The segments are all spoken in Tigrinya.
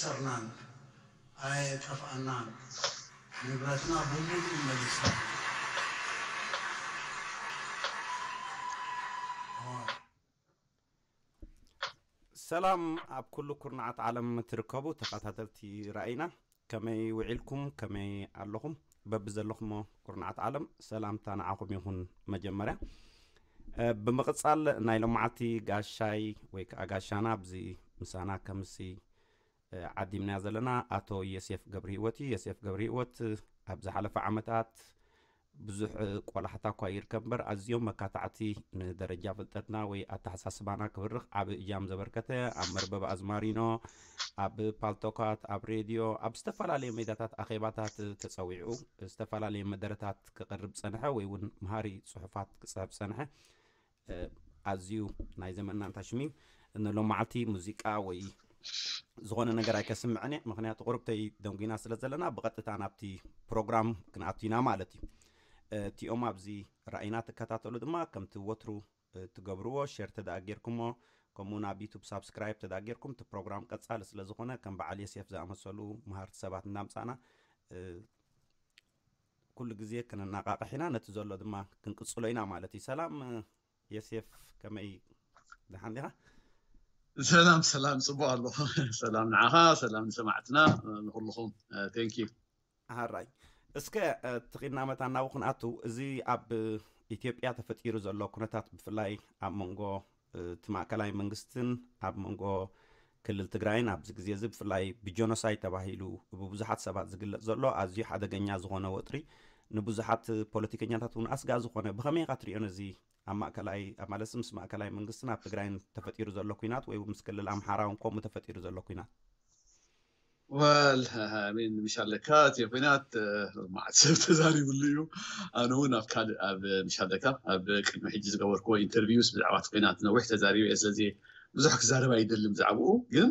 ኣይሰርናን፣ ኣይጠፍኣናን፣ ንብረትና ብምሉኡ መሊስና። ሰላም ኣብ ኩሉ ኩርናዓት ዓለም ትርከቡ ተኸታተልቲ ራእይና፣ ከመይ ውዒልኩም? ከመይ ኣለኹም? በብዘለኹሞ ኩርናዓት ዓለም ሰላምታ ንዓኹም ይኹን። መጀመርያ እ፣ ብምቕጻል ናይ ሎማዓቲ ጋሻይ ወይ ከዓ ጋሻና ኣብዚ ምሳና ከምሲ እ፣ ዓዲምናዮ ዘለና ኣቶ የሴፍ ገብረሂወት እዩ። የሴፍ ገብረሂወት ኣብ ዝሓለፈ ዓመታት ብዙሕ እ፣ ቆላሕታ እኳ ይርከብ እምበር ኣዝዮም መካታዕቲ ንደረጃ ፍልጠትና ወይ ኣተሓሳስባና ክብርኽ ዓቢ እጃም ዘበርከተ ኣብ መርበብ ኣዝማሪኖ ኣብ ፓልቶካት ኣብ ሬድዮ ኣብ ዝተፈላለዩ ሜዳታት ኣኼባታት ተጸዊዑ ዝተፈላለዩ መደረታት ክቕርብ ጸንሐ ወይ እውን መሃሪ ጽሑፋት ክጽሕፍ ጸንሐ። እ፣ ኣዝዩ ናይ ዘመንና እንታሽሚ ንሎማዓልቲ ሙዚቃ ወይ ዝኾነ ነገር ኣይከስምዕን እየ። ምክንያቱ ቁርብተይ ደንጉና ስለ ዘለና ብቐጥታ ናብቲ ፕሮግራም ክንኣቱ ኢና ማለት እዩ። እ፣ እቲኦም ኣብዚ ራእይና ትከታተሉ ድማ ከምቲ ወትሩ እ፣ ትገብርዎ ሼር ተደኣ ጌርኩሞ ከምኡ ናብ ዩቱብ ሳብስክራይብ ተደኣ ጌርኩም እቲ ፕሮግራም ቀጻሊ ስለ ዝኾነ ከም በዓል የሴፍ ዝኣመሰሉ መሃርቲ ሰባት እናምጻና እ፣ ኩሉ ግዜ ክንናቃቕሕ ኢና። ነቲ ዘሎ ድማ ክንቅጽሎ ኢና ማለት እዩ። ሰላም እ፣ የሴፍ፣ ከመይ ደሓን ዲኻ? ሰላም ሰላም፣ ጽቡቅ ኣሎ። ሰላም ንዓኻ፣ ሰላም ንሰማዕትና፣ ንኩልኹም። Thank you። ሃራይ እስከ እ፣ ትኺድና መታን ናብኡ ክንኣቱ፣ እዚ ኣብ ኢትዮጵያ ተፈጢሩ ዘሎ ኩነታት ብፍላይ ኣብ መንጎ እ፣ እቲ ማእከላይ መንግስትን ኣብ መንጎ ክልል ትግራይን ኣብዚ ግዜ እዚ ብፍላይ ብጀኖሳይድ ተባሂሉ ብብዙሓት ሰባት ዝግለጽ ዘሎ ኣዝዩ ሓደገኛ ዝኾነ ወጥሪ ንብዙሓት ፖለቲከኛታት እውን ኣስጋ ዝኾነ ብኸመይ ኢኻ ትሪኦ ነዚ ኣብ ማእከላይ ኣብ ማለት ምስ ማእከላይ መንግስትን ኣብ ትግራይን ተፈጢሩ ዘሎ ኩናት ወይ እውን ምስ ክልል ኣምሓራ እውን ከምኡ ተፈጢሩ ዘሎ ኩናት? ወል ሚን ምሻለካ እቲ ኩናት እ፣ መዓት ሰብ ተዛሪብሉ እዩ። ኣነ እውን ኣብ ካልእ ኣብ ምሻለካ ኣብ ቅድሚ ሕጂ ዝገበርክዎ ኢንተርቪውስ ብዛዕባ እቲ ኩናት ነዊሕ ተዛሪበ እየ። ስለዚ ብዙሕ ክዛረብ ኣይደልን ብዛዕባኡ። ግን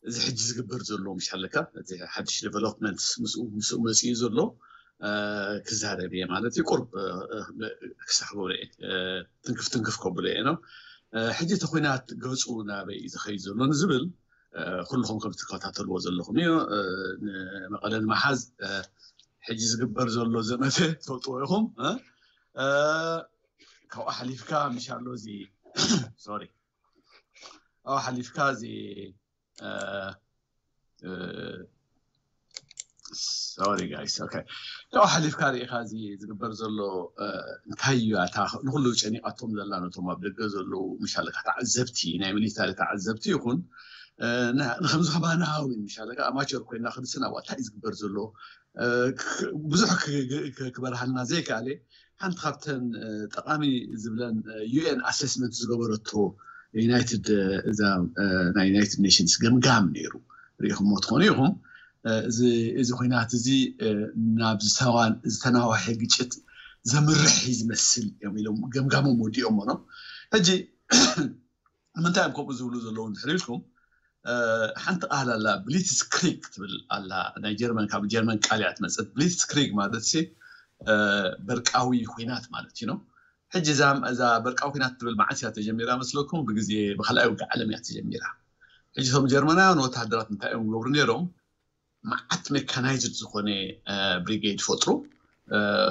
እዚ ሕጂ ዝግበር ዘሎ ምሻለካ እቲ ሓድሽ ዴቨሎፕመንት ምስኡ ምስኡ መፅኡ ዘሎ እ፣ ክዛረብ እየ ማለት እዩ። ቁርብ እ፣ እ፣ ክሳሕቦ እየ እ፣ ትንክፍ ትንክፍ ከብሎ እየ ነው። እ፣ ሕጂ እቲ ኩናት ገፁ ናበይ እዩ ዝኸይድ ዘሎ ንዝብል እ፣ ኩልኹም ከም ትከታተልዎ ዘለኹም እዩ። እ፣ ንመቐለ ንምሓዝ እ፣ ሕጂ ዝግበር ዘሎ ዘመተ ትፈልጥዎ ኢኹም። እ፣ እ፣ ካብኡ ሓሊፍካ ምሻሎ እዚ ሶሪ ካብኡ ሓሊፍካ እዚ እ፣ እ፣ ሶሪ ጋይስ ኦኬ ካብኡ ሓሊፍካ ርኢኻ እዚ ዝግበር ዘሎ እ፣ እንታይ እዩ ኣታ ንኩሉ ጨኒቃቶም ዘላ ነቶም ኣብ ደገ ዘለዉ ምሻለካ ተዓዘብቲ ናይ ሚሊታሪ ተዓዘብቲ ይኹን እ፣ ን- ንከምዚ ከማና እውን ምሻለካ ኣማቸር ኮይና ክንስና ዋ እንታይ እዩ ዝግበር ዘሎ እ፣ ክ- ብዙሕ ክ- ክ- ክበርሃልና ዘይከኣለ ሓንቲ ካብተን እ፣ ጠቃሚ ዝብለን ዩኤን ኣሰስመንት ዝገበረቶ ዩናይትድ እ፣ እዛ እ፣ ናይ ዩናይትድ ኔሽንስ ገምጋም ነይሩ ርኢኹሞ ትኾኑ ኢኹም እ፣ እዚ እዚ ኩናት እዚ እ፣ ናብ ዝተዋን ዝተናዋሐ ግጭት ዘምርሕ እዩ ዝመስል እዮም ኢሎም ገምጋሞም ወዲኦሞ ነው። ሕጂ ንምንታይ እዮም ከምኡ ዝብሉ ዘለዉ እንድሕር ኢልኩም እ፣ ሓንቲ ቃል ኣላ ብሊትስ ክሪግ ትብል ኣላ ናይ ጀርመን ካብ ጀርመን ቃል እያ ትመፅእ። ብሊትስ ክሪግ ማለት ሲ እ፣ በርቃዊ ኩናት ማለት እዩ ነው። ሕጂ እዛ እዛ በርቃዊ ኩናት ትብል መዓስ እያ ተጀሚራ መስለኩም? ብግዜ ብካልኣይ ውግእ ዓለም እያ ተጀሚራ። ሕጂ እቶም ጀርመናውያን ወታደራት እንታይ እዮም ዝገብሩ ነይሮም? መዓት ሜካናይዝድ ዝኾነ ብሪጌድ ይፈጥሩ።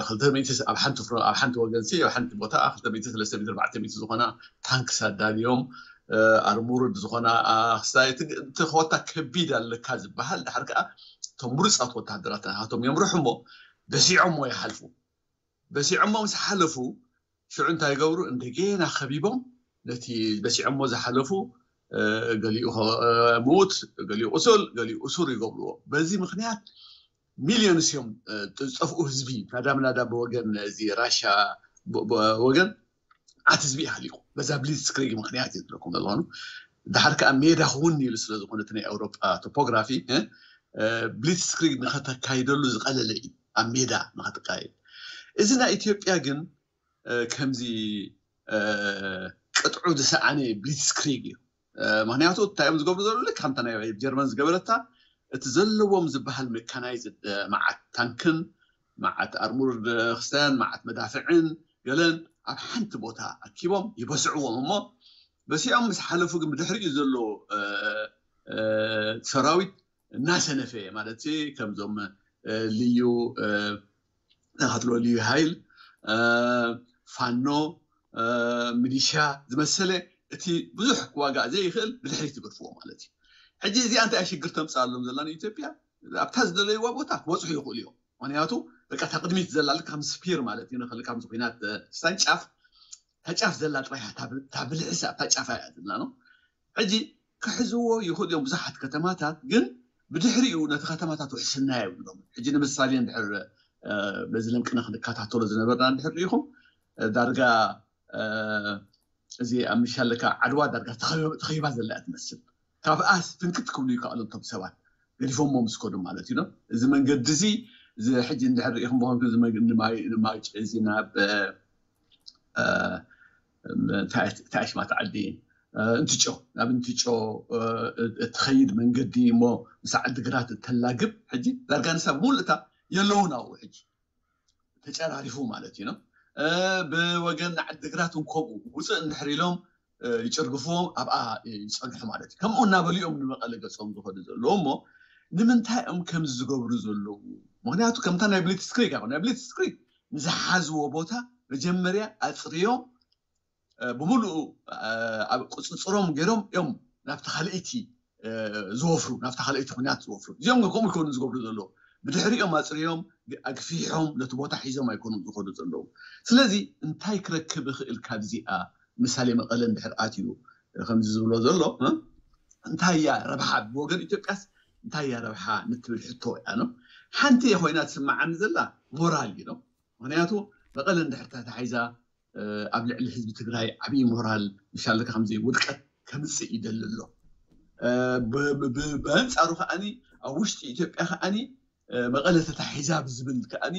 ክልተ ሚእቲ ኣብ ሓንቲ ፍሮ ኣብ ሓንቲ ወገን ሲ ኣብ ሓንቲ ቦታ ክልተ ሚእቲ ሰለስተ ሚእቲ ኣርባዕተ ሚእቲ ዝኾና ታንክስ ኣዳልዮም ኣርሙርድ ዝኾና ክስታይ እቲ እቲ ኮታ ከቢድ ኣለካ ዝበሃል ድሓር ከዓ እቶም ምሩፃት ወታደራት ናቶም የምርሑ እሞ በሲዖሞ ይሓልፉ። በሲዖሞ ምስ ሓለፉ ሽዑ እንታይ ይገብሩ? እንደገና ከቢቦም ነቲ በሲዖሞ ዝሓለፉ ገሊኡ ምዉት፣ ገሊኡ ቁሱል፣ ገሊኡ እሱር ይገብርዎ። በዚ ምክንያት ሚልዮንስ እዮም ዝጠፍኡ ህዝቢ ናዳ ምናዳ ብወገን እዚ ራሻ ወገን ዓት ህዝቢ ይሃሊቁ በዛ ብሊትስክሪግ ምክንያት እዩ ዝብለኩም ዘለኹ። ድሓር ከዓ ሜዳ ክውን ኢሉ ስለዝኾነ እቲ ናይ ኣውሮጳ ቶፖግራፊ ብሊትስክሪግ ንኸተካይደሉ ዝቐለለ እዩ ኣብ ሜዳ ንኸተካይድ። እዚ ናይ ኢትዮጵያ ግን ከምዚ ቅጥዑ ዝሰኣነ ብሊትስክሪግ እዩ። ምክንያቱ እንታይ እዮም ዝገብሩ ዘለዉ ልክ ከምታ ናይ ጀርመን ዝገበረታ እቲ ዘለዎም ዝበሃል ሜካናይዝድ መዓት ታንክን መዓት ኣርሙር ክስታያን መዓት መዳፍዕን ገለን ኣብ ሓንቲ ቦታ ኣኪቦም ይበስዕዎም እሞ በሲዖም ምስ ሓለፉ ግን ብድሕሪኡ ዘሎ ሰራዊት እናሰነፈ ማለት ከምዞም ልዩ ተኸትሎ ልዩ ሃይል ፋኖ ሚሊሻ ዝመሰለ እቲ ብዙሕ ክዋጋእ ዘይኽእል ብድሕሪት ትገድፍዎ ማለት እዩ። ሕጂ እዚኣ እንታይ ሽግር ተምፅኣሎም ዘላ ንኢትዮጵያ? ኣብታ ዝደለይዋ ቦታ ክበፅሑ ይኽእሉ እዮም። ምክንያቱ በቃ እታ ቅድሚት ዘላ ልካ ከም ስፒር ማለት እዩ ንክእል ካብ ኩናት ስታን ጫፍ እታ ጫፍ ዘላ ጥራይ እያ እታ ብልሕሲ ኣብታ ጫፍ እያ ዘላ ነው። ሕጂ ክሕዝዎ ይኽእሉ እዮም ብዙሓት ከተማታት፣ ግን ብድሕሪኡ ነቲ ከተማታት ውሕስና የብሎም። ሕጂ ንምሳሌ እንድሕር በዚ ልምቅነ ክንከታተሎ ዝነበርና እንድሕር ሪኢኹም ዳርጋ እዚ ኣብ ምሻለካ ዓድዋ ዳርጋ ተኸቢባ ዘላ እያ ትመስል። ካብኣስ ፍንክት ክብሉ ይከኣሉ እቶም ሰባት ገዲፎሞ ምስ ከዱ ማለት እዩ። እዚ መንገዲ እዚ እዚ ሕጂ እንድሕር ሪኢኹም ብኾንኩም እዚ መንገዲ ንማይ ንማይ እዚ ናብ ታሽማት ዓዲ እንትጮ ናብ እንትጮ እትኸይድ መንገዲ እሞ ምስ ዓዲ ግራት እተላግብ ሕጂ ዳርጋ ንሳ ብሙሉእ እታ የለውን ኣብኡ ሕጂ ተጨራሪፉ ማለት እዩ። ብወገን ዓዲ ግራት እንከምኡ ውፅእ እንድሕር ኢሎም ይጭርግፍዎም ኣብኣ ይፀንሑ ማለት እዩ። ከምኡ እናበሉ እዮም ንመቐለ ገፆም ዝኸዱ ዘለዉ እሞ ንምንታይ እዮም ከምዚ ዝገብሩ ዘለዉ? ምክንያቱ ከምታ ናይ ብሊትስክሪግ ኣ ናይ ብሊትስክሪግ ንዝሓዝዎ ቦታ መጀመርያ ኣፅርዮም ብምሉኡ ኣብ ቁፅፅሮም ገይሮም እዮም ናብቲ ካልእይቲ ዝወፍሩ ናብቲ ካልእይቲ ኩናት ዝወፍሩ እዚኦም ከምኡ ይኮኑ ዝገብሩ ዘለዉ ብድሕሪኦም ኣፅርዮም ኣግፊሖም ነቲ ቦታ ሒዞም ኣይኮኑም ዝኸዱ ዘለዉ። ስለዚ እንታይ ክረክብ ይኽእል ካብዚኣ ምሳሌ መቐለ እንድሕር ኣትዩ ከምዚ ዝብሎ ዘሎ እንታይ እያ ረብሓ ብወገን ኢትዮጵያስ እንታይ እያ ረብሓ ንትብል ሕቶ እያ ነው። ሓንቲ ኮይና ትስማዓኒ ዘላ ሞራል እዩ ነው። ምክንያቱ መቐለ እንድሕር ተታሒዛ ኣብ ልዕሊ ህዝቢ ትግራይ ዓብዪ ሞራል ምሻለካ ከምዚ ውድቀት ከምፅእ ይደሊ ኣሎ። ብኣንፃሩ ከዓኒ ኣብ ውሽጢ ኢትዮጵያ ከዓኒ መቐለ ተታሒዛ ብዝብል ከዓኒ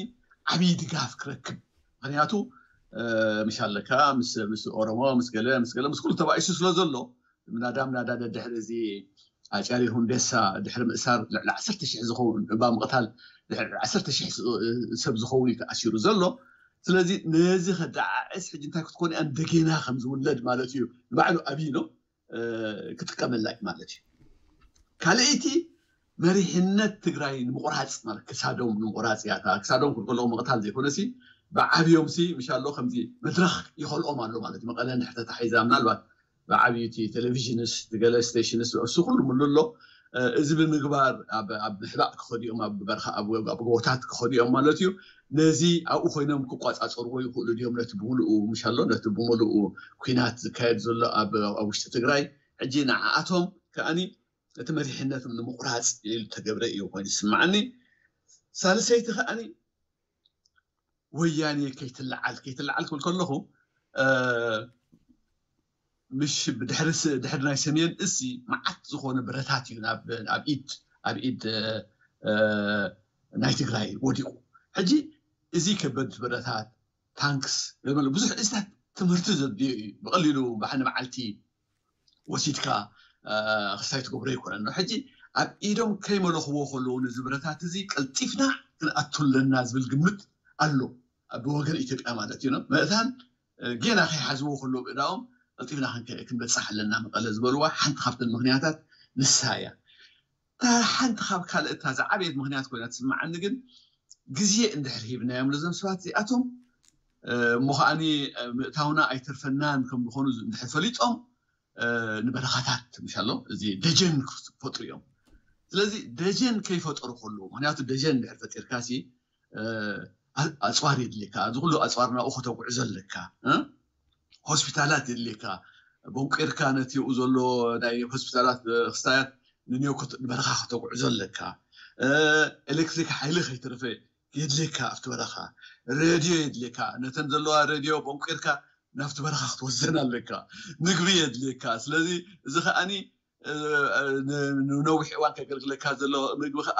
ዓብዪ ድጋፍ ክረክብ ምክንያቱ ምሻለካ ምስ ኦሮሞ ምስ ገለ ምስ ገለ ምስ ኩሉ ተባኢሱ ስለ ዘሎ ምናዳ ምናዳ ደድሕሪ እዚ ኣጫሊ ሁንዴሳ ድሕሪ ምእሳር ልዕሊ ዓሰርተ ሽሕ ዝኸውን እባ ምቕታል ልዕሊ ዓሰርተ ሽሕ ሰብ ዝኸውን እዩ ተኣሲሩ ዘሎ። ስለዚ ነዚ ከደዓዕስ ሕጂ እንታይ ክትኮን እያ እንደገና ከም ዝውለድ ማለት እዩ ንባዕሉ ኣብይ ነው ክጥቀመላ እዩ ማለት እዩ። ካልኣይቲ መሪሕነት ትግራይ ንምቑራፅ ማለት ክሳዶም ንምቑራፅ እያ ክሳዶም ክልከለኦም ምቕታል ዘይኮነሲ ብዓብዮም ሲ ምሻሎ ከምዚ መድረክ ይኸልኦም ኣሎ ማለት እዩ። መቐለ እንድሕር ተታሒዛ ምናልባት ብዓብይቲ ቴሌቪዥንስ ገለ ስቴሽንስ እሱ ኩሉ ምሉ ኣሎ። እዚ ብምግባር ኣብ ምሕባእ ክኸዲኦም ኣብ በርኻ ኣብ ጎቦታት ክኸዲኦም ማለት እዩ። ነዚ ኣብኡ ኮይኖም ክቋፃፀርዎ ይኽእሉ ድዮም ነቲ ብምሉኡ ምሻሎ ነቲ ብምሉኡ ኩናት ዝካየድ ዘሎ ኣብ ውሽጢ ትግራይ? ሕጂ ንዓኣቶም ከዓኒ እቲ መሪሕነቶም ንምቑራፅ ዝተገብረ እዩ ኮይኑ ዝስማዓኒ። ሳልሰይቲ ከዓኒ ወያኔ ከይትለዓል ከይትለዓል ክብል ከለኹ ምሽ ብድሕሪ ድሕሪ ናይ ሰሜን እዚ መዓት ዝኾነ ብረታት እዩ ኣብ ኢድ ኣብ ኢድ ናይ ትግራይ ወዲቑ። ሕጂ እዚ ከበድ ብረታት ታንክስ ብዙሕ እዚታት ትምህርቲ ዘድልዮ እዩ። ብቐሊሉ ባሕኒ መዓልቲ ወሲድካ ክስታይ ትገብሮ ኣይኮነን። ሕጂ ኣብ ኢዶም ከይመለኽዎ ከለዉ ነዚ ብረታት እዚ ቀልጢፍና ክንኣቱ ኣለና ዝብል ግምት ኣሎ ብወገን ኢትዮጵያ ማለት እዩ። መእታን ጌና ከይሓዝዎ ከለዉ ብእዳኦም ቀልጢፍና ክንበፅሕ ኣለና መቐለ ዝበልዋ ሓንቲ ካብተን ምክንያታት ንሳ እያ። እታ ሓንቲ ካብ ካልእ እታ ዝዓበየት ምክንያት ኮይና ትስምዓኒ ግን ግዜ እንድሕር ሂብናዮም ነዞም ሰባት እዚኣቶም እሞ ከዓኒ ምእታውና ኣይተርፈናን ከም ዝኾኑ እንድሕር ፈሊጦም ንበረኻታት ምሻሎ እዚ ደጀን ክፈጥሩ እዮም። ስለዚ ደጀን ከይፈጠሩ ከለዉ ምክንያቱ ደጀን እንድሕር ፈጢርካ ሲ ኣፅዋር የድልየካ ኣብዚ ኩሉ ኣፅዋር ናብኡ ከተጉዕዞ ኣለካ። ሆስፒታላት የድልየካ ቦንቂርካ ነቲ ኡ ዘሎ ናይ ሆስፒታላት ክስታያት ንንዮ ንበረኻ ከተጉዕዞ ኣለካ። ኤሌክትሪክ ሓይሊ ከይተረፈ የድልየካ ኣብቲ በረኻ ሬድዮ የድልየካ ነተን ዘለዋ ሬድዮ ቦንቂርካ ናብቲ በረኻ ክትወስደን ኣለካ። ምግቢ የድልየካ ስለዚ እዚ ከዓኒ ንነዊሕ እዋን ከገልግለካ ዘሎ ምግቢ ከዓ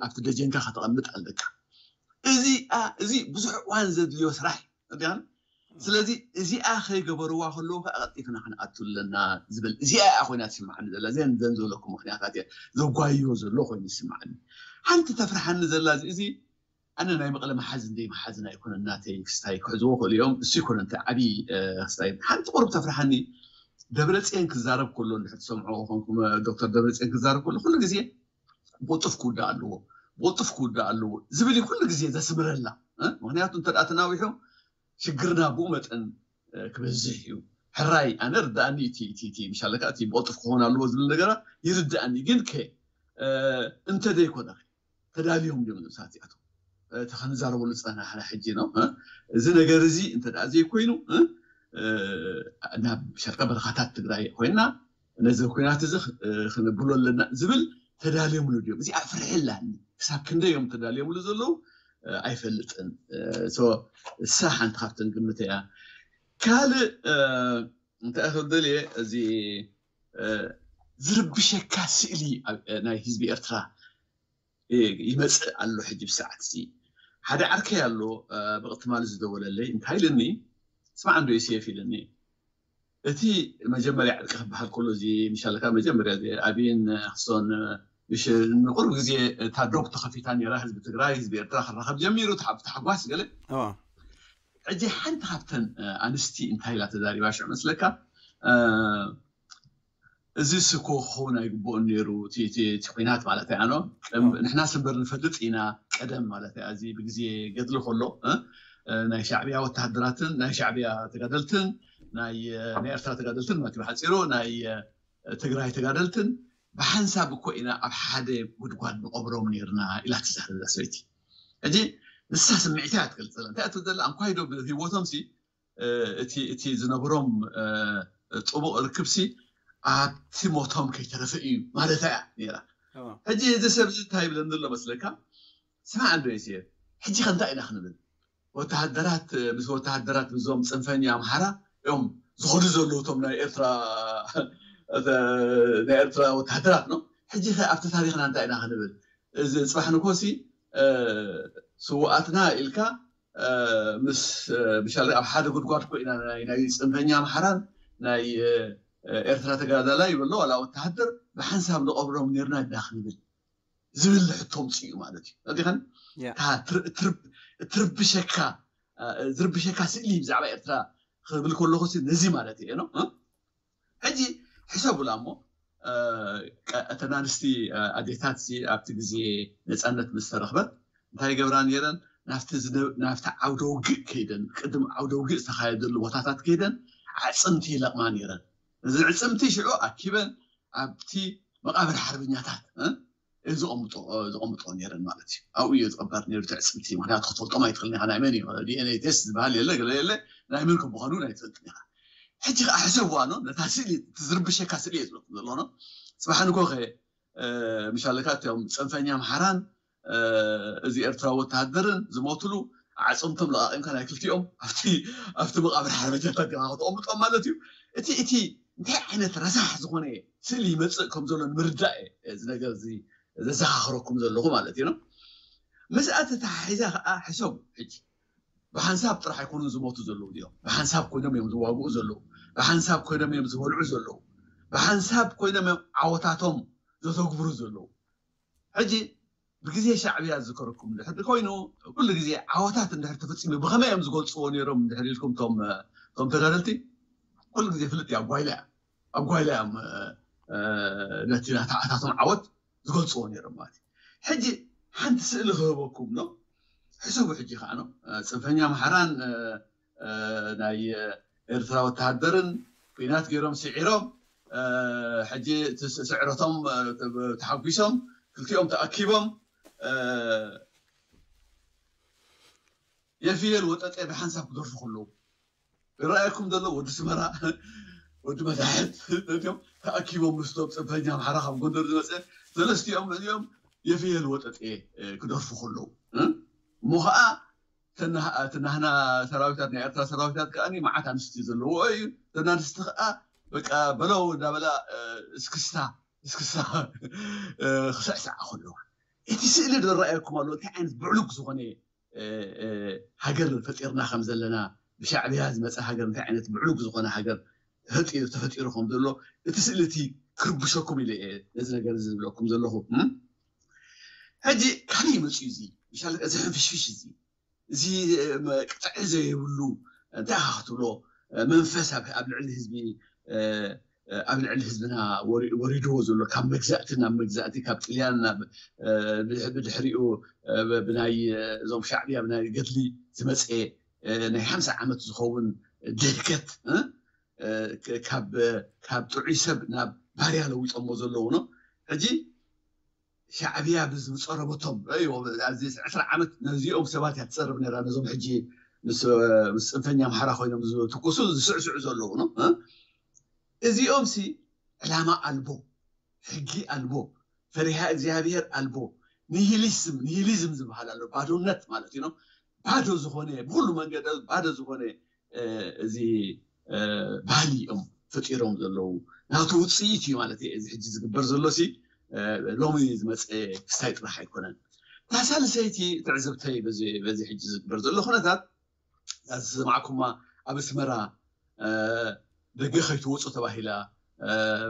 ኣብቲ ደጀንካ ከተቐምጥ ኣለካ። እዚ እዚ ብዙሕ እዋን ዘድልዮ ስራሕ እያን። ስለዚ እዚኣ ከይገበርዋ ከለዉ ከዓ ቀልጢፍና ክንኣቱ ኣለና ዝብል እዚኣ እያ ኮይና ትስምዓኒ ዘላ እዘን ዘን ዝበለኩ ምክንያታት እየ ዘጓይዮ ዘሎ ኮይኑ ይስምዓኒ። ሓንቲ ተፍርሓኒ ዘላ እዚ ኣነ ናይ መቐለ መሓዝን ደይ መሓዝን ኣይኮነን ናተይ ክስታይ ክሕዝዎ ክእሉ እዮም እሱ ይኮነ እንታይ ዓብዪ ክስታይ ሓንቲ ቁሩብ ተፍርሓኒ ደብረፅዮን ክዛረብ ከሎ እንድሕር ትሰምዖ ኮንኩም፣ ዶክተር ደብረፅዮን ክዛረብ ከሎ ኩሉ ግዜ ብቕልጡፍ ክውዳእ ኣለዎ፣ ብቕልጡፍ ክውዳእ ኣለዎ ዝብል እዩ ኩሉ ግዜ ዘስምረላ። ምክንያቱ እንተ ተናዊሑ ሽግርና ብኡ መጠን ክበዝሕ እዩ። ሕራይ ኣነ ርዳእኒ፣ እቲ ምሻለካ እቲ ብቕልጡፍ ክኸውን ኣለዎ ዝብል ነገራት ይርዳእኒ። ግን ከ እንተ ዘይኮነ ተዳልዮም ድዮም ንብሳት እዚኣቶም እቲ ክንዛረበሉ ዝፀናሕና ሕጂ ነው። እዚ ነገር እዚ እንተ ዘይኮይኑ ናብ ሸርቀ በረኻታት ትግራይ ኮይና ነዚ ኩናት እዚ ክንብሎ ኣለና ዝብል ተዳልዮምሉ ድዮም? እዚኣ ፍርሒ ኣላኒ። ክሳብ ክንደይ እዮም ተዳልዮምሉ ዘለዉ ኣይፈልጥን። እሳ ሓንቲ ካብተን ግምት እያ። ካልእ እንታይ ክብል ደልየ፣ እዚ ዝርብሸካ ስእሊ ናይ ህዝቢ ኤርትራ ይመፅእ ኣሎ። ሕጂ ብሰዓት እዚ ሓደ ዓርከይ ኣሎ ብቕትማል ዝደወለለይ፣ እንታይ ኢልኒ፣ ስማዕ እንዶ ዮሴፍ ኢልኒ፣ እቲ መጀመርያ ዕርቂ ክበሃል ከሎ፣ እዚ ምሻለካ መጀመርያ ኣብይን ክሶን ምሽ ንቁሩብ ግዜ እታ ዶብ ተኸፊታ ነራ፣ ህዝቢ ትግራይ ህዝቢ ኤርትራ ክራኸብ ጀሚሩ፣ ተሓ- ተሓጓስ ገለ። ሕጂ ሓንቲ ካብተን ኣንስቲ እንታይ ኢላ ተዛሪባ ሽዑ መስለካ? እዚ ስኮ ክኸውን ኣይግብኦን ነይሩ፣ እቲ ኩናት ማለት እያ። ንሕና ስንበር ንፈልጥ ኢና፣ ቀደም ማለት እያ። እዚ ብግዜ ገድሊ ከሎ ናይ ሻዕብያ ወተሃደራትን ናይ ሻዕብያ ተጋደልትን ናይ ኤርትራ ተጋደልትን ማለት ብሓፂሩ ናይ ትግራይ ተጋደልትን ብሓንሳብ እኮ ኢና ኣብ ሓደ ጉድጓድ ንቐብሮም ነርና ኢላ ትዛረብ እዛ ሰበይቲ። ሕጂ ንሳ ስምዒታ እያ ትገልፅ ዘላ። እንታይ እያ ትብል ዘላ? ኣንኳይዶ ብህይወቶም ሲ እቲ እቲ ዝነብሮም ጥቡቕ ርክብሲ ኣብቲ ሞቶም ከይተረፈ እዩ ማለታ እያ ነይራ። ሕጂ እዚ ሰብ እዚ እንታይ ይብለኒ ዘሎ መስለካ? ስማዕ እንዶ ዮሴፍ፣ ሕጂ ከ እንታይ ኢና ክንብል? ወተሃደራት ምስ ወተሃደራት ምስዞም ፅንፈኛ ኣምሓራ እዮም ዝኸዱ ዘለዉ፣ እቶም ናይ ኤርትራ ናይ ኤርትራ ወተሃደራት ነው። ሕጂ ከ ኣብቲ ታሪክና እንታይ ኢና ክንብል? እዚ ፅባሕ ንኮሲ ስውኣትና ኢልካ ምስ ብሻለ ኣብ ሓደ ጉድጓድ ኮይና ናይ ናይ ፅንፈኛ ኣምሓራን ናይ ኤርትራ ተጋዳላይ ይበሎ ዋላ ወተሃደር ብሓንሳብ ንቐብሮም ነርና ኢና ክንብል ዝብል ሕቶ ምፅኡ ማለት እዩ። ዲኸን ትርብሸካ ዝርብሸካ ስእሊ ብዛዕባ ኤርትራ ክብል ከለኹ ነዚ ማለት እየ ነው። ሕጂ ሕሰቡላ እሞ እተን ኣንስቲ ኣዴታት ኣብቲ ግዜ ነፃነት ምስ ተረኽበት እንታይ ይገብራ ነይረን? ናብቲ ዓውደ ውግእ ከይደን ቅድም ዓውደ ውግእ ዝተኻየደሉ ቦታታት ከይደን ኣዕፅምቲ ይለቕማ ነይረን። እዚ ዕፅምቲ ሽዑ ኣኪበን ኣብቲ መቃብር ሓርበኛታት ዝቐምጦ ነይረን ማለት እዩ። ኣብኡ እዩ ዝቕበር ነይሩ እቲ ዕፅምቲ። ምክንያቱ ክትፈልጦም ኣይትኽእልን ኢኻ። ናይ መን እዩ ዲኤንኤ ቴስት ዝበሃል የለ ገለ የለ፣ ናይ መን ከምዃኑ ኣይትፈልጥን ኢኻ። ሕጂ ከዓ ሕሰብዋ ኖ ነታ ስእሊ፣ እቲ ዝርብሸካ ስእሊ እየ ዝብለኩም ዘሎ ኖ። ፅባሕ ንግሆ ከ ምሻለካ እቶም ፅንፈኛ ኣምሓራን እዚ ኤርትራዊ ወተሃደርን ዝሞትሉ ኣዕፅምቶም ለቓቒምካ ናይ ክልቲኦም ኣብቲ ኣብቲ መቃብር ሓርበኛታት ዲኻ ክተቐምጦም ማለት እዩ። እቲ እቲ እንታይ ዓይነት ረሳሕ ዝኾነ ስእሊ ይመፅእ ከም ዘሎ ንምርዳእ እየ እዚ ነገር እዚ ዘዘኻኽረኩም ዘለኹ ማለት እዩ። ምስኣ ተተሓሒዛ ከዓ ሕሰቡ ሕጂ ብሓንሳብ ጥራሕ ኣይኮኑን ዝሞቱ ዘለዉ እዚኦም። ብሓንሳብ ኮይኖም እዮም ዝዋግኡ ዘለዉ። ብሓንሳብ ኮይኖም እዮም ዝበልዑ ዘለዉ። ብሓንሳብ ኮይኖም እዮም ዓወታቶም ዘተግብሩ ዘለዉ። ሕጂ ብግዜ ሻዕብያ ዝከረኩም እንድሕር ኮይኑ ኩሉ ግዜ ዓወታት እንድሕር ተፈፂሙ ብኸመይ እዮም ዝገልፅዎ ነይሮም እንድሕር ኢልኩም ቶም ቶም ተጋደልቲ ኩሉ ግዜ ፍልጥ እዩ። ኣብ ጓይላ እዮም ኣብ ጓይላ እዮም ነቲ ናታዓታቶም ዓወት ዝገልፅዎ ነይሮም ማለት እዩ። ሕጂ ሓንቲ ስእሊ ክህበኩም ነው። ሕሰቡ ሕጂ ከዓ ነው ፅንፈኛ ኣምሓራን ናይ ኤርትራ ወተሃደርን ኩናት ገይሮም ስዒሮም ሕጂ ስዕረቶም ተሓጒሶም ክልቲኦም ተኣኪቦም የፍየል ወጠጤ ብሓንሳብ ክደርፉ ከለዉ ይረኣየኩም ዘሎ ወዲ ስመራ ወዲ መታሕት እዚኦም ተኣኪቦም ምስቶም ፅንፈኛ ኣምሓራ ካብ ጎንደር ዝመፀ ሰለስቲኦም እዚኦም የፍየል ወጠጤ ክደርፉ ከለዉ እሞ ከዓ ተናህና ሰራዊታት ናይ ኤርትራ ሰራዊታት ከዓ መዓት ኣንስቲ ዘለዎ እዩ። ተናንስቲ ከዓ በቃ በለው እንዳበላ እስክስታ እስክስታ ክስዕስዓ ከለዋ እቲ ስእሊ ዝረኣየኩም ኣሎ። እንታይ ዓይነት ብዕሉግ ዝኾነ ሃገር ፈጢርና ከም ዘለና ብሻዕብያ ዝመፀ ሃገር እንታይ ዓይነት ብዕሉግ ዝኾነ ሃገር ተፈጢሩ ከም ዘሎ እቲ ስእሊ እቲ ክርብሸኩም ኢለ እየ ነዚ ነገር እዚ ዝብለኩም ዘለኹ። ሕጂ ካበይ መፅኡ እዚ ምሻለ እዚ ሕንፍሽፍሽ እዚ እዚ ቅጥዒ ዘይብሉ እንታይ ኢኻ ክትብሎ መንፈስ ኣብ ልዕሊ ህዝቢ ኣብ ልዕሊ ህዝብና ወሪድዎ ዘሎ ካብ መግዛእቲ ናብ መግዛእቲ ካብ ጥልያን ናብ ብድሕሪኡ ብናይ እዞም ሻዕብያ ብናይ ገድሊ ዝመፀ ናይ ሓምሳ ዓመት ዝኸውን ድህከት ካብ ጥዑይ ሰብ ናብ ባርያ ለዊጦሞ ዘለዉ ነው። ሕጂ ሻዕብያ ብዝፀረበቶም እዚ ዕስራ ዓመት ነዚኦም ሰባት እያ ትፀርብ ነራ። ነዞም ሕጂ ምስ ጽንፈኛ ኣምሓራ ኮይኖም ዝትኩሱ ዝስዕስዑ ዘለዉ ነው። እዚኦም ሲ ዕላማ ኣልቦ፣ ሕጊ ኣልቦ፣ ፈሪሃ እግዚኣብሔር ኣልቦ፣ ኒሂሊዝም ኒሂሊዝም ዝበሃል ኣሎ። ባዶነት ማለት እዩ ነው። ባዶ ዝኾነ ብኩሉ መንገዲ ባዶ ዝኾነ እዚ ባህሊ እዮም ፈጢሮም ዘለዉ። ናቱ ውፅኢት እዩ ማለት እዩ። እዚ ሕጂ ዝግበር ዘሎ ሲ ሎሚ ዝመፀ ክስታይ ጥራሕ ኣይኮነን። እታ ሳልሰይቲ ትዕዝብተይ በዚ ሕጂ ዝግበር ዘሎ ኩነታት ዝሰማዕኩማ ኣብ ኣስመራ ደገ ከይትወፁ ተባሂላ።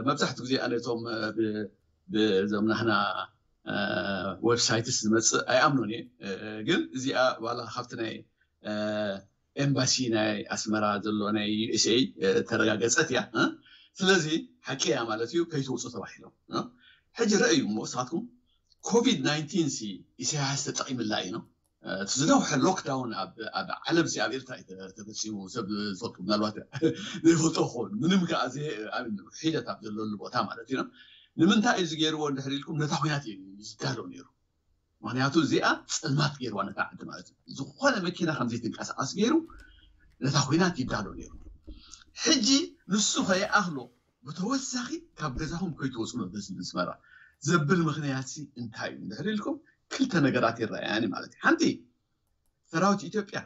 መብዛሕትኡ ግዜ ኣነቶም ብዞም ናህና ዌብሳይትስ ዝመፅእ ኣይኣምኖን እየ። ግን እዚኣ ዋላ ካብቲ ናይ ኤምባሲ ናይ ኣስመራ ዘሎ ናይ ዩኤስኤ ተረጋገፀት እያ። ስለዚ ሓቂ እያ ማለት እዩ። ከይትወፁ ተባሂሎም ሕጂ ረእዩ እሞ እሳትኩም ኮቪድ ናይንቲን ሲ ኢሳያስ ተጠቒምላ እዩ ነው። እቲ ዝነውሐ ሎክዳውን ኣብ ዓለም ሲ ኣብ ኤርትራ እዩ ተፈፂሙ። ሰብ ዝፈልጡ ምናልባት ዘይፈልጦ ክኸውን ምንም ከዓ ሒደት ኣብ ዘለሉ ቦታ ማለት እዩ። ንምንታይ እዩ ዝገይርዎ እንድሕር ኢልኩም ነታ ኩናት እዩ ዝዳሎ ነይሩ። ምክንያቱ እዚኣ ፀልማት ገይርዋ ነታ ዓዲ ማለት እዩ። ዝኾነ መኪና ከምዘይትንቀሳቐስ ገይሩ ነታ ኩናት ይዳሎ ነይሩ። ሕጂ ንሱ ከይኣኽሎ ብተወሳኺ ካብ ገዛኹም ከይትወፁ ነው ደስ ዝብል ስመራ ዘብል ምክንያት ሲ እንታይ እዩ እንድሕር ኢልኩም ክልተ ነገራት ይረኣያኒ ማለት እዩ። ሓንቲ ሰራዊት ኢትዮጵያ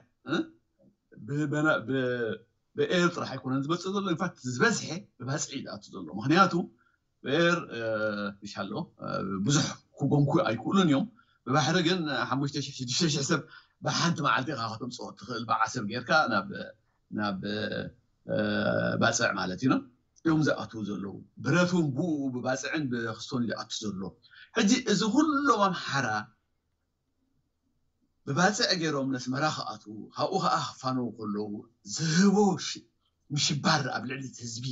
ብኤር ጥራሕ ኣይኮነን ዝመፅእ ዘሎ። ኢንፋክት ዝበዝሐ ብባፅዒ ዝኣቱ ዘሎ ምክንያቱ ብኤር ይሻሎ ብዙሕ ክጎንኩ ኣይክእሉን እዮም። ብባሕሪ ግን ሓሙሽተ ሽሕ ሽዱሽተ ሽሕ ሰብ ብሓንቲ መዓልቲ ኢኻ ከተምፅኦ ትኽእል። ብዓሰብ ጌርካ ናብ ባፅዕ ማለት እዩ እዮም ዝኣትዉ ዘለዉ። ብረት እውን ብኡ ብባፅዕን ብክስቶን ዝኣቱ ዘሎ። ሕጂ እዚ ኩሎም ኣምሓራ ብባፅዕ ገይሮም ነስመራ ክኣትዉ ካብኡ ከዓ ክፋነዉ ከለዉ ዝህቦ ምሽባር ኣብ ልዕሊ ህዝቢ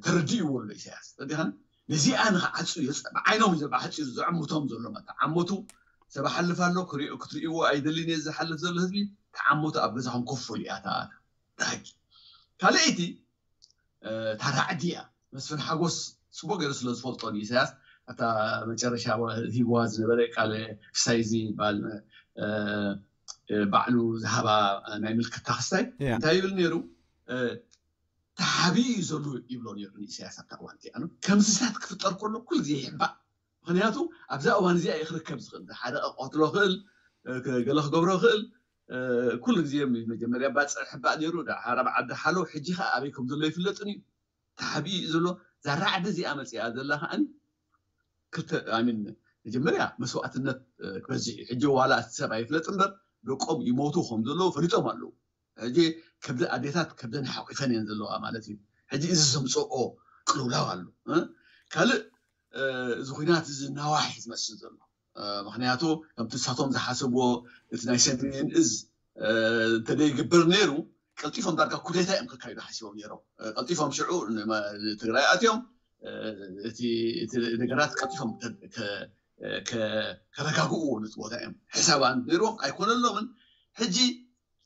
ተረዲእዎ ኣሎ ኢሳያስ። ተረዲኻኒ? ነዚኣ ንክዓፁ ብዓይኖም እዩ ብሓፂሩ ዘዕምቶም ዘሎ። ተዓመቱ ሰብ ሓልፍ ኣሎ ክትሪእዎ ኣይደልን እየ ዝሓልፍ ዘሎ ህዝቢ ተዓመቱ ኣብ ገዛኹም ኮፍ በሉ እያ እታ ሕጊ። ካልኣይቲ እታ ራዕዲ እያ። መስፍን ሓጎስ ፅቡቅ ገይሩ ስለ ዝፈልጦ ንኢሳያስ ኣብታ መጨረሻ ሂዋ ዝነበረ ቃለ ክስታይ እዚ ይበሃል ባዕሉ ዝሃባ ናይ ምልክታ ክስታይ እንታይ ይብል ነይሩ? ተሓቢኡ እዩ ዘሎ ይብሎ ነይሩ ንኢሳያስ ኣብታ እዋን እቲኣ ነው። ከምዚታት ክፍጠር ከሎ ኩሉ ግዜ ይሕባእ። ምክንያቱ ኣብዛ እዋን እዚኣ እዩ ክርከብ ዝኽእል። ሓደ ቀትሎ ክእል ገለ ክገብሮ ክእል ኩሉ ግዜ መጀመርያ ባፅዕ ሕባእ ነይሩ። ዳሓር ኣብ ዓዲ ሓሎ ሕጂ ከዓ ኣበይ ከም ዘሎ ይፍለጥን እዩ። ተሓቢኡ እዩ ዘሎ። እዛ ራዕዲ እዚኣ መፅኣ ዘላ ከዓ ክልተ ኣሚን መጀመርያ መስዋእትነት ክበዝሕ እዩ። ሕጂ ዋላ እቲ ሰብ ኣይፍለጥ እምበር ደቆም ይሞቱ ከም ዘለዉ ፈሊጦም ኣለዉ። ሕጂ ከብደ ኣዴታት ከብደን ሓቂፈን እየን ዘለዋ ማለት እዩ። ሕጂ እዚ ዘምፅኦ ቅልውላው ኣሎ። ካልእ እዚ ኩናት እዚ ናዋሒ ዝመስል ዘሎ ምክንያቱ ከምቲ ንሳቶም ዝሓሰብዎ እቲ ናይ ሰሜን እዝ እንተደይግበር ነይሩ ቀልጢፎም ዳርጋ ኩዴታ እዮም ከካይዱ ሓሲቦም ነይሮም። ቀልጢፎም ሽዑ ትግራይ ኣትዮም እቲ ነገራት ቀልጢፎም ከረጋግእዎ ነቲ ቦታ እዮም ሕሳብ ነይርዎም ኣይኮነሎምን። ሕጂ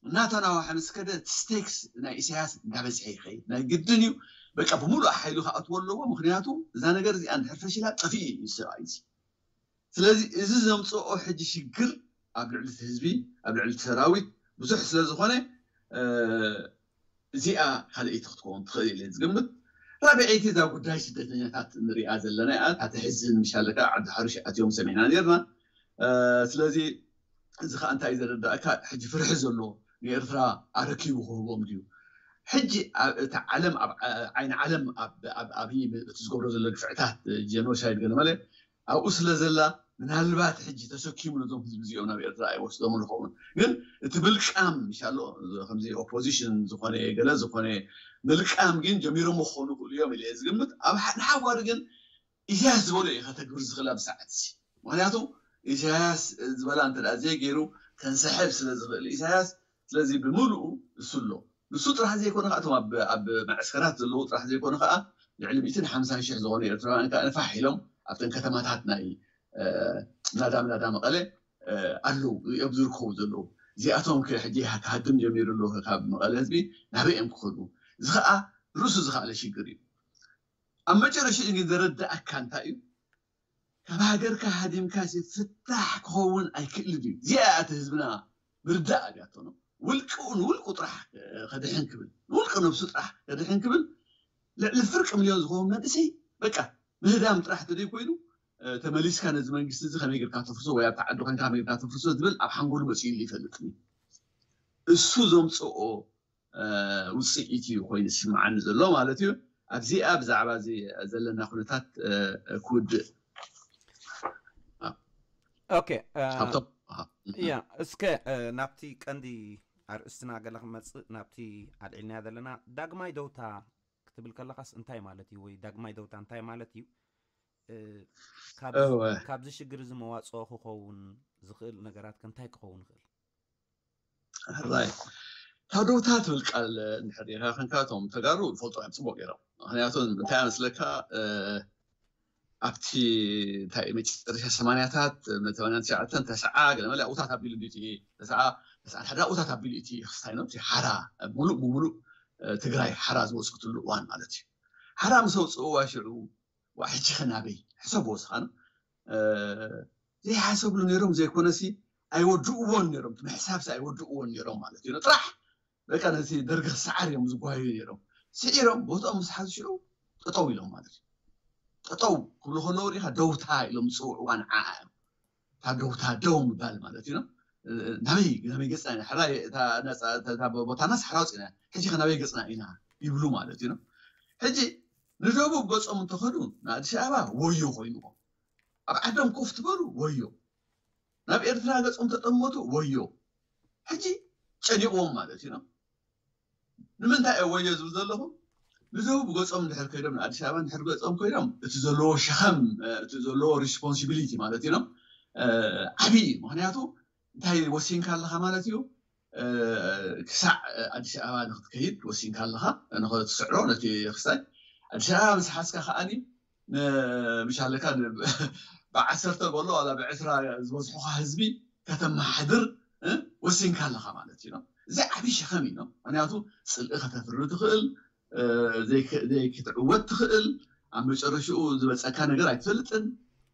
እናተናዋሐ ምስ ከደ ስቴክስ ናይ ኢሳያስ እንዳበዝሐ ይኸይድ ናይ ግድን እዩ። በቃ ብምሉእ ሓይሉ ክኣትዎ ኣለዎ። ምክንያቱ እዛ ነገር እዚኣ እንድሕር ፈሺላ ጠፊኡ እዩ ሰብኣይ እዚ። ስለዚ እዚ ዘምፅኦ ሕጂ ሽግር ኣብ ልዕሊ ህዝቢ ኣብ ልዕሊ ሰራዊት ብዙሕ ስለዝኾነ እዚኣ ካልኣይቲ ክትከውን ትኽእል ኢለ ዝግምት። ራብዐይቲ እዛ ጉዳይ ስደተኛታት ንሪኣ ዘለና እያ። እታ ተሕዝን ምሻለካ ዓዲ ሓሩሽ ኣትዮም ሰሚዕና ነርና። ስለዚ እዚ ከዓ እንታይ ዘረዳእካ ሕጂ ፍርሒ ዘሎ ንኤርትራ ኣረኪቡ ክህቦም ድዩ? ሕጂ እቲ ዓለም ዓይኒ ዓለም ኣብይ እቲ ዝገብሮ ዘሎ ግፍዕታት ጀኖሳይድ ገለመለ ኣብኡ ስለ ዘላ ምናልባት ሕጂ ተሰኪሙ ነዞም ህዝቢ እዚኦም ናብ ኤርትራ ኣይወስዶም ንኸውን። ግን እቲ ብልቃም ምሻሎ ከምዚ ኦፖዚሽን ዝኾነ ገለ ዝኾነ ምልቃም ግን ጀሚሮም ክኾኑ ክእሉ እዮም ኢለ ዝግምት። ኣብ ንሓዋሪ ግን ኢሳያስ ዝበሎ እዩ ከተግብር ዝኽእል ኣብ ሰዓት እዚ። ምክንያቱ ኢሳያስ ዝበላ እንተ ዘይገይሩ ከንሰሕብ ስለ ዝኽእል ኢሳያስ ስለዚ ብምሉኡ እሱ ኣሎ። ንሱ ጥራሕ ዘይኮነ ከዓ እቶም ኣብ መዕስከራት ዘለዉ ጥራሕ ዘይኮነ ከዓ ልዕሊ ሚእትን ሓምሳን ሽሕ ዝኾኑ ኤርትራውያን ከዓ ንፋሕ ኢሎም ኣብተን ከተማታት ናይ ናዳ ናዳ መቐለ ኣለዉ እዮም ዝርከቡ ዘለዉ። እዚኣቶም ሕጂ ክሃድም ጀሚሩ ኣለዉ ካብ መቐለ ህዝቢ ናበይ እዮም ክኸዱ? እዚ ከዓ ርእሱ ዝኸኣለ ሽግር እዩ። ኣብ መጨረሽኡ ግን ዘረዳእካ እንታይ እዩ? ካብ ሃገርካ ሃዲምካ ፍታሕ ክኸውን ኣይክእልን እዩ። እዚኣ እቲ ህዝብና ምርዳእ ኣብያቶ ነው። ውልቅኡ ንውልቁ ጥራሕ ከድሕን ክብል ንውልቂ ነብሱ ጥራሕ ከድሕን ክብል ልዕሊ ፍርቂ ሚልዮን ዝኸውን መንእሰይ በቃ ምህዳም ጥራሕ ተደይ ኮይኑ ተመሊስካ ነዚ መንግስቲ እዚ ከመይ ጌርካ ተፍርሶ ወይ ኣብቲ ዓዲ ኮንካ ከመይ ጌርካ ተፍርሶ ዝብል ኣብ ሓንጎሉ መፅኡ ይፈልጥኒ። እሱ ዘምፅኦ ውፅኢት እዩ ኮይኑ ዝስምዓኒ ዘሎ ማለት እዩ። ኣብዚኣ ብዛዕባ እዚ ዘለና ኩነታት ክውድእ። ኦኬ፣ ያ እስከ ናብቲ ቀንዲ ኣርእስትና ገለ ክመፅእ ናብቲ ኣልዒልናያ ዘለና ዳግማይ ደውታ ክትብል ከለካስ እንታይ ማለት እዩ? ወይ ዳግማይ ደውታ እንታይ ማለት እዩ? ካብዚ ሽግር እዚ መዋፅኦ ክኸውን ዝኽእል ነገራት ከ እንታይ ክኸውን ይኽእል? ሕራይ ካብ ደውታ ትብል ቃል እንድሕር ርኢኻ ክንካ እቶም ተጋሩ ይፈልጡ እዮም ፅቡቅ ገይሮም። ምክንያቱ እንታይ መስለካ ኣብቲ እንታይ መጨረሻ ሰማንያታት ሰማንያን ትሽዓተን ተስዓ ገለ መለ ኣብኡታት ኣቢሉ እንዲ እቲ ተስዓ ተስዓን ሓደ ኣብኡታት ኣቢሉ እቲ ክስታይ ነው እቲ ሓራ ሙሉእ ብሙሉእ ትግራይ ሓራ ዝወፅእትሉ እዋን ማለት እዩ። ሓራ ምስ ኣውፅእዋ ሽዑ ዋ ሕጂ ከ ናበይ ሕሰብዎ ስኻን ዘይሓሰብሉ ነይሮም ዘይኮነሲ ኣይወድእዎን ነይሮም ምሕሳብሲ ኣይወድእዎን ነይሮም ማለት እዩ ጥራሕ በቃ ነቲ ደርጊ ክሰዓር እዮም ዝጓዩ ነይሮም። ስዒሮም ቦትኦም ምስ ሓዙ ሽዑ ጠጠው ኢሎም ማለት እዩ። ጠጠው ክብሉ ከለዉ ሪኢኻ ደውታ ኢሎም ዝፅውዕዋ ንዓ እዮም። እታ ደውታ ደው ምባል ማለት እዩ። ናበይ ናበይ ገፅና ኢና ሕራይ እታ ቦታ ናስ ሓራ ወፂና ሕጂ ከ ናበይ ገፅና ኢና ይብሉ ማለት እዩ። ሕጂ ንደቡብ ገፆም እንተኸዱ ንኣዲስ ኣበባ ወዮ ኮይንዎም ኣብ ዓዶም ኮፍ ትበሉ ወዮ ናብ ኤርትራ ገፆም ተጠመቱ ወዮ ሕጂ ጨኒቕዎም ማለት እዩ። ንምንታይ እየ ወዮ ዝብል ዘለኹ ንደቡብ ገፆም እንድሕር ከይዶም ንኣዲስ ኣበባ እንድሕር ገፆም ኮይዶም እቲ ዘለዎ ሸኸም እቲ ዘለዎ ሪስፖንሲቢሊቲ ማለት እዩ ዓብዪ እዩ። ምክንያቱ እንታይ ወሲንካ ኣለካ ማለት እዩ ክሳዕ ኣዲስ ኣበባ ንክትከይድ ወሲንካ ኣለካ ንክትስዕሮ ነቲ ክስታይ ኣዲስ ኣበባ ምስ ሓዝካ ከዓኒ ምሻለካ ብዓሰርተ በሎ ዋላ ብዕስራ ዝበዝሑካ ህዝቢ ከተመሓድር ወሲንካ ኣለካ ማለት እዩ። እዚ ዓብዪ ሸኸም እዩ። ምክንያቱ ፅልኢ ከተፍሪ ትኽእል ዘይክትዕወት ትኽእል ኣብ መጨረሽኡ ዝበፀካ ነገር ኣይትፈልጥን።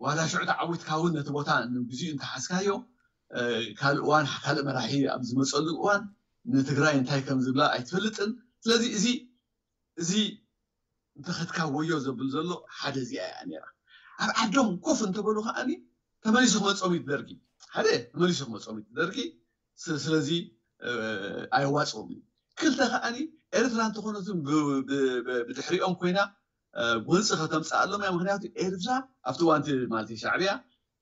ዋላ ሽዑ ተዓዊትካ እውን ነቲ ቦታ ንግዚኡ እንተሓዝካዮ ካልእ እዋን ካልእ መራሒ ኣብ ዝመፀሉ እዋን ንትግራይ እንታይ ከም ዝብላ ኣይትፈልጥን። ስለዚ እዚ እዚ እንተኸድካ ወዮ ዘብል ዘሎ ሓደ እዚኣ እያ ነራ። ኣብ ዓዶም ኮፍ እንተበሉ ከዓኒ ተመሊሱ ክመፆም እዩ ደርጊ ሓደ ተመሊሱ ክመፆም እዩ ደርጊ። ስለዚ ኣየዋፅኦም እዩ። ክልተ ከዓኒ ኤርትራ እንተኾነትን ብድሕሪኦም ኮይና ጎንፂ ከተምፅኣሎም እያ። ምክንያቱ ኤርትራ ኣብቲ እዋንቲ ማለት ሻዕብያ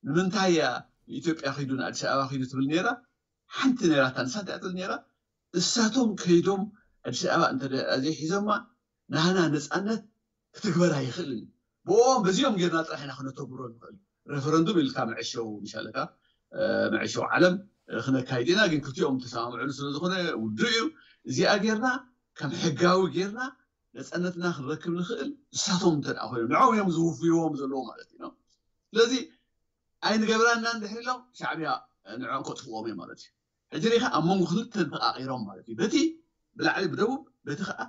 ንምንታይ እያ ንኢትዮጵያ ኪዱ ንኣዲስ ኣበባ ኪዱ ትብል ነራ? ሓንቲ ነራታ ንሳ እንታይ ትብል ነራ? እሳቶም ከይዶም ኣዲስ ኣበባ እንተ ዘይሒዞማ ናህና ነፃነት ክትግበር ኣይኽእልን። ብኦም በዚኦም ጌርና ጥራሕ ኢና ክነተግብሮ ንኽእል። ሬፈረንዱም ኢልካ መዐሸው ምሻለካ መዐሸው ዓለም ክነካይድ ኢና። ግን ክልቲኦም ተሰማምዕሉ ስለዝኾነ ውድእ እዩ። እዚኣ ጌርና ከም ሕጋዊ ጌርና ነፃነትና ክንረክብ ንኽእል። እሳቶም እንተ ኮይኖም ንዕኦም እዮም ዝውፍይዎም ዘለዎ ማለት እዩ። ስለዚ ኣይንገብራና እንድሕር ኢሎም ሻዕብያ ንዕኦም ከጥፍዎም እዮም ማለት እዩ። ሕጂ ሪኢኻ ኣብ መንጎ ክልተ ተቃቂሮም ማለት እዩ። በቲ ብላዕሊ ብደቡብ በቲ ከዓ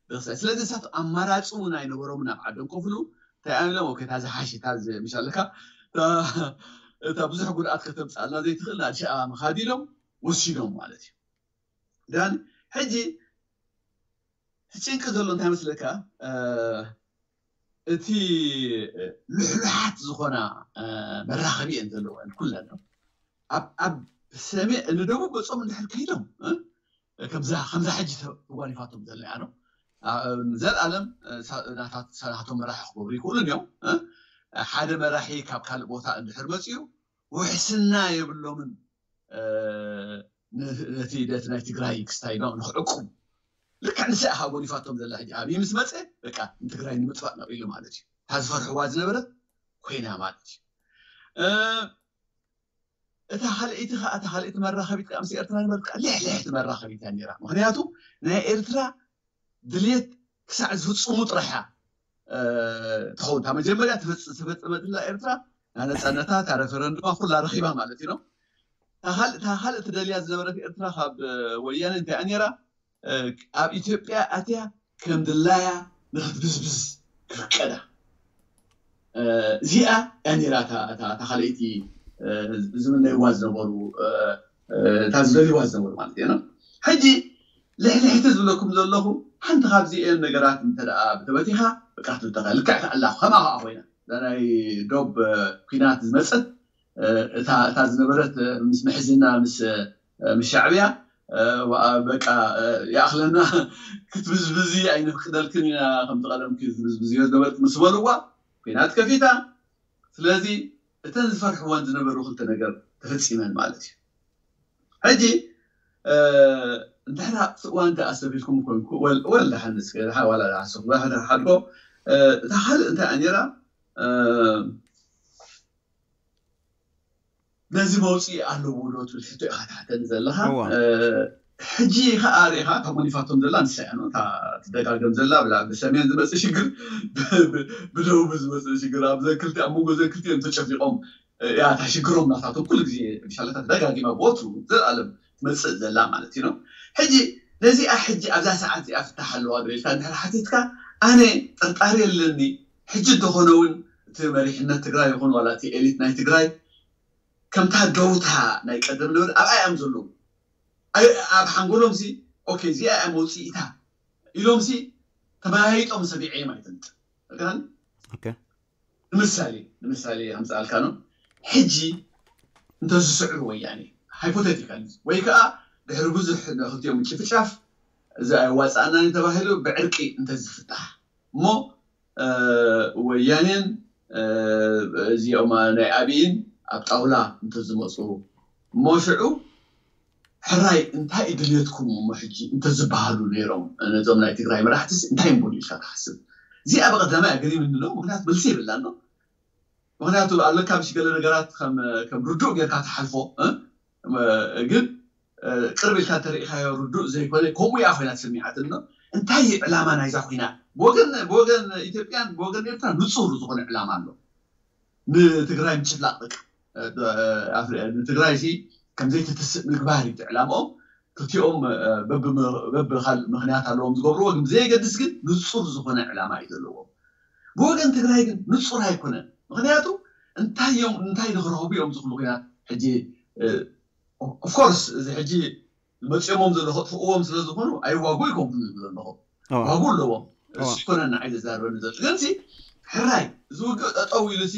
ብክሳይ። ስለዚ ንሳት ኣማራፂ እውን ኣይነበሮምን ኣብ ዓዶም ከፍሉ እንታይ ኣሚሎም ኦኬ እታ ዝሓሽ እታ ምሻለካ እታ ብዙሕ ጉድኣት ከተምፃልና ዘይትኽእል ኣዲስ ኣበባ ምኻድ ኢሎም ወሲዶም ማለት እዩ። ዳን ሕጂ እቲ ጭንቂ ዘሎ እንታይ መስለካ እቲ ልሕሉሓት ዝኾና መራኸቢ እየን ዘለወን ኩለን ኣብ ሰሜ ንደቡብ ገፆም እንድሕር ከይዶም ከምዛ ከምዛ ሕጂ ተጓኒፋቶም ዘለያ ነው። ዘልኣለም ናቶም መራሒ ክገብሩ ይክእሉን እዮም። ሓደ መራሒ ካብ ካልእ ቦታ እንድሕር መፅኡ ውሕስና የብሎምን። ነቲ ደቲ ናይ ትግራይ ክስታይ ንክዕቁም ልክዕ ንስኣ ካብ ጎኒፋቶም ዘላ ሕጂ ኣብይ ምስ መፀ በቃ ንትግራይ ንምጥፋእ ነቂሉ ማለት እዩ። እታ ዝፈርሕዋ ዝነበረት ኮይና ማለት እዩ። እታ ካልኣይቲ ከዓ እታ ካልኣይቲ መራኸቢት ከዓ ምስ ኤርትራ ንበልካ ልሕልሕቲ መራኸቢት እያ ነይራ። ምክንያቱ ናይ ኤርትራ ድልየት ክሳዕ ዝፍፅሙ ጥራሓ ትኸውን። እታ መጀመርያ ተፈፀመትላ ኤርትራ ናነፃነታ እታ ረፈረንዱማ ኩላ ረኪባ ማለት እዩ። እታ ካልእ ትደልያ ዝነበረት ኤርትራ ካብ ወያነ እንታይ ነራ? ኣብ ኢትዮጵያ ኣትያ ከም ድላያ ንክትብዝብዝ ክፍቀዳ። እዚኣ እያ ነራ እታ ካልኣይቲ ዝምነይዋ ዝነበሩ፣ እታ ዝደልይዋ ዝነበሩ ማለት እዩ። ሕጂ ልሕልሕቲ ዝብለኩም ዘለኹ ሓንቲ ካብዚኤን ነገራት እንተ ብተበቲኻ ብቃ ትብተኻ ልክዕ ተኣላ ከማ ከዓ ኮይና ናይ ዶብ ኩናት ዝመፀት እታ ዝነበረት ምስ ምሕዝና ምስ ሻዕብያ በቃ ይኣኽለና ክትብዝብዚ ኣይንፍቅደልክን ኢና ከምቲ ቀደምኪ ዝብዝብዝዮ ዝነበርክ ምስ በልዋ ኩናት ከፊታ። ስለዚ እተን ዝፈርሕወን ዝነበሩ ክልተ ነገር ተፈፂመን ማለት እዩ። ሕጂ እንድሕራ እዋን ተኣሰቢልኩም ኮንኩ ወላ ሓንስ ሓዋላ ሓስኹ ሓድጎ እታ ካልእ እንታይ ኣኔራ ነዚ መውፅኢ ኣለዎ ዶ ትብል ሕቶ ኢኻ ትሓተኒ ዘለኻ። ሕጂ ከዓ ሪኢኻ እታ ጎኒፋቶም ዘላ ንሳ እያ እታ ትደጋገም ዘላ ብላ ብሰሜን ዝመፅእ ሽግር ብደቡብ ዝመፅእ ሽግር ኣብ ዘክልቲ ኣብ መንጎ ዘክልቲ እዮም ተጨፊቆም እያ እታ ሽግሮም ናታቶም ኩሉ ግዜ ብሻለታ ተደጋጊማ ብወትሩ ዘላለም ትመፅእ ዘላ ማለት እዩ። ሕጂ ነዚኣ ሕጂ ኣብዛ ሰዓት እዚኣ ፍታሕ ኣለዋ ዶ ኢልካ እንድሕር ሓቲትካ ኣነ ጥርጣሪ የለኒ። ሕጂ እንተኾነ እውን እቲ መሪሕነት ትግራይ ይኹን ዋላ እቲ ኤሊት ናይ ትግራይ ከምታ ደውታ ናይ ቀደም ነበረ ኣብኣ እዮም ዘለዉ። ኣብ ሓንጎሎም ሲ ኦኬ እዚኣ እያ መውፅኢታ ኢሎም ሲ ተመያይጦም ሰሚዐ ማለት እንት ንምሳሌ ንምሳሌ ኣምፅኣልካ ነው። ሕጂ እንተዝስዕሩ ወያኔ ሃይፖቴቲካል ወይ ከዓ ድሕሪ ብዙሕ ክልቲኦም ጭፍጫፍ እዚ ኣይዋፃእናን ተባሂሉ ብዕርቂ እንተዝፍታሕ እሞ ወያኔን እዚኦም ናይ ኣብይን ኣብ ጣውላ እንተዝመፁ እሞ ሽዑ ሕራይ እንታይ ድልየትኩም እሞ ሕጂ እንተዝበሃሉ ነይሮም ነዞም ናይ ትግራይ መራሕትስ እንታይ ምበሉ ኢልካ ትሓስብ? እዚኣ ብቐዳማይ ኣገሪምኒ ኣሎ። ምክንያቱ መልሲ የብላን ነው። ምክንያቱ ኣለካ ምሽ ገለ ነገራት ከም ርዱእ ጌርካ ትሓልፎ ግን ቅርብ ኢልካ እንተሪኢኻዮ ርዱእ ዘይኮነ ከምኡ እያ ኮይና ተሰሚዓትኒ። እንታይ እዩ ዕላማ ናይዛ ኩናት ብወገን ብወገን ኢትዮጵያን ብወገን ኤርትራ ንፁር ዝኾነ ዕላማ ኣሎ። ንትግራይ ምጭፍላቕ በቃ ንትግራይ ሲ ከምዘይትትስእ ምግባር እዩ ዕላምኦም። ክልቲኦም በብካልእ ምክንያት ኣለዎም ዝገብርዎ ግን ብዘየገድስ ግን ንፁር ዝኾነ ዕላማ እዩ ዘለዎም። ብወገን ትግራይ ግን ንፁር ኣይኮነን። ምክንያቱ እንታይ እዮም እንታይ ንክረኽቡ እዮም ዝኽሉ ኩናት ሕጂ ኦፍኮርስ እዚ ሕጂ መፂኦሞም ዘሎ ከጥፍእዎም ስለዝኾኑ ኣይዋጉ ይኮንኩን ዝብሉ ዘለኹ ዋጉ ኣለዎም። እሱ ይኮነና ዓይነ ዝዛርበኒ ዘሎ ግን ሕራይ እዚ ውግእ ጠጠው ኢሉ ሲ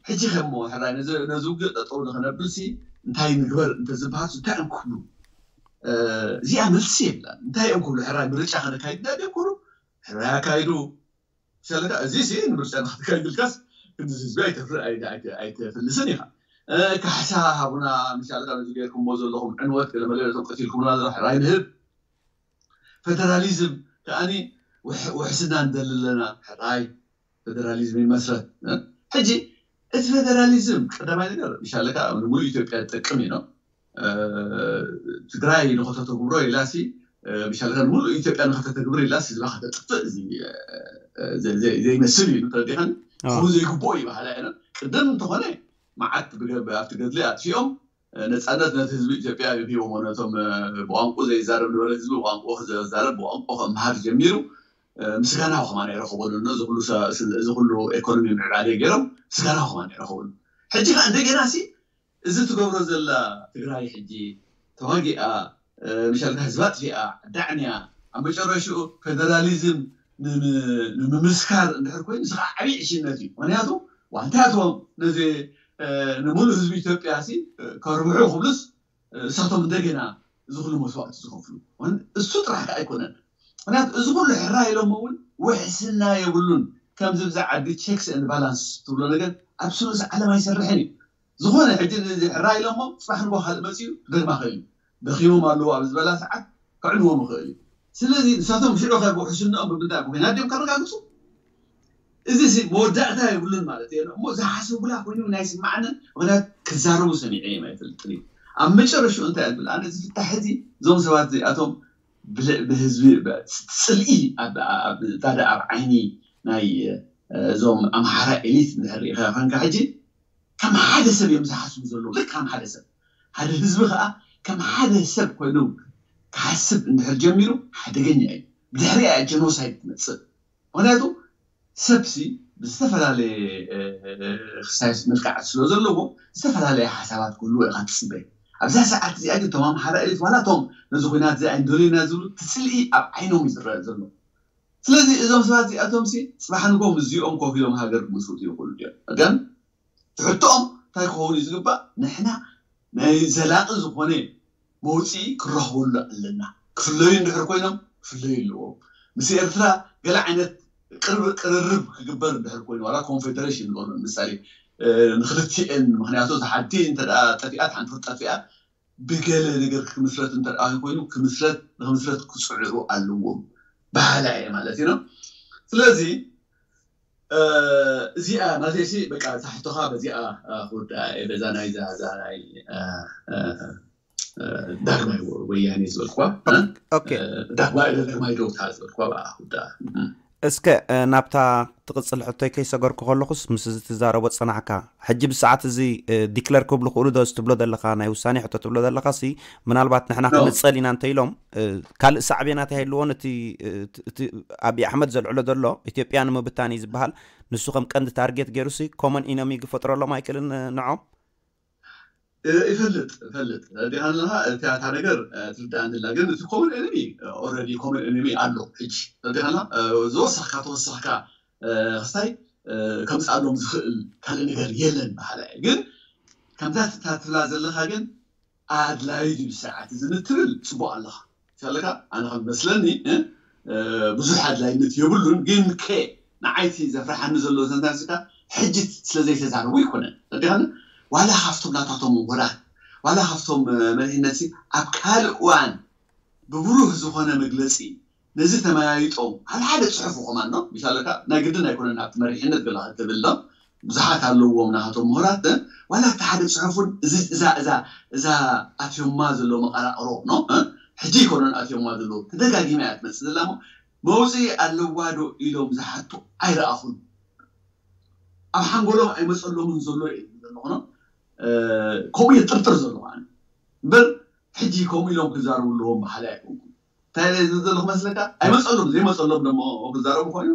ሕጂ ከሞ ሕራይ ነዚ ውግእ ጠጠው ንክነብል ሲ እንታይ ንግበር እንተዝበሃል እንታይ እዮም ክብሉ? እዚኣ መልሲ የብላን። እንታይ እዮም ክብሉ? ሕራይ ምርጫ ከነካይድ ዳ ክብሉ? ሕራይ ኣካይዱ ሰለካ እዚ ሲ ንምርጫ ንክትካይድ ኢልካስ ክንዚ ህዝቢ ኣይተፍልስን ኢኻ። ካሕሳ ሃቡና ምሻልካ ነዚ ገይርኩምዎ ዘለኹም ዕንወት ገለመለ ነቶም ቀቲልኩምና ዘሎ ሕራይ ንህብ። ፌደራሊዝም ከዓኒ ውሕስና ንደሊ ኣለና። ሕራይ ፌደራሊዝም ይመስረት። ሕጂ እቲ ፌደራሊዝም ቀዳማይ ነገር ምሻለካ ንሙሉእ ኢትዮጵያ ዝጠቅም እዩ። ትግራይ ንኸተተግብሮ ኢላሲ ምሻለካ ንሙሉእ ኢትዮጵያ ንኸተተግብር ኢላሲ ህዝባ ከተጥፍእ ዘይመስል እዩ። ተረዲኻኒ? ክኸውን ዘይግብኦ እዩ በሃላ እየ። ቅድም እንተኾነ መዓት ኣብቲ ገድሊ ኣጥፊኦም ነፃነት ነቲ ህዝቢ ኢትዮጵያ እዮም ሂቦሞ። ነቶም ብቋንቁ ዘይዛረብ ነበረ ህዝቢ ብቋንቁ ክዛረብ ብቋንቁ ከመሃር ጀሚሩ ምስጋና ከማን ኣይረኸበሉን እዚ ኩሉ ኤኮኖሚ ምዕባለ ገይሮም ምስጋና ከማን ኣይረኸበሉ። ሕጂ ከዓ እንደገና ሲ እዚ ትገብሮ ዘላ ትግራይ ሕጂ ተዋጊኣ ምሻልካ ህዝባ ኣጥፊኣ ዳዕንያ ኣብ መጨረሽኡ ፌደራሊዝም ንምምስካር እንድሕር ኮይኑ እዚ ከዓ ዓብዪ ዕሽነት እዩ። ምክንያቱ ዋንታያትዎም ነዚ ንሙሉእ ህዝቢ ኢትዮጵያ ሲ ከርብሑ ክብሉስ እሳቶም እንደገና እዚ ኩሉ መስዋእቲ ዝኸፍሉ እሱ ጥራሕ ከዓ ኣይኮነን። ምክንያቱ እዚ ኩሉ ሕራ ኢሎም እውን ውሕስና የብሉን። ከምዚ ብዛ ዓዲ ቸክስ ኤንድ ባላንስ ትብሎ ነገር ኣብ ስሉስ ዓለም ኣይሰርሕን እዩ። ዝኾነ ሕጂ ሕራ ኢሎሞ ፅባሕ ንጎ ካልእ መፅኡ ክደግማ ክእል እዩ። ደኺሞም ኣለዉ ኣብ ዝበላ ሰዓት ከዕንዎም ይኽእል እዩ። ስለዚ ንሳቶም ሽዑ ከ ብውሕስንኦም ብምንታይ ብኩናት ድዮም ከረጋግፁ? እዚ ሲ መወዳእታ የብሉን ማለት እየ። እሞ ዝሓሰቡላ ኮይኑ ናይ ስማዕነ ምክንያት ክዛረቡ ሰሚዐ እዮም ኣይፈልጥን እዩ። ኣብ መጨረሽኡ እንታይ ኣብል ኣነ ዝፍታሕ እዚ እዞም ሰባት እዚኣቶም ብልዕ ብህዝቢ ጽልኢ ኣብ ዳዳ ኣብ ዓይኒ ናይ እዞም ኣምሓራ ኤሊት እንድሕር ሪኢኻ ኮንካ ሕጂ ከም ሓደ ሰብ እዮም ዝሓስቡ ዘለዉ። ልክ ከም ሓደ ሰብ ሓደ ህዝቢ ከዓ ከም ሓደ ሰብ ኮይኑ ክሓስብ እንድሕር ጀሚሩ ሓደገኛ እዩ። ብድሕሪኣ ጀኖሳይድ ትመፅእ። ምክንያቱ ሰብሲ ብዝተፈላለየ ክስታይ መልክዓት ስለ ዘለዎ ዝተፈላለየ ሓሳባት ክህልዎ ኢካ ትፅበ። ኣብዛ ሰዓት እዚኣ ግን እቶም ኣምሓራ ኤሊት ዋላ እቶም ነዚ ኩናት እዚ ኣይንደልዮና ዝብሉ እቲ ፅልኢ ኣብ ዓይኖም እዩ ዝረአ ዘሎ። ስለዚ እዞም ሰባት እዚኣቶም ሲ ፅባሕ ንጎ ምስዚኦም ኮፍ ኢሎም ሃገር ክምስርቱ ይኽእሉ እዮም። ግን ትሕቶኦም እንታይ ክኸውን እዩ ዝግባእ? ንሕና ናይ ዘላቂ ዝኾነ መውፅኢ ክረኽበሉ ኣለና። ክፍለዩ እንድሕር ኮይኖም ክፍለዩ ኣለዎም። ምስ ኤርትራ ገለ ዓይነት ቅርብ ቅርርብ ክግበር እንድሕር ኮይኑ ዋላ ኮንፌደሬሽን ንገብሮ ንምሳሌ ንክልቲኤን ምክንያቱ እዛ ሓንቲ እንተ ጠፊኣት ሓንቲ ክትጠፊኣ ብገለ ነገር ክምስረት እንተ ኮይኑ ክምስረት ንክምስረት ክፅዕሩ ኣለዎም በሃላ እየ ማለት እዩ። ስለዚ እዚኣ ናተይሲ በቃ እዛ ሕቶኻ በዚኣ ክውዳ እየ በዛ ናይዛ እዛ ናይ ዳግማይ ወያኔ ዝበልኩዋ ዳግማይ ዳግማይ ደውታ ዝበልኩዋ ብኣ ክውዳ። እስከ ናብታ ትቕፅል ሕቶይ ከይሰገርኩ ከለኹስ ምስ እዚ ትዛረቦ ፀናሕካ ሕጂ ብሰዓት እዚ ዲክለር ክብሉ ክእሉ ዶ ትብሎ ዘለካ ናይ ውሳኔ ሕቶ ትብሎ ዘለካ ሲ ምናልባት ንሕና ክንፀል ኢና እንተ ኢሎም ካልእ ሳዕቤናት ኣይህልዎን እቲ ኣብይ ኣሕመድ ዘልዕሎ ዘሎ ኢትዮጵያ ንምብታን እዩ ዝበሃል ንሱ ከም ቀንዲ ታርጌት ገይሩ ሲ ኮመን ኢነሚ ክፈጥረሎም ኣይክእልን ንዖም ይፈልጥ ይፈልጥ ዲኻ ኣለኻ እቲያታ ነገር ትርዳእ እንድላ ግን እቲ ኮመን ኤነሚ ኦረዲ ኮመን ኤነሚ ኣሎ ሕጂ ዲኻ ዝወሰኽካ ተወሰኽካ ክስታይ ከምፅኣሎም ዝኽእል ካልእ ነገር የለን በሃላ እየ ግን ከምዛ ትብላ ዘለኻ ግን ኣድላይ ድዩ ሰዓት እዚ ንትብል ፅቡቅ ኣለኻ ይፈልካ ኣነ ከም መስለኒ ብዙሕ ኣድላይነት የብሉን ግን ከ ንዓይቲ ዘፍርሓኒ ዘሎ ዘንታንስካ ሕጂ ስለዘይተዛረቡ ይኮነን ረዲኻኒ ዋላ ካብቶም ናታቶም ምሁራት ዋላ ካብቶም መሪሕነት ኣብ ካልእ እዋን ብብሩህ ዝኾነ መግለፂ ነዚ ተመያይጦም ሓደ ሓደ ፅሑፍ ከማን ነው ይሻለካ ናይ ግድን ኣይኮነን ኣብቲ መሪሕነት ገለ ክትብል ነው ብዙሓት ኣለዎም ናቶም ምሁራት ዋላ እቲ ሓደ ፅሑፉን እዚ እዛ እዛ እዛ ኣትዮማ ዘሎ መቀራቅሮ ነው ሕጂ ይኮነን ኣትዮማ ዘሎ ተደጋጊማ እያ ትመፅእ ዘላ መውፅኢ ኣለዋ ዶ ኢሎም ዝሓቱ ኣይረኣኹን ኣብ ሓንጎሎም ኣይመፀሎምን ዘሎ እዩ ዘለኹ ነው ከምኡ እየ ጥርጥር ዘለኹ እምበር ሕጂ ከምኡ ኢሎም ክዛረቡ ኣለዎም በሓላይ ኣይኮንኩም እንታይ ዝብል ዘለኹ መስለካ ኣይመፀሎም ዘይመፀሎም ደሞ ክዛረቡ ኮይኑ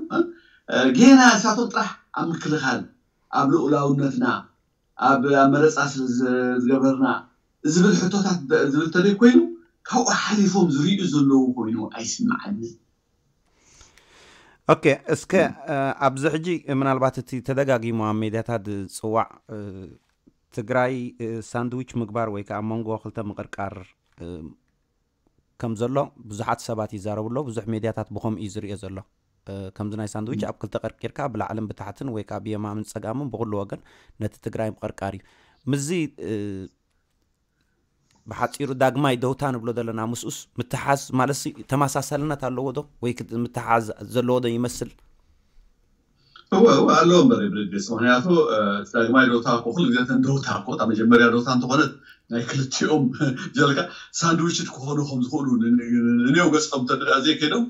ጌና ንሳቶም ጥራሕ ኣብ ምክልኻል ኣብ ልኡላውነትና ኣብ ኣመረፃ ስለ ዝገበርና ዝብል ሕቶታት ዝብል ተደይ ኮይኑ ካብኡ ሓሊፎም ዝርእዩ ዘለዉ ኮይኑ ኣይስምዓኒ ኦኬ እስከ ኣብዚ ሕጂ ምናልባት እቲ ተደጋጊሙ ኣብ ሜድያታት ዝፅዋዕ ትግራይ ሳንድዊች ምግባር ወይ ከዓ መንጎ ክልተ ምቅርቃር ከም ዘሎ ብዙሓት ሰባት ይዛረቡ ኣለዉ ብዙሕ ሜድያታት ብከምኡ እዩ ዝርእዮ ዘሎ ከምዚ ናይ ሳንድዊች ኣብ ክልተ ቀርቂርካ ብላዕልን ብታሕትን ወይ ከዓ ብየማምን ፀጋምን ብኩሉ ወገን ነቲ ትግራይ ምቅርቃር እዩ ምዚ ብሓፂሩ ዳግማይ ደውታ ንብሎ ዘለና ምስኡስ ምትሓዝ ማለት ተመሳሳልነት ኣለዎ ዶ ወይ ምትሓዝ ዘለዎ ዶ ይመስል እወ እወ ኣለዎ እምበር ብርግስ ምክንያቱ ዳግማይ ዶታ እኮ ኩሉ ግዜ ተን ዶታ እኮ እታ መጀመርያ ዶታ እንተኾነት ናይ ክልቲኦም ጀልካ ሳንድዊችድ ክኾኑ ከም ዝኽእሉ ንኔው ገፆም ተደኣ ዘይከይዶም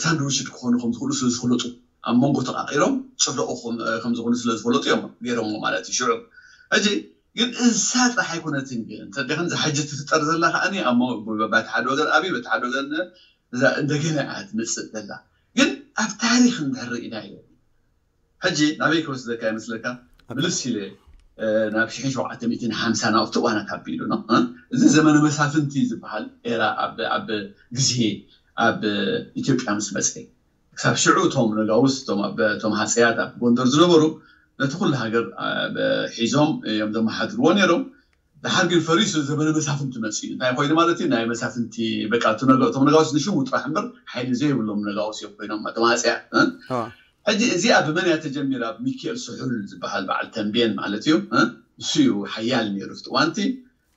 ሳንድዊችድ ክኾኑ ከም ዝኽእሉ ስለ ዝፍለጡ ኣብ መንጎ ተቃቂሮም ፅለኦ ከም ዝኾኑ ስለ ዝፈለጡ እዮም ገይሮሞ ማለት እዩ ሽዑ ሕጂ ግን እንሳ ጥራሕ ኣይኮነትን ግን እንተደኸን ዝሓጂ ትፍጠር ዘላ ከዓኒ ኣብ በቲ ሓደ ወገን ኣብይ በቲ ሓደ ወገን እዛ እንደገና እያ ትመፅእ ዘላ ግን ኣብ ታሪክ እንድሕር ርኢናዮ ሕጂ ናበይ ክወስደካ ይመስለካ ምልስ ኢለ ናብ ሽሕን ሸውዓተ ሚእትን ሓምሳ ናብቲ እዋናት ኣቢሉ ነው እዚ ዘመነ መሳፍንቲ ዝበሃል ኤራ ኣብ ግዜ ኣብ ኢትዮጵያ ምስ መፀ ክሳብ ሽዑ እቶም ነጋውስ እቶም ኣብ እቶም ሃፀያት ኣብ ጎንደር ዝነበሩ ነቲ ኩሉ ሃገር ሒዞም እዮም ዘመሓድርዎ ነይሮም። ደሓር ግን ፈሪሱ ዘመነ መሳፍንቲ መፅኡ እዩ። እንታይ ኮይኑ ማለት እዩ? ናይ መሳፍንቲ በቃ እቶም ነጋውስ ንሽሙ ጥራሕ እምበር ሓይሊ ዘይብሎም ነጋውስ እዮም ኮይኖም እቶም ሃፀያት። ሕጂ እዚኣ ብመን እያ ተጀሚራ? ብሚኪኤል ስሑል ዝበሃል በዓል ተንቤን ማለት እዩ። ንሱ እዩ ሓያል ነይሩ ኣብቲ እዋንቲ።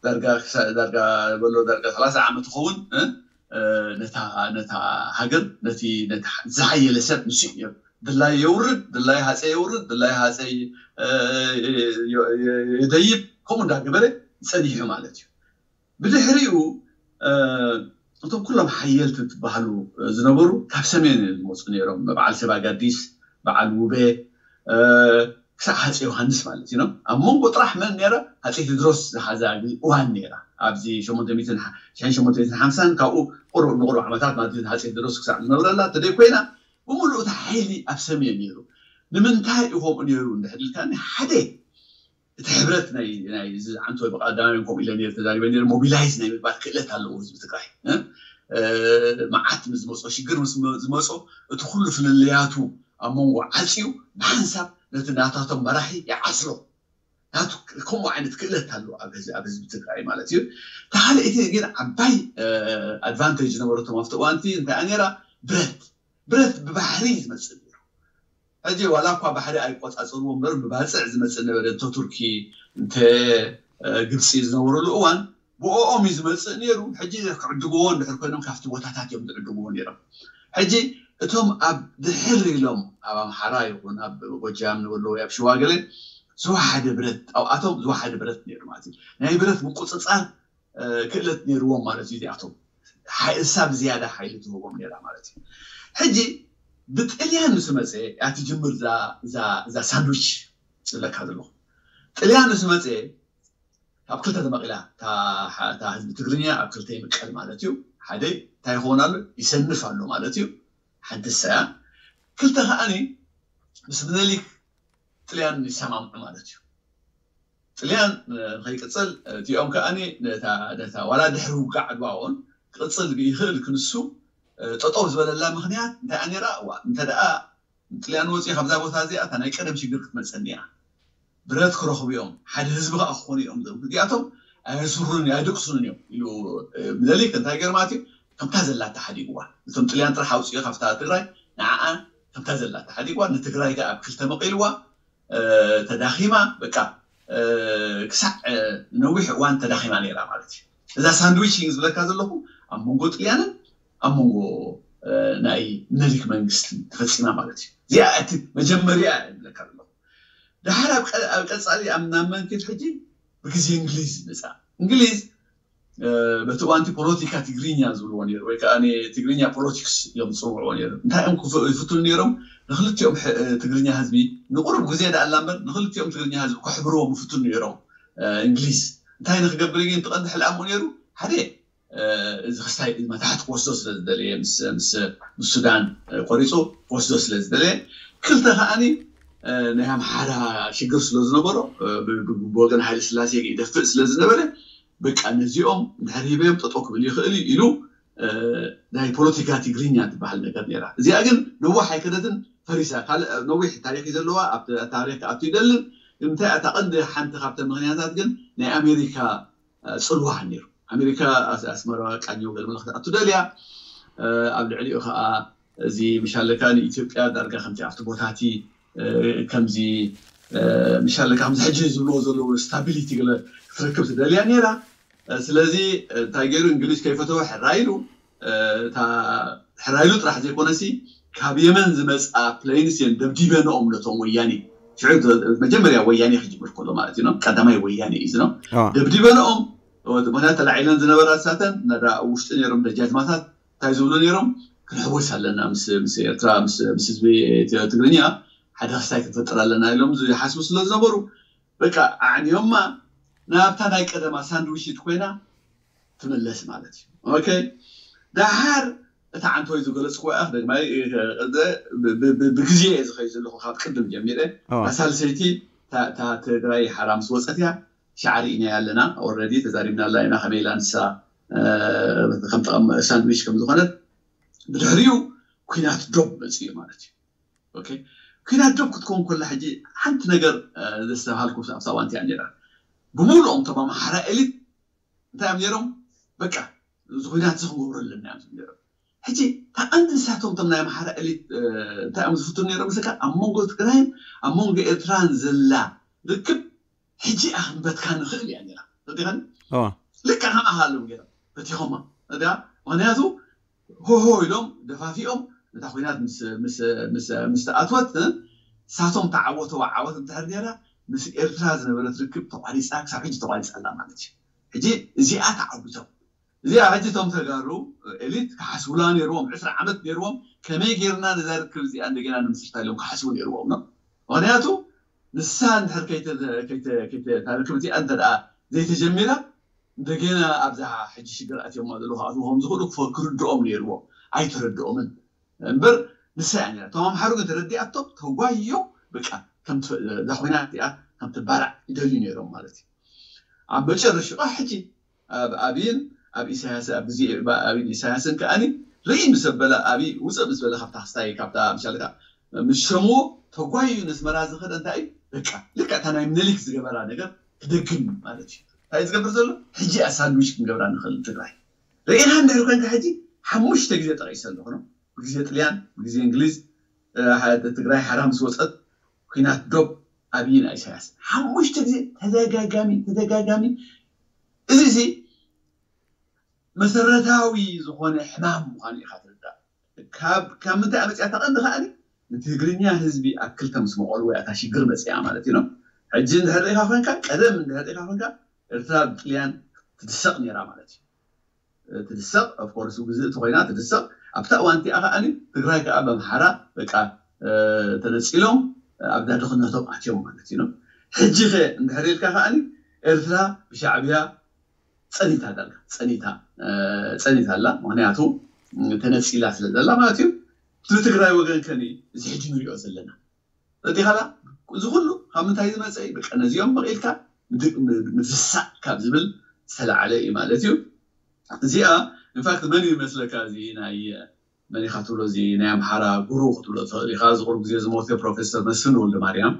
ዳርጋ በሎ ዳርጋ ሰላሳ ዓመት ይኸውን ነታ ሃገር ነቲ ዝሓየለ ሰብ ንሱ እዩ ነይሩ። ድላይ የውርድ፣ ድላይ ሃፀይ የውርድ፣ ድላይ ሃፀይ የደይብ፣ ከምኡ እንዳገበረ ፀኒሑ ማለት እዩ። ብድሕሪኡ እቶም ኩሎም ሓየልቲ ትበሃሉ ዝነበሩ ካብ ሰሜን ዝመፁ ነይሮም። በዓል ሰባ ጋዲስ፣ በዓል ውቤ፣ ክሳዕ ሃፀ ዮሃንስ ማለት እዩ። ኣብ መንጎ ጥራሕ መን ነይራ? ሃፀይ ቴድሮስ ዝሓዛ እዋን ነይራ። ኣብዚ ሸሞንተ ሚእትን ሓምሳን ካብኡ ቁሩብ ንቁሩብ ዓመታት ማለት ሃፀይ ቴድሮስ ክሳዕ ዝነብረላ ተደይ ኮይና ብምሉእ እቲ ሓይሊ ኣብ ሰሜን ነይሩ። ንምንታይ እዩ ከምኡ ነይሩ እንድሕር ኢልካኒ፣ ሓደ እቲ ሕብረት ናይ ናይ እዚ ዓንቶ ብቀዳማይ ከምኡ ኢለ ነይረ ተዛሪበ ነይረ። ሞቢላይዝ ናይ ምግባር ክእለት ኣለዎ ህዝቢ ትግራይ። መዓት ምስ ዝመፆ ሽግር ምስ ዝመፆ እቲ ኩሉ ፍልልያቱ ኣብ መንጎ ዓፅዩ ብሓንሳብ ነቲ ናታቶም መራሒ ይዓስሎ። ናቱ ከምኡ ዓይነት ክእለት ኣሎ ኣብ ህዝቢ ትግራይ ማለት እዩ። ተካልእቲ ግን ዓባይ ኣድቫንቴጅ ዝነበረቶም ኣብቲ እዋንቲ እንታይ ነራ? ብረት ብረት ብባሕሪ ዝመፅእ ነሩ። ሕጂ ዋላ እኳ ባሕሪ ኣይቆፃፀርዎ እምበር ብባፅዕ ዝመፅእ ነበረ። እንተ ቱርኪ እንተ ግብፂ ዝነበረሉ እዋን ብኦም እዩ ዝመፅእ ነሩ። ሕጂ ክዕድግዎ እንድሕር ኮይኖም ካብቲ ቦታታት እዮም ዝዕድግዎ ነሮም። ሕጂ እቶም ኣብ ድሕር ኢሎም ኣብ ኣምሓራ ይኹን ኣብ ጎጃም ንበሎ ኣብ ሽዋ ገለ ዝወሓደ ብረት ኣብኣቶም ዝወሓደ ብረት ነሩ ማለት እዩ። ናይ ብረት ምቁፅፃር ክእለት ነርዎም ማለት እዩ። እዚኣቶም እሳ ብዝያዳ ሓይሊ ትህቦም ነራ ማለት እዩ። ሕጂ ብጥልያን ምስ መፀ እያ ትጅምር እዛ ሳንድዊች ዝብለካ ዘለኹ። ጥልያን ምስ መፀ ካብ ክልተ ተመቂላ እታ ህዝቢ ትግርኛ ኣብ ክልተ ይምቀል ማለት እዩ። ሓደ እንታይ ይኸውን ኣሎ? ይሰንፍ ኣሎ ማለት እዩ። ሓንቲ ሰያ ክልተ ከዓኒ ምስ ምኒልክ ጥልያን ይሰማምዑ ማለት እዩ። ጥልያን ንኸይቅፅል እቲኦም ከዓኒ ነታ ዋላ ድሕሪ ውጋዕ ዓድዋ እውን ክቕፅል ይኽእል ክንሱ ጠጠው ዝበለላ ምክንያት እንታይ ነራ? እዋ እንተ ደኣ ጥልያን ወፂኡ ካብዛ ቦታ እዚኣ እታ ናይ ቀደም ሽግር ክትመፀኒ እያ። ብረት ክረኽቡ እዮም፣ ሓደ ህዝቢ ከዓ ክኾኑ እዮም። እዚኣቶም ኣየስሩን ኣይድቅሱን እዮም ኢሉ ምኒልክ እንታይ ገርማት እዩ ከምታ ዘላታ ሓዲግዋ። እቶም ጥልያን ጥራሕ ኣውፅኡ ካብታ ትግራይ ንዓኣ ከምታ ዘላታ ሓዲግዋ ንትግራይ ከዓ ኣብ ክልተ መቂልዋ ተዳኺማ በቃ ክሳዕ ነዊሕ እዋን ተዳኺማ ነራ ማለት እዩ። እዛ ሳንድዊች ዝብለካ ዘለኹ ኣብ መንጎ ጥልያንን ኣብ መንጎ ናይ ምኒልክ መንግስትን ተፈፂማ ማለት እዩ። እዚኣ እቲ መጀመርያ ዝብለካ ዘለኹ። ድሓር ኣብ ቀፃሊ ኣብ ናብ መንክድ ሕጂ ብግዜ እንግሊዝ መፃ። እንግሊዝ በቲ እዋንቲ ፖለቲካ ትግርኛ ዝብልዎ ነሩ ወይ ከዓ ትግርኛ ፖለቲክስ እዮም ዝፅውዕዎ ነሩ። እንታይ እዮም ይፍትኑ ነሮም? ንክልቲኦም ትግርኛ ህዝቢ ንቁሩብ ግዜ ዳኣላ እምበር ንክልቲኦም ትግርኛ ህዝቢ ክሕብርዎም ይፍትኑ ነሮም። እንግሊዝ እንታይ ንክገብር ግን ትቐንዲ ሕልኣሙ ነሩ ሓደ እዚ ክስታይ መታሕቲ ክወስዶ ስለ ዝደለየ ምስ ሱዳን ቆሪፁ ክወስዶ ስለ ዝደለየ ክልተ ከዓኒ ናይ ኣምሓራ ሽግር ስለ ዝነበሮ ብወገን ሃይለ ስላሴ ይደፍእ ስለ ዝነበረ በቃ ነዚኦም እንድሕር ሂበዮም ጠጠው ክብል ይኽእል እዩ ኢሉ ናይ ፖለቲካ ትግርኛ ትበሃል ነገር ነራ። እዚኣ ግን ነዋሕ ኣይከደትን ፈሪሳ። ካልእ ነዊሕ ታሪክ እዩ ዘለዋ ኣብ ታሪክ ክኣቱ ይደልን። እንታይ እታ ቀንዲ ሓንቲ ካብተን ምክንያታት ግን ናይ ኣሜሪካ ፅልዋ ነሩ። ኣሜሪካ ኣስመራ ቃኘው ገለ መለክቲ ኣቱ ደልያ ኣብ ልዕሊኡ ከዓ እዚ ምሻለካ ንኢትዮጵያ ዳርጋ ከምቲ ኣብቲ ቦታቲ ከምዚ ምሻለካ ከምዚ ሕጂ ዝብልዎ ዘለዉ ስታቢሊቲ ገለ ክትረክብ ትደልያ ነራ። ስለዚ እንታይ ገይሩ እንግሊዝ ከይፈተወ ሕራይሉ ሕራይሉ ጥራሕ ዘይኮነሲ ካብ የመን ዝመፃ ፕሌንስ እየን ደብዲበንኦም ነቶም ወያኔ። ሽዑ መጀመርያ ወያኔ ክጅምር ከሎ ማለት እዩ ቀዳማይ ወያኔ እዩ ዝኖ ደብዲበንኦም። ምክንያቱ ተላዒለን ዝነበራ ሳተን ናዳ ውሽጢ ነሮም ደጃዝማታት እንታይ ዝብሉ ነሮም? ክንሕወስ ኣለና ምስ ኤርትራ ምስ ህዝቢ ትግርኛ ሓደ ክስታይ ክንፈጥር ኣለና ኢሎም ዝሓስቡ ስለ ዝነበሩ በቃ ኣዕንዮማ ናብታ ናይ ቀደማ ሳንድዊች ኮይና ትምለስ ማለት እዩ። ኦኬ ደሓር እታ ዓንተወይ ዝገለፅኩ እያ። ደግማይ ብግዜ እየ ዝኸይ ዘለኹ ካብ ቅድም ጀሚረ ሳልሰይቲ ትግራይ ሓራ ምስ ወፀት እያ ሻዕሪ ኢና ኣለና ኦረዲ ተዛሪብና ኣላ ኢና ከመይ ኢላ ንሳ ከም ጠቐም ሳንድዊች ከም ዝኾነት ብድሕሪኡ ኩናት ዶብ መፅኡ ማለት እዩ። ኦኬ ኩናት ዶብ ክትከውን ከላ ሕጂ ሓንቲ ነገር ዘስተብሃልኩ ኣብታ ዋንቲ እያ ነራ። ብምሉኦም ተማ ማሓራ ኤሊት እንታይ እዮም ነሮም? በቃ እዚ ኩናት እዚ ክንገብሮ ኣለና እዮም ነሮም። ሕጂ ተቐንዲ ንሳቶም ቶም ናይ ኣምሓራ ኤሊት እንታይ እዮም ዝፍትኑ ነሮም? ስካ ኣብ መንጎ ትግራይን ኣብ መንጎ ኤርትራን ዘላ ርክብ ሕጂ ኣኽንበትካ ንኽእል እያ ነራ። ተዲኸን ልካ ከም ኣሃሎም ገይሮም በቲኾማ። እዳ ምክንያቱ ሆሆ ኢሎም ደፋፊኦም እታ ኩናት ምስ ምስ ምስ ምስ ተኣትወት ንሳቶም ተዓወተዋ ዓወት እንድሕር ነይራ፣ ምስ ኤርትራ ዝነበረት ርክብ ተቋሪፃ፣ ክሳብ ሕጂ ተቋሪፃ ኣላ ማለት እዩ። ሕጂ እዚኣ ተዓዊቶም፣ እዚኣ ሕጂ እቶም ተጋሩ ኤሊት ክሓስቡላ ነይርዎም። ዕስራ ዓመት ነይርዎም፣ ከመይ ጌርና ነዛ ርክብ እዚኣ እንደገና ንምስርታ ኢሎም ክሓስቡ ነይርዎም ነው። ምክንያቱ ንሳ እንድሕር ከይተ- ከይተ- ከይተ- እታ ርክብ እዚኣ እንተ ደኣ ዘይተጀሚራ፣ እንደገና ኣብዛ ሕጂ ሽግር ኣትዮማ ዘለዉ ክኣትዉ ከም ዝኽእሉ ክፈ- ክርድኦም ነይርዎ። ኣይተረድኦምን። እምበር ንሳ እያ ነይራ። እቶም ኣምሓሩ ግን ተረዲኣቶም ተጓዮም፣ በቃ ከምቲ እዛ ኮይና እቲኣ ከም ትባላዕ ይደልዩ ነይሮም ማለት እዩ። ኣብ መጨረሽኡ ከዓ ሕጂ ኣብ ኣብይን ኣብ ኢሳያስ ኣብ ግዜ ኣብይን ኢሳያስን ከኣኒ ርኢ ምስ ኣበለ ኣብይ ውፅእ ምስ በለ ካብታ ክስታይ ካብታ ምሻልካ ምስ ሸምዎ ተጓዩ ነስመራ ዝኸደ እንታይ እዩ? በቃ ልክዕ እታ ናይ ምኒልክ ዝገበራ ነገር ክደግም ማለት እዩ። እንታይ ዝገብር ዘሎ ሕጂ እያ ሳንድዊች ክንገብራ ንኽእል ትግራይ ርኢኻ እንድሕር ኮንካ ሕጂ ሓሙሽተ ግዜ ጠቒሰ ኣለኹ ነው ብግዜ ጥልያን ብግዜ እንግሊዝ ትግራይ ሓራ ምስ ወፀት ኩናት ዶብ ኣብይን ኢሳያስ ሓሙሽተ ግዜ ተደጋጋሚ ተደጋጋሚ እዚ እዚ መሰረታዊ ዝኾነ ሕማም ምዃኑ ኢኻ ትርዳእ። ካብ ካብ ምንታይ መፅያ ተቐንዲ ከኣኒ ንትግርኛ ህዝቢ ኣብ ክልተ ምስ መቐሉ ወይ ኣታ ሽግር መፅያ ማለት እዩ ነው። ሕጂ እንድሕር ርኢኻ ኮንካ ቀደም እንድሕር ርኢኻ ኮንካ ኤርትራ ብጥልያን ትድሰቕ ነይራ ማለት እዩ። ትድሰቕ ኦፍኮርስ ግዝእቲ ኮይና ትድሰቕ ኣብታ እዋን እቲኣ ከኣኒ ትግራይ ከዓ በምሓራ በቃ ተነፂሎም ኣብዛ ድኽነቶም ኣትዮም ማለት እዩ ነው። ሕጂ ከ እንድሕር ኢልካ ከኣኒ ኤርትራ ብሻዕብያ ፀኒታ ዳርጋ ፀኒታ ፀኒታ ኣላ። ምክንያቱ ተነፂላ ስለ ዘላ ማለት እዩ። ብትግራይ ወገን ከኒ እዚ ሕጂ ንሪኦ ዘለና ረዲኻላ እዚ ኩሉ ካብ ምንታይ ዝመፀ እዩ? በቃ ነዚኦም መቒልካ ምድሳእ ካብ ዝብል ዝተላዓለ እዩ ማለት እዩ። እዚኣ ኢንፋክት መን ይመስለካ እዚ ናይ መን ኢኻ ትብሎ እዚ ናይ ኣምሓራ ጉሩ ክትብሎ ትኽእል ኢኻ። እዚ ቁሩብ ግዜ ዝሞተ ፕሮፌሰር መስፍን ወልደ ማርያም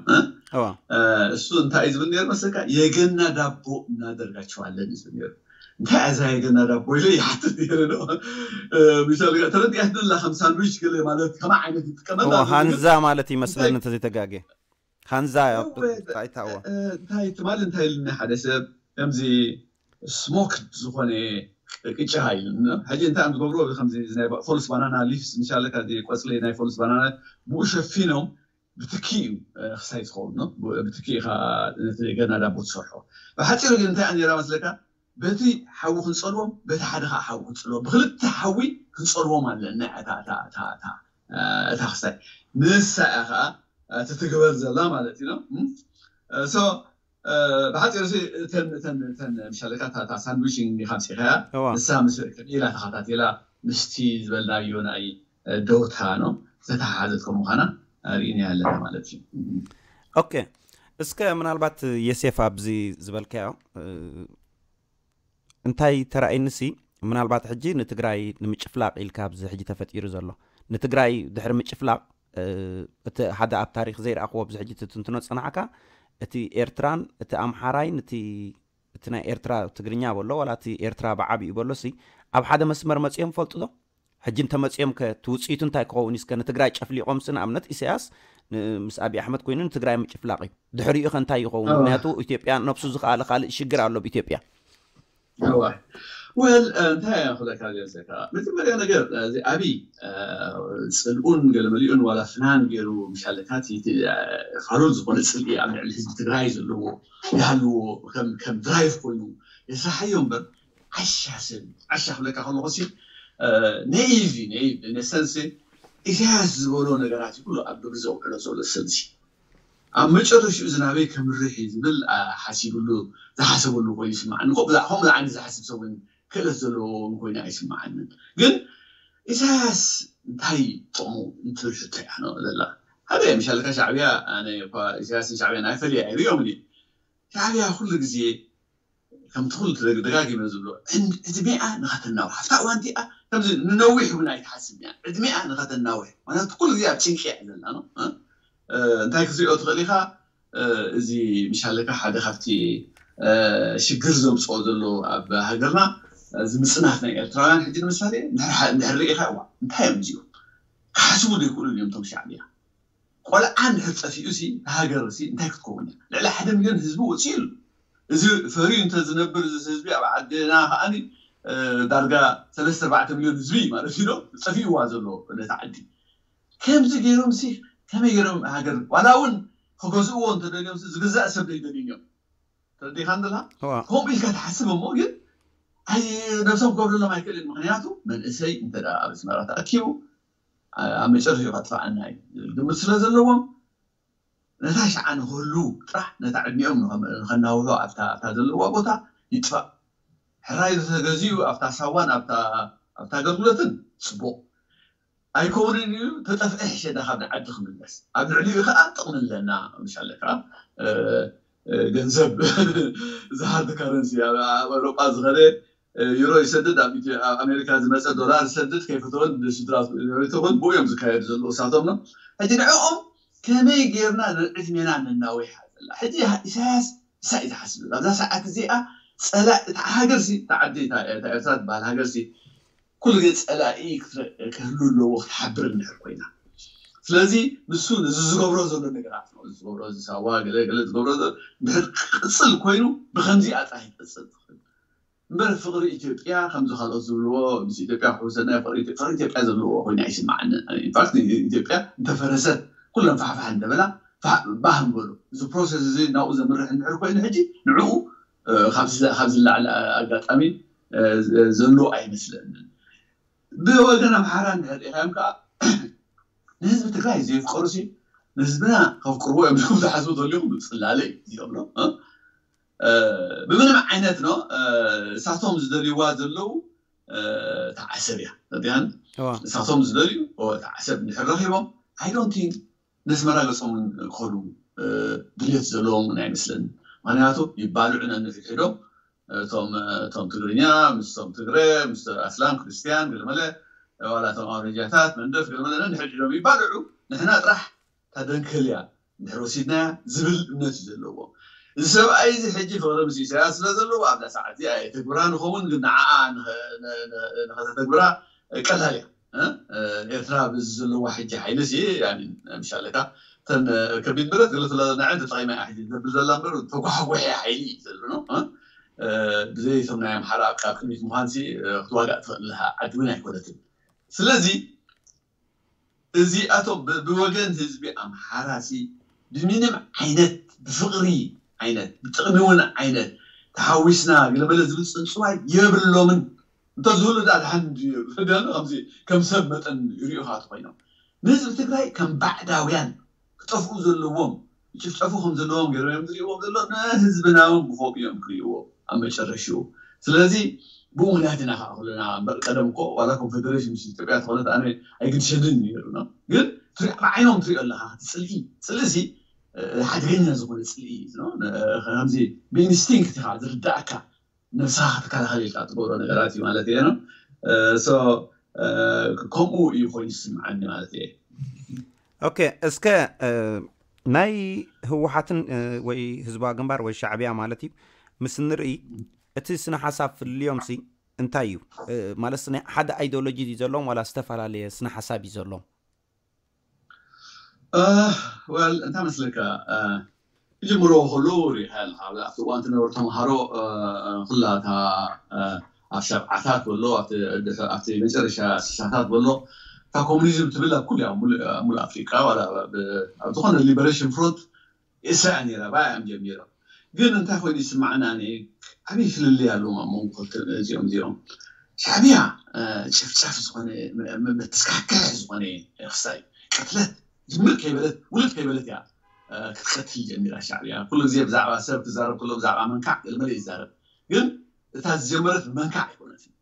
እሱ እንታይ እዩ ዝብል ነይሩ መስለካ? የገና ዳቦ እናደርጋችኋለን እዩ ዝብል ነይሩ። እንታይ እያ እዛ የገና ዳቦ ኢለ ይሓትት ነይረ። ምሻል ተረዲኣትኒ ኣላ ከም ሳንድዊች ገለ ማለት ከማ ዓይነት ይጥቀመላ። ሃንዛ ማለት ይመስለኒ እንተዘይተጋጌ ሃንዛ እንታይ ትማል እንታይ ኢልኒ ሓደ ሰብ ከምዚ ስሞክድ ዝኾነ ቅጫ ኢሉ ሕጂ እንታይ እዮም ዝገብሩ ከምዚ ናይ ፎልስ ባናና ሊፍስ ምሻለ ካብዚ ቆፅሊ ናይ ፎልስ ባናና ብኡ ሸፊኖም ብትኪ እዩ ክሳይ ዝኸውን ብትኪ ኢኻ ነቲ ገና ዳቦ ትሰርሖ። ብሓፂሩ ግን እንታይ ነራ መስለካ በቲ ሓዊ ክንፀልዎም በቲ ሓደ ከዓ ሓዊ ክንፀልዎም ብክልተ ሓዊ ክንፀልዎም ኣለና እታ ክስታይ ንሳ እያ ከዓ ትትግበር ዘላ ማለት እዩ። ብሓፂሩ ምሻለካ ሳንድዊች ኢኻ ምፅኢኻያ ንሳ ምስ ኢላ ተኸታቲላ ምስቲ ዝበልናዮ ናይ ደውታ ነው ዝተተሓሓዘት ከም ምዃና ርኢና ኣለና ማለት እዩ። ኦኬ እስከ ምናልባት የሴፍ ኣብዚ ዝበልካዮ እንታይ ተራእይንሲ ምናልባት ሕጂ ንትግራይ ንምጭፍላቕ ኢልካ ኣብዚ ሕጂ ተፈጢሩ ዘሎ ንትግራይ ድሕሪ ምጭፍላቕ እቲ ሓደ ኣብ ታሪክ ዘይረኣኽዎ ኣብዚ ሕጂ ትትንትኖ ፀናዕካ እቲ ኤርትራን እቲ ኣምሓራይን እቲ ናይ ኤርትራ ትግርኛ በሎ ዋላ እቲ ኤርትራ ብዓብኡ በሎ ሲ ኣብ ሓደ መስመር መፅኦም ፈልጡ ዶ ሕጂ እንተመፅኦም ከ እቲ ውፅኢቱ እንታይ ክኸውን እስከ ንትግራይ ጨፍሊቖም ሲ ንኣብነት ኢሳያስ ምስ ኣብይ ኣሕመድ ኮይኑ ንትግራይ ምጭፍላቕ እዩ ድሕሪኡ ከ እንታይ ይኸውን ምክንያቱ ኢትዮጵያ ነብሱ ዝኸኣለ ካልእ ሽግር ኣሎ ብኢትዮጵያ ወል እንታይ እያ ክብለካ ገለካ መጀመርያ ነገር እዚ ኣብይ ፅልኡን ገለመሊኡን ዋላ ፍናን ገይሩ ምሻለካ ፋሉል ዝኾነ ፅልኢ ኣብ ልዕሊ ህዝቢ ትግራይ ዘለዎ ይሃልዎ ከም ድራይቭ ኮይኑ የስራሓዮ እምበር ዓሻ ሰብ ዓሻ ክብለካ ከለኩ ሲ ነይቭ ነይቭ ነሰንስ ኢሳያስ ዝበሎ ነገራት ኩሉ ኣብ ግብሪ ዘውዕሎ ዘሎ ሰብሲ ኣብ መጨረሽኡ እዚ ናበይ ከምርሕ እዩ ዝብል ሓሲብሉ ዝሓሰበሉ ኮይኑ ይስማዓኒ። ከምኡ ዓይነት ዝሓስብ ሰብ ክእለት ዘለዎ ኮይኑ ኣይስማዓንን። ግን ኢሳያስ እንታይ ጥቕሙ እንትብል ሕቶ እያ ዘላ። ሓደ ምሻልካ ሻዕብያ ኣነ እኳ ኢሳያስን ሻዕብያን ኣይፈልየ ኣይርእዮምን እየ። ሻዕብያ ኩሉ ግዜ ከምቲ ኩሉ ደጋጊመ ዝብሎ ዕድሜኣ ንኸተናውሕ ኣብታ እዋን እቲኣ ከምዚ ንነዊሕ እውን ኣይትሓስብ እያ። ዕድሜኣ ንኸተናውሕ ምክንያቱ ኩሉ ግዜ ኣብ ጭንቂ እያ ዘላ ነው። እንታይ ክትሪኦ ትኽእል ኢኻ? እዚ ምሻለካ ሓደ ካብቲ ሽግር ዘምፅኦ ዘሎ ኣብ ሃገርና እዚ ምፅናት ናይ ኤርትራውያን ሕጂ ንምሳሌ እንድሕር ርኢኻ እዋ እንታይ እዮም እዚኦም ክሓስቡ ዘይክእሉ እዮም እቶም ሻዕብያ ቆልዓ እንድሕር ጠፊኡ ሲ ሃገር ሲ እንታይ ክትከውን እያ ልዕሊ ሓደ ሚሊዮን ህዝቢ ወፂኡ ኣሎ እዚ ፈርዩ እንተዝነብር እዚ ህዝቢ ኣብ ዓድና ከዓኒ ዳርጋ ሰለስተ ኣርባዕተ ሚሊዮን ህዝቢ ማለት እዩ ጠፊእዋ ዘሎ ነቲ ዓዲ ከምዚ ገይሮም ሲ ከመይ ገይሮም ሃገር ዋላ እውን ክገዝእዎ እንተደልዮም ሲ ዝግዛእ ሰብ ዘይደልዮም እዮም። ተረዲኻ እንድላ እዋ ከምኡ ኢልካ ትሓስብ እሞ ግን ኣይ ነብሶም ክገብርሎም ኣይክእልን። ምክንያቱ መንእሰይ እንተ ደኣ ኣብ ኣስመራ ተኣኪቡ ኣብ መጨረሻ ከጥፍኣና እዩ ዝብል ግምት ስለ ዘለዎም ነታ ሸዓ ንክህሉ ጥራሕ ነታ ዕድሚኦም ንኸናውሑ ኣብታ ኣብታ ዘለዋ ቦታ ይጥፋእ። ሕራይ ተገዚኡ ኣብታ ሳዋን ኣብታ ኣብታ ኣገልግሎትን ጽቡቕ ኣይከውንን እዩ። ተጠፍአ ሕሸዳ ካብ ንዓዲ ክምለስ ኣብ ልዕሊኡ ከዓ ጥቕሚ ኣለና። ምሻለካ ገንዘብ ዝሃርድ ካረንሲ ኣብ ኣውሮጳ ዝኸደ ዩሮ ይሰድድ ኣብ ኣሜሪካ ዝመፀ ዶላር ይሰድድ ከይፈተወን ስድራ ይፈተወን ብኡ እዮም ዝካየዱ ዘለዉ እሳቶም ነው። ሕጂ ንዕኦም ከመይ ጌርና ንዕድሜና ነናዊሓ ዘላ ሕጂ ኢሳያስ እሳ እዩ ዝሓስብ ኣብዛ ሰዓት እዚኣ ፀላ እታ ሃገርሲ እታ ዓዲ እታ ኤርትራ ትበሃል ሃገርሲ ኩሉ ግዜ ፀላኢ ክህሉ ኣለዎ ክትሓብር እንድሕር ኮይና ስለዚ ንሱ ነዚ ዝገብሮ ዘሎ ነገራት ነው ዝገብሮ ዝሳዋ ገለ ገለ ዝገብሮ እንድሕር ክቅፅል ኮይኑ ብከምዚኣ ጥራሕ ይቅፅል ትኽእል እምበር ፍቅሪ ኢትዮጵያ ከምዚ ካልኦት ዝብልዎ ምስ ኢትዮጵያ ክሕውሰና ፍቅሪ ኢትዮጵያ ዘለዎ ኮይኑ ኣይስማዓኒ ኢንፋክት ኢትዮጵያ እንተፈረሰት ኩሎም ፋሕፋሕ እንደበላ ባህ ንበሉ እዚ ፕሮሰስ እዚ ናብኡ ዘምርሕ እንድሕር ኮይኑ ሕጂ ንዕኡ ካብ ዝላዕሊ ኣጋጣሚ ዘሎ ኣይመስለንን። ብወገን ኣምሓራ እንድሕር ሪኢኻዮም ከዓ ንህዝቢ ትግራይ ዘየፍቀሩ ሲ ንህዝብና ከፍቅርዎ እዮም ዝኩም ዝሓስቡ ዘልኩም ብፅላለ እዩ እዚኦም ነው። ብምንም ዓይነት ነው እሳቶም ዝደልይዋ ዘለዉ ተዓሰብ እያ ያን እሳቶም ዝደልዩ ተዓሰብ እንድሕር ረኪቦም ኣይዶንቲን ነስመራ ገፆም ክኸዱ ድልየት ዘለዎም እውን ኣይመስለኒ። ምክንያቱ ይባልዑ ነንሕድሕዶም እቶም ትግርኛ ምስቶም ትግረ ምስ ኣስላም ክርስትያን ገለመለ ዋላ እቶም ኣውረጃታት መንደፍ ገለመለ ነንሕድሕዶም ይባልዑ ንሕና ጥራሕ ታደንከል እያ እንድሕር ወሲድናያ ዝብል እምነት እዩ ዘለዎ። እዚ ሰብኣይ እዚ ሕጂ ፍቅሪ ምስ ኢሳያስ ስለ ዘለዎ ኣብዛ ሰዓት እዚኣ የተግብራ ንኸውን ግን ንዓኣ ንኸተተግብራ ቀላል እያ። ኤርትራ ብዚ ዘለዋ ሕጂ ሓይሊ ሲ ምሻለካ ተን ከቢድ ብረት ገለ ስለዘናዐ ተጠቂማ እያ ሕጂ ዘብል ዘላ እምበር ተጓሕጉሒ ሓይሊ እዩ ዘሎ ነው። ብዘይ እቶም ናይ ኣምሓራ ኣብ ቅድሚት ምዃን ሲ ክትዋጋእ ትኽእል ኣለካ ዓዲ እውን ኣይኮነትን። ስለዚ እዚኣቶም ብወገን ህዝቢ ኣምሓራ ሲ ብምንም ዓይነት ብፍቅሪ ዓይነት ብጥቅሚ እውን ዓይነት ተሓዊስና ገለመለ ዝብል ፅንፅዋይ የብሎምን። እንተዝህሉ ዳ ድሓን ከምዚ ከም ሰብ መጠን ይሪኡካ ኮይኖም ንህዝቢ ትግራይ ከም ባዕዳውያን ክጠፍኡ ዘለዎም ይጭፍጨፉ ከም ዘለዎም ገይሮም እዮም ዝሪእዎም ዘሎ ንህዝብና እውን ብከምኡ እዮም ክሪእዎ ኣብ መጨረሽኡ። ስለዚ ብኡ ምክንያት ኢና ከዓ ኩልና እምበር ቀደም እኮ ዋላ ኮንፌደሬሽን ምስ ኢትዮጵያ ተኾነት ኣነ ኣይግድሸንን ነይሩ ነው ግን ብዓይኖም ትሪኦ ኣለካ እቲ ፅልኢ ፅልኢ ሲ ሓደገኛ ዝኾነ ፅልኢ እዩ ከምዚ ብኢንስቲንክት ኢካ ዝርዳእካ ነብስኻ ክትከላኸል ኢልካ ትገብሮ ነገራት እዩ ማለት እየ ነው። ከምኡ እዩ ኮይኑ ዝስምዓኒ ማለት እየ። ኦኬ እስከ ናይ ህወሓትን ወይ ህዝባዊ ግንባር ወይ ሻዕብያ ማለት እዩ ምስ ንርኢ እቲ ስነ ሓሳብ ፍልልዮም ሲ እንታይ እዩ ማለት ሓደ ኣይዲዮሎጂ እዩ ዘለዎም ዋላ ዝተፈላለየ ስነ ሓሳብ እዩ ዘለዎም ወል እንታይ መስለካ ክጅምርዎ ከለዉ ሪኢኻ ኣለካ ኣብቲ እዋን ትነበሩ ተምሃሮ ኩላ እታ ኣብ ሰብዓታት በሎ ኣብቲ መጨረሻ ስሳታት በሎ እታ ኮሙኒዝም ትብል ኣብ ኩሉ ኣብ ሙሉእ ኣፍሪቃ ኣብ ዝኾነ ሊበሬሽን ፍሮንት እስያ ነይራ ባያ እዮም ጀሚሮም ግን እንታይ ኮይኑ ይስማዕና ዓብይ ፍልልይ ኣለዎም ኣብ መንጎ ክልተ እዚኦም እዚኦም ሻዕብያ ጨፍጫፍ ዝኾነ መተስካሕክሕ ዝኾነ ክስታይ ቅትለት ጅምር ከይበለት ውልድ ከይበለት እያ ክትቀትል ጀሚራ ሻዕብያ ኩሉ ግዜ ብዛዕባ ሰብ ትዛረብ ከሎ ብዛዕባ መንካዕ ገለመለ ይዛረብ ግን እታ ዝጀመረት መንካዕ ኣይኮነትን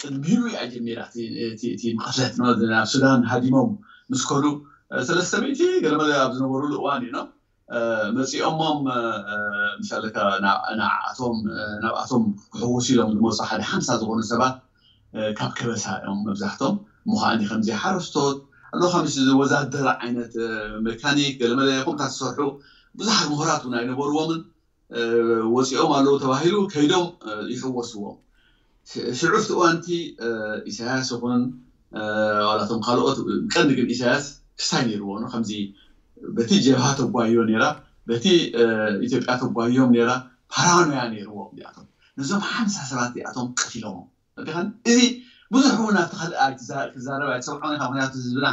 ቅድሚኡ እያ ጀሚራ እቲ መቐትለት ናብ ሱዳን ሃዲሞም ምስ ከዱ ሰለስተ ሚእቲ ገለመለ ኣብ ዝነበሩሉ እዋን እዩ ነው መፂኦሞም ምሳለካ ንዓኣቶም ናብኣቶም ክሕወሱ ኢሎም ዝመፁ ሓደ ሓምሳ ዝኾኑ ሰባት ካብ ከበሳ እዮም መብዛሕቶም ምዃኒ ከምዚ ሓረስቶት ኣሎ ከምዚ ወዛደር ዓይነት መካኒክ ገለመለ ከምታት ዝሰርሑ ብዙሓት ምሁራት እውን ኣይነበርዎምን ወፂኦም ኣለዉ ተባሂሉ ከይዶም ይሕወስዎም ሽዑ እቲ እዋንቲ ኢሳያስ ይኹን ዋላቶም ካልኦት ቀንዲ ግን ኢሳያስ ክስታይ ነይርዎ ከምዚ በቲ ጀብሃ ተጓዮ ነራ በቲ ኢትዮጵያ ተጓዮም ነራ ፓራኖያ ነይርዎም እዚኣቶም ነዞም ሓምሳ ሰባት እዚኣቶም ቀቲሎሞም እዚ ብዙሕ እውን ኣብቲ ካልእ ክዛረብ ኣይትሰምዖን ኢኻ ምክንያቱ ህዝብና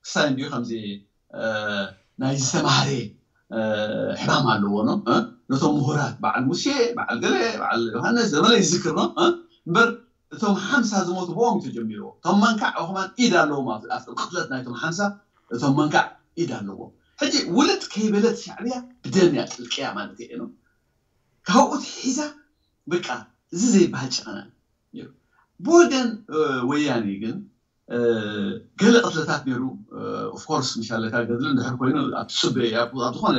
ክሳይ እንዲዩ ከምዚ ናይ ዝተማህረ ሕማም ኣለዎ ነው። ነቶም ምሁራት በዓል ሙሴ፣ በዓል ገለ፣ በዓል ዮሃንስ ዘመለ ይዝክር ነው። እምበር እቶም ሓምሳ ዝሞቱ ብኦም ተጀሚርዎ። እቶም መንካዕ ከማን ኢድ ኣለዎም ኣብቲ ቅትለት ናይቶም ሓምሳ። እቶም መንካዕ ኢድ ኣለዎም። ሕጂ ውልጥ ከይበለት ሻዕብያ ብደም እያ ጥልቅያ ማለት እየ ነው። ካብኡ ሒዛ በቃ እዚ ዘይበሃል ጨኸና ነይሩ። ብወገን ወያኔ ግን ገለ ቅትለታት ነይሩ። ኦፍኮርስ ምሻለካ ገድሊ እንድሕር ኮይኑ ኣብ ትፅበ ኣብ ዝኾነ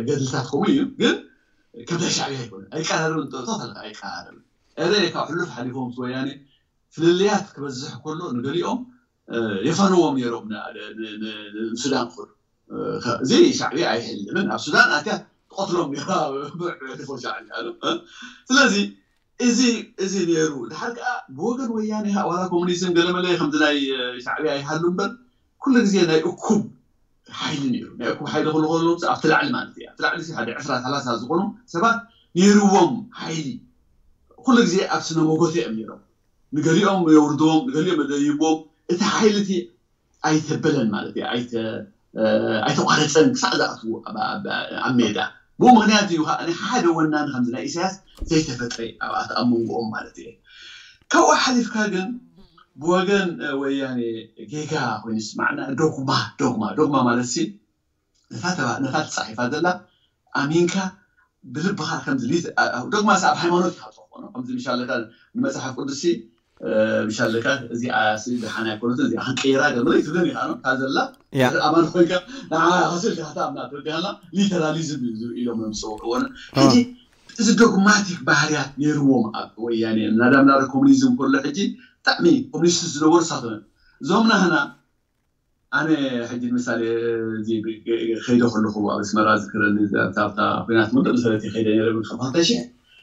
ገድልታት ከምኡ እዩ። ግን ከምታ ሻዕብያ ኣይኮነ ኣይቀራረብን። ጠጠት ኣለካ ኣይቀራረብን። እረ ካብ ሕሉፍ ሓሊፎም ምስ ወያኔ ፍልልያት ክበዝሕ ከሎ ንገሊኦም የፋንዎም ነይሮም ንሱዳን ክኸዱ። እዚ ሻዕብያ ኣይሕልምን። ኣብ ሱዳን ኣትያ ትቐትሎም ነራ ብዕዕሪፎ ሻዕብያ። ስለዚ እዚ እዚ ነይሩ። ድሓር ከዓ ብወገን ወያኔ ዋላ ኮሙኒዝም ገለመለ ከምዚ ናይ ሻዕብያ ይሃሉ እምበር ኩሉ ግዜ ናይ እኩብ ሓይሊ ነይሩ። ናይ እኩብ ሓይሊ ክሉ ከሎ ኣብቲ ላዕሊ ማለት እዩ። ኣብቲ ላዕሊ ሓደ ዕስራ ሰላሳ ዝኾኑ ሰባት ነይርዎም ሓይሊ ኩሉ ግዜ ኣብ ስነ መጎተ እዮም ነይሮም። ንገሊኦም የውርድዎም፣ ንገሊኦም የደይብዎም። እቲ ሓይሊ እቲ ኣይተበለን ማለት እዩ። ኣይተ- እ፣ ኣይተቋረፀን ክሳዕ ዝኣትዉ ኣብ- ኣብ- ኣብ ሜዳ። ብኡ ምክንያት እዩ ከዓ ሓደ ወናኒ ከምዚ ናይ ኢሳያስ ዘይተፈጥረ ኣብኣት ኣብ መንጎኦም ማለት እዩ። ካብኡ ሓሊፍካ ግን ብወገን እ፣ ወያኔ ጌጋ ኮይኑ ይስማዕና። ዶግማ ዶግማ ዶግማ ማለት ሲ ነታ ተባ- ነታ ተፃሒፋ ዘላ ኣሚንካ ብልብኻ ከምዚ ሊት- አ- አ- ዶግማ ሲ ኣብ ሃይማኖት ኢኻ ትኾኖ። ከምዚ ምሻለካ ንመፅሓፍ ቅዱስ ሲ እ፣ ምሻለካ እዚኣ ሲ ደሓን ኣይኮነትን፣ እዚኣ ክንቀይራ ገለ ትብለን ኢኻ ነው። እታ ዘላ ያ ኣማን ኮይንካ ንዓ ከስልካ ክትኣምና ትወዲሃላ። ሊተራሊዝም እዩ ዝብሉ ኢሎም መምፅእዎ እወን። ሕጂ እዚ ዶግማቲክ ባህርያት ነይርዎም ኣብ ወያኔ ናዳምናረ ኮሙኒዝም ከሎ ሕጂ ብጣዕሚ ኮሙኒስት ዝነበሩ ሳቶነ እዞም ናህና ኣነ ሕጂ ምሳሌ እዚ ከይደ ከለኹ ኣብ ኣስመራ ዝክረኒ ኣብታ ኩናት ምንደ መሰረት ከይደ ነረ ብ ክልተ ሽሕ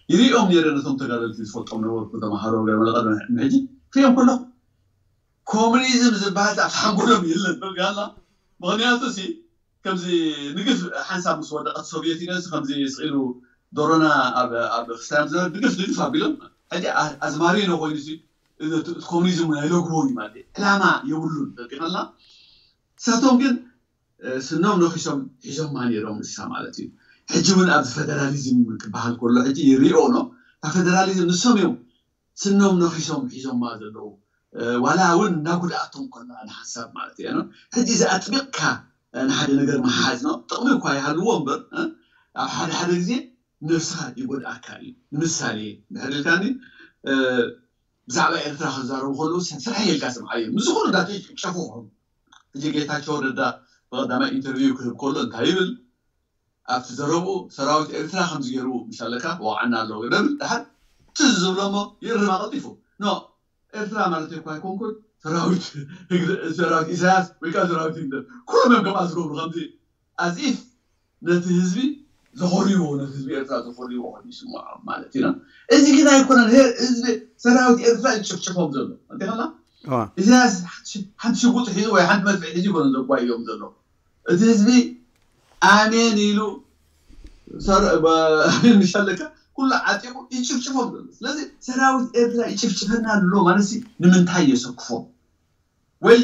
ይሪኦም ነረ ነቶም ተጋደልቲ ዝፈልጦም ነበርኩ ተማሃሮ ገለ መለቐ ሕጂ ክሪኦም ከለኹ ኮሙኒዝም ዝበሃል ኣብ ሓንጎሎም የለን በጋላ። ምክንያቱ ሲ ከምዚ ንግፍ ሓንሳብ ምስ ወደቀት ሶቪየት ዩኒየን ከምዚ ስኢሉ ዶሮና ኣብ ኣብ ክስታዮም ዝነበረ ንግፍ ንግፍ ኣቢሎም ሕጂ ኣዝማሪ ነው ኮይኑ ሲ ኮሙኒዝም እውን ኣይለግቦ እዩ ማለት እዩ። ዕላማ የብሉን። ተቂናልና ንሳቶም ግን ስኖም ነኪሶም ሒዞማ ነይሮም ንሳ ማለት እዩ። ሕጂ እውን ኣብዚ ፈደራሊዝም ክበሃል ከሎ ሕጂ ይሪኦ ኖ ፌደራሊዝም ንሶም እዮም ስኖም ነኪሶም ሒዞማ ዘለዉ። ዋላ እውን እናጉድኣቶም ከላ ንሓንሳብ ማለት እዩ። ሕጂ እዚ ኣጥቢቕካ ንሓደ ነገር መሓዝ ነው ጥቕሚ እኳ ይሃልዎ እምበር ኣብ ሓደ ሓደ ግዜ ነብስኻ ይጎድኣካ እዩ። ንምሳሌ ድሕር ኢልካኒ ብዛዕባ ኤርትራ ክዛረቡ ከለዉ ስራሕ ኢልካ ስምዓዮ። ምስ ዝኾኑ ዳተይ ጨፉ ክኾኑ ሕጂ ጌታቸው ረዳ ብቐዳማይ ኢንተርቪው ክህብ ከሎ እንታይ ይብል? ኣብቲ ዘረብኡ ሰራዊት ኤርትራ ከምዚ ገይሩ ምሻለካ ወቕዓና ኣለዎ ደብል ድሓር ትዝ ዝብሎ እሞ ይእርማ ቀልጢፉ። ኖ ኤርትራ ማለት እኮ ኣይኮንኩን ሰራዊት ሰራዊት ኢሳያስ ወይ ከዓ ሰራዊት ህግደፍ ኩሎም እዮም ከምኣ ዝገብሩ ከምዚ ኣዚፍ ነቲ ህዝቢ ዘኾርይዎ ነቲ ህዝቢ ኤርትራ ዘኾርይዎ ኮይኑ ይስምዖም ማለት ኢና። እዚ ግን ኣይኮነን። ህዝቢ ሰራዊት ኤርትራ ይጭፍጭፎም ዘሎ እንተኸላ ኢሳያስ ሓንቲ ሽጉጥ ሒዙ ወይ ሓንቲ መድፍዕ ሒዙ ይኮነ ዘጓዮም ዘሎ እቲ ህዝቢ ኣሜን ኢሉ ምሻለካ ኩሉ ዓጢቑ ይጭፍጭፎም ዘሎ። ስለዚ ሰራዊት ኤርትራ ይጭፍጭፈና ኣሎ ማለት ንምንታይ የሰክፎም? ወይ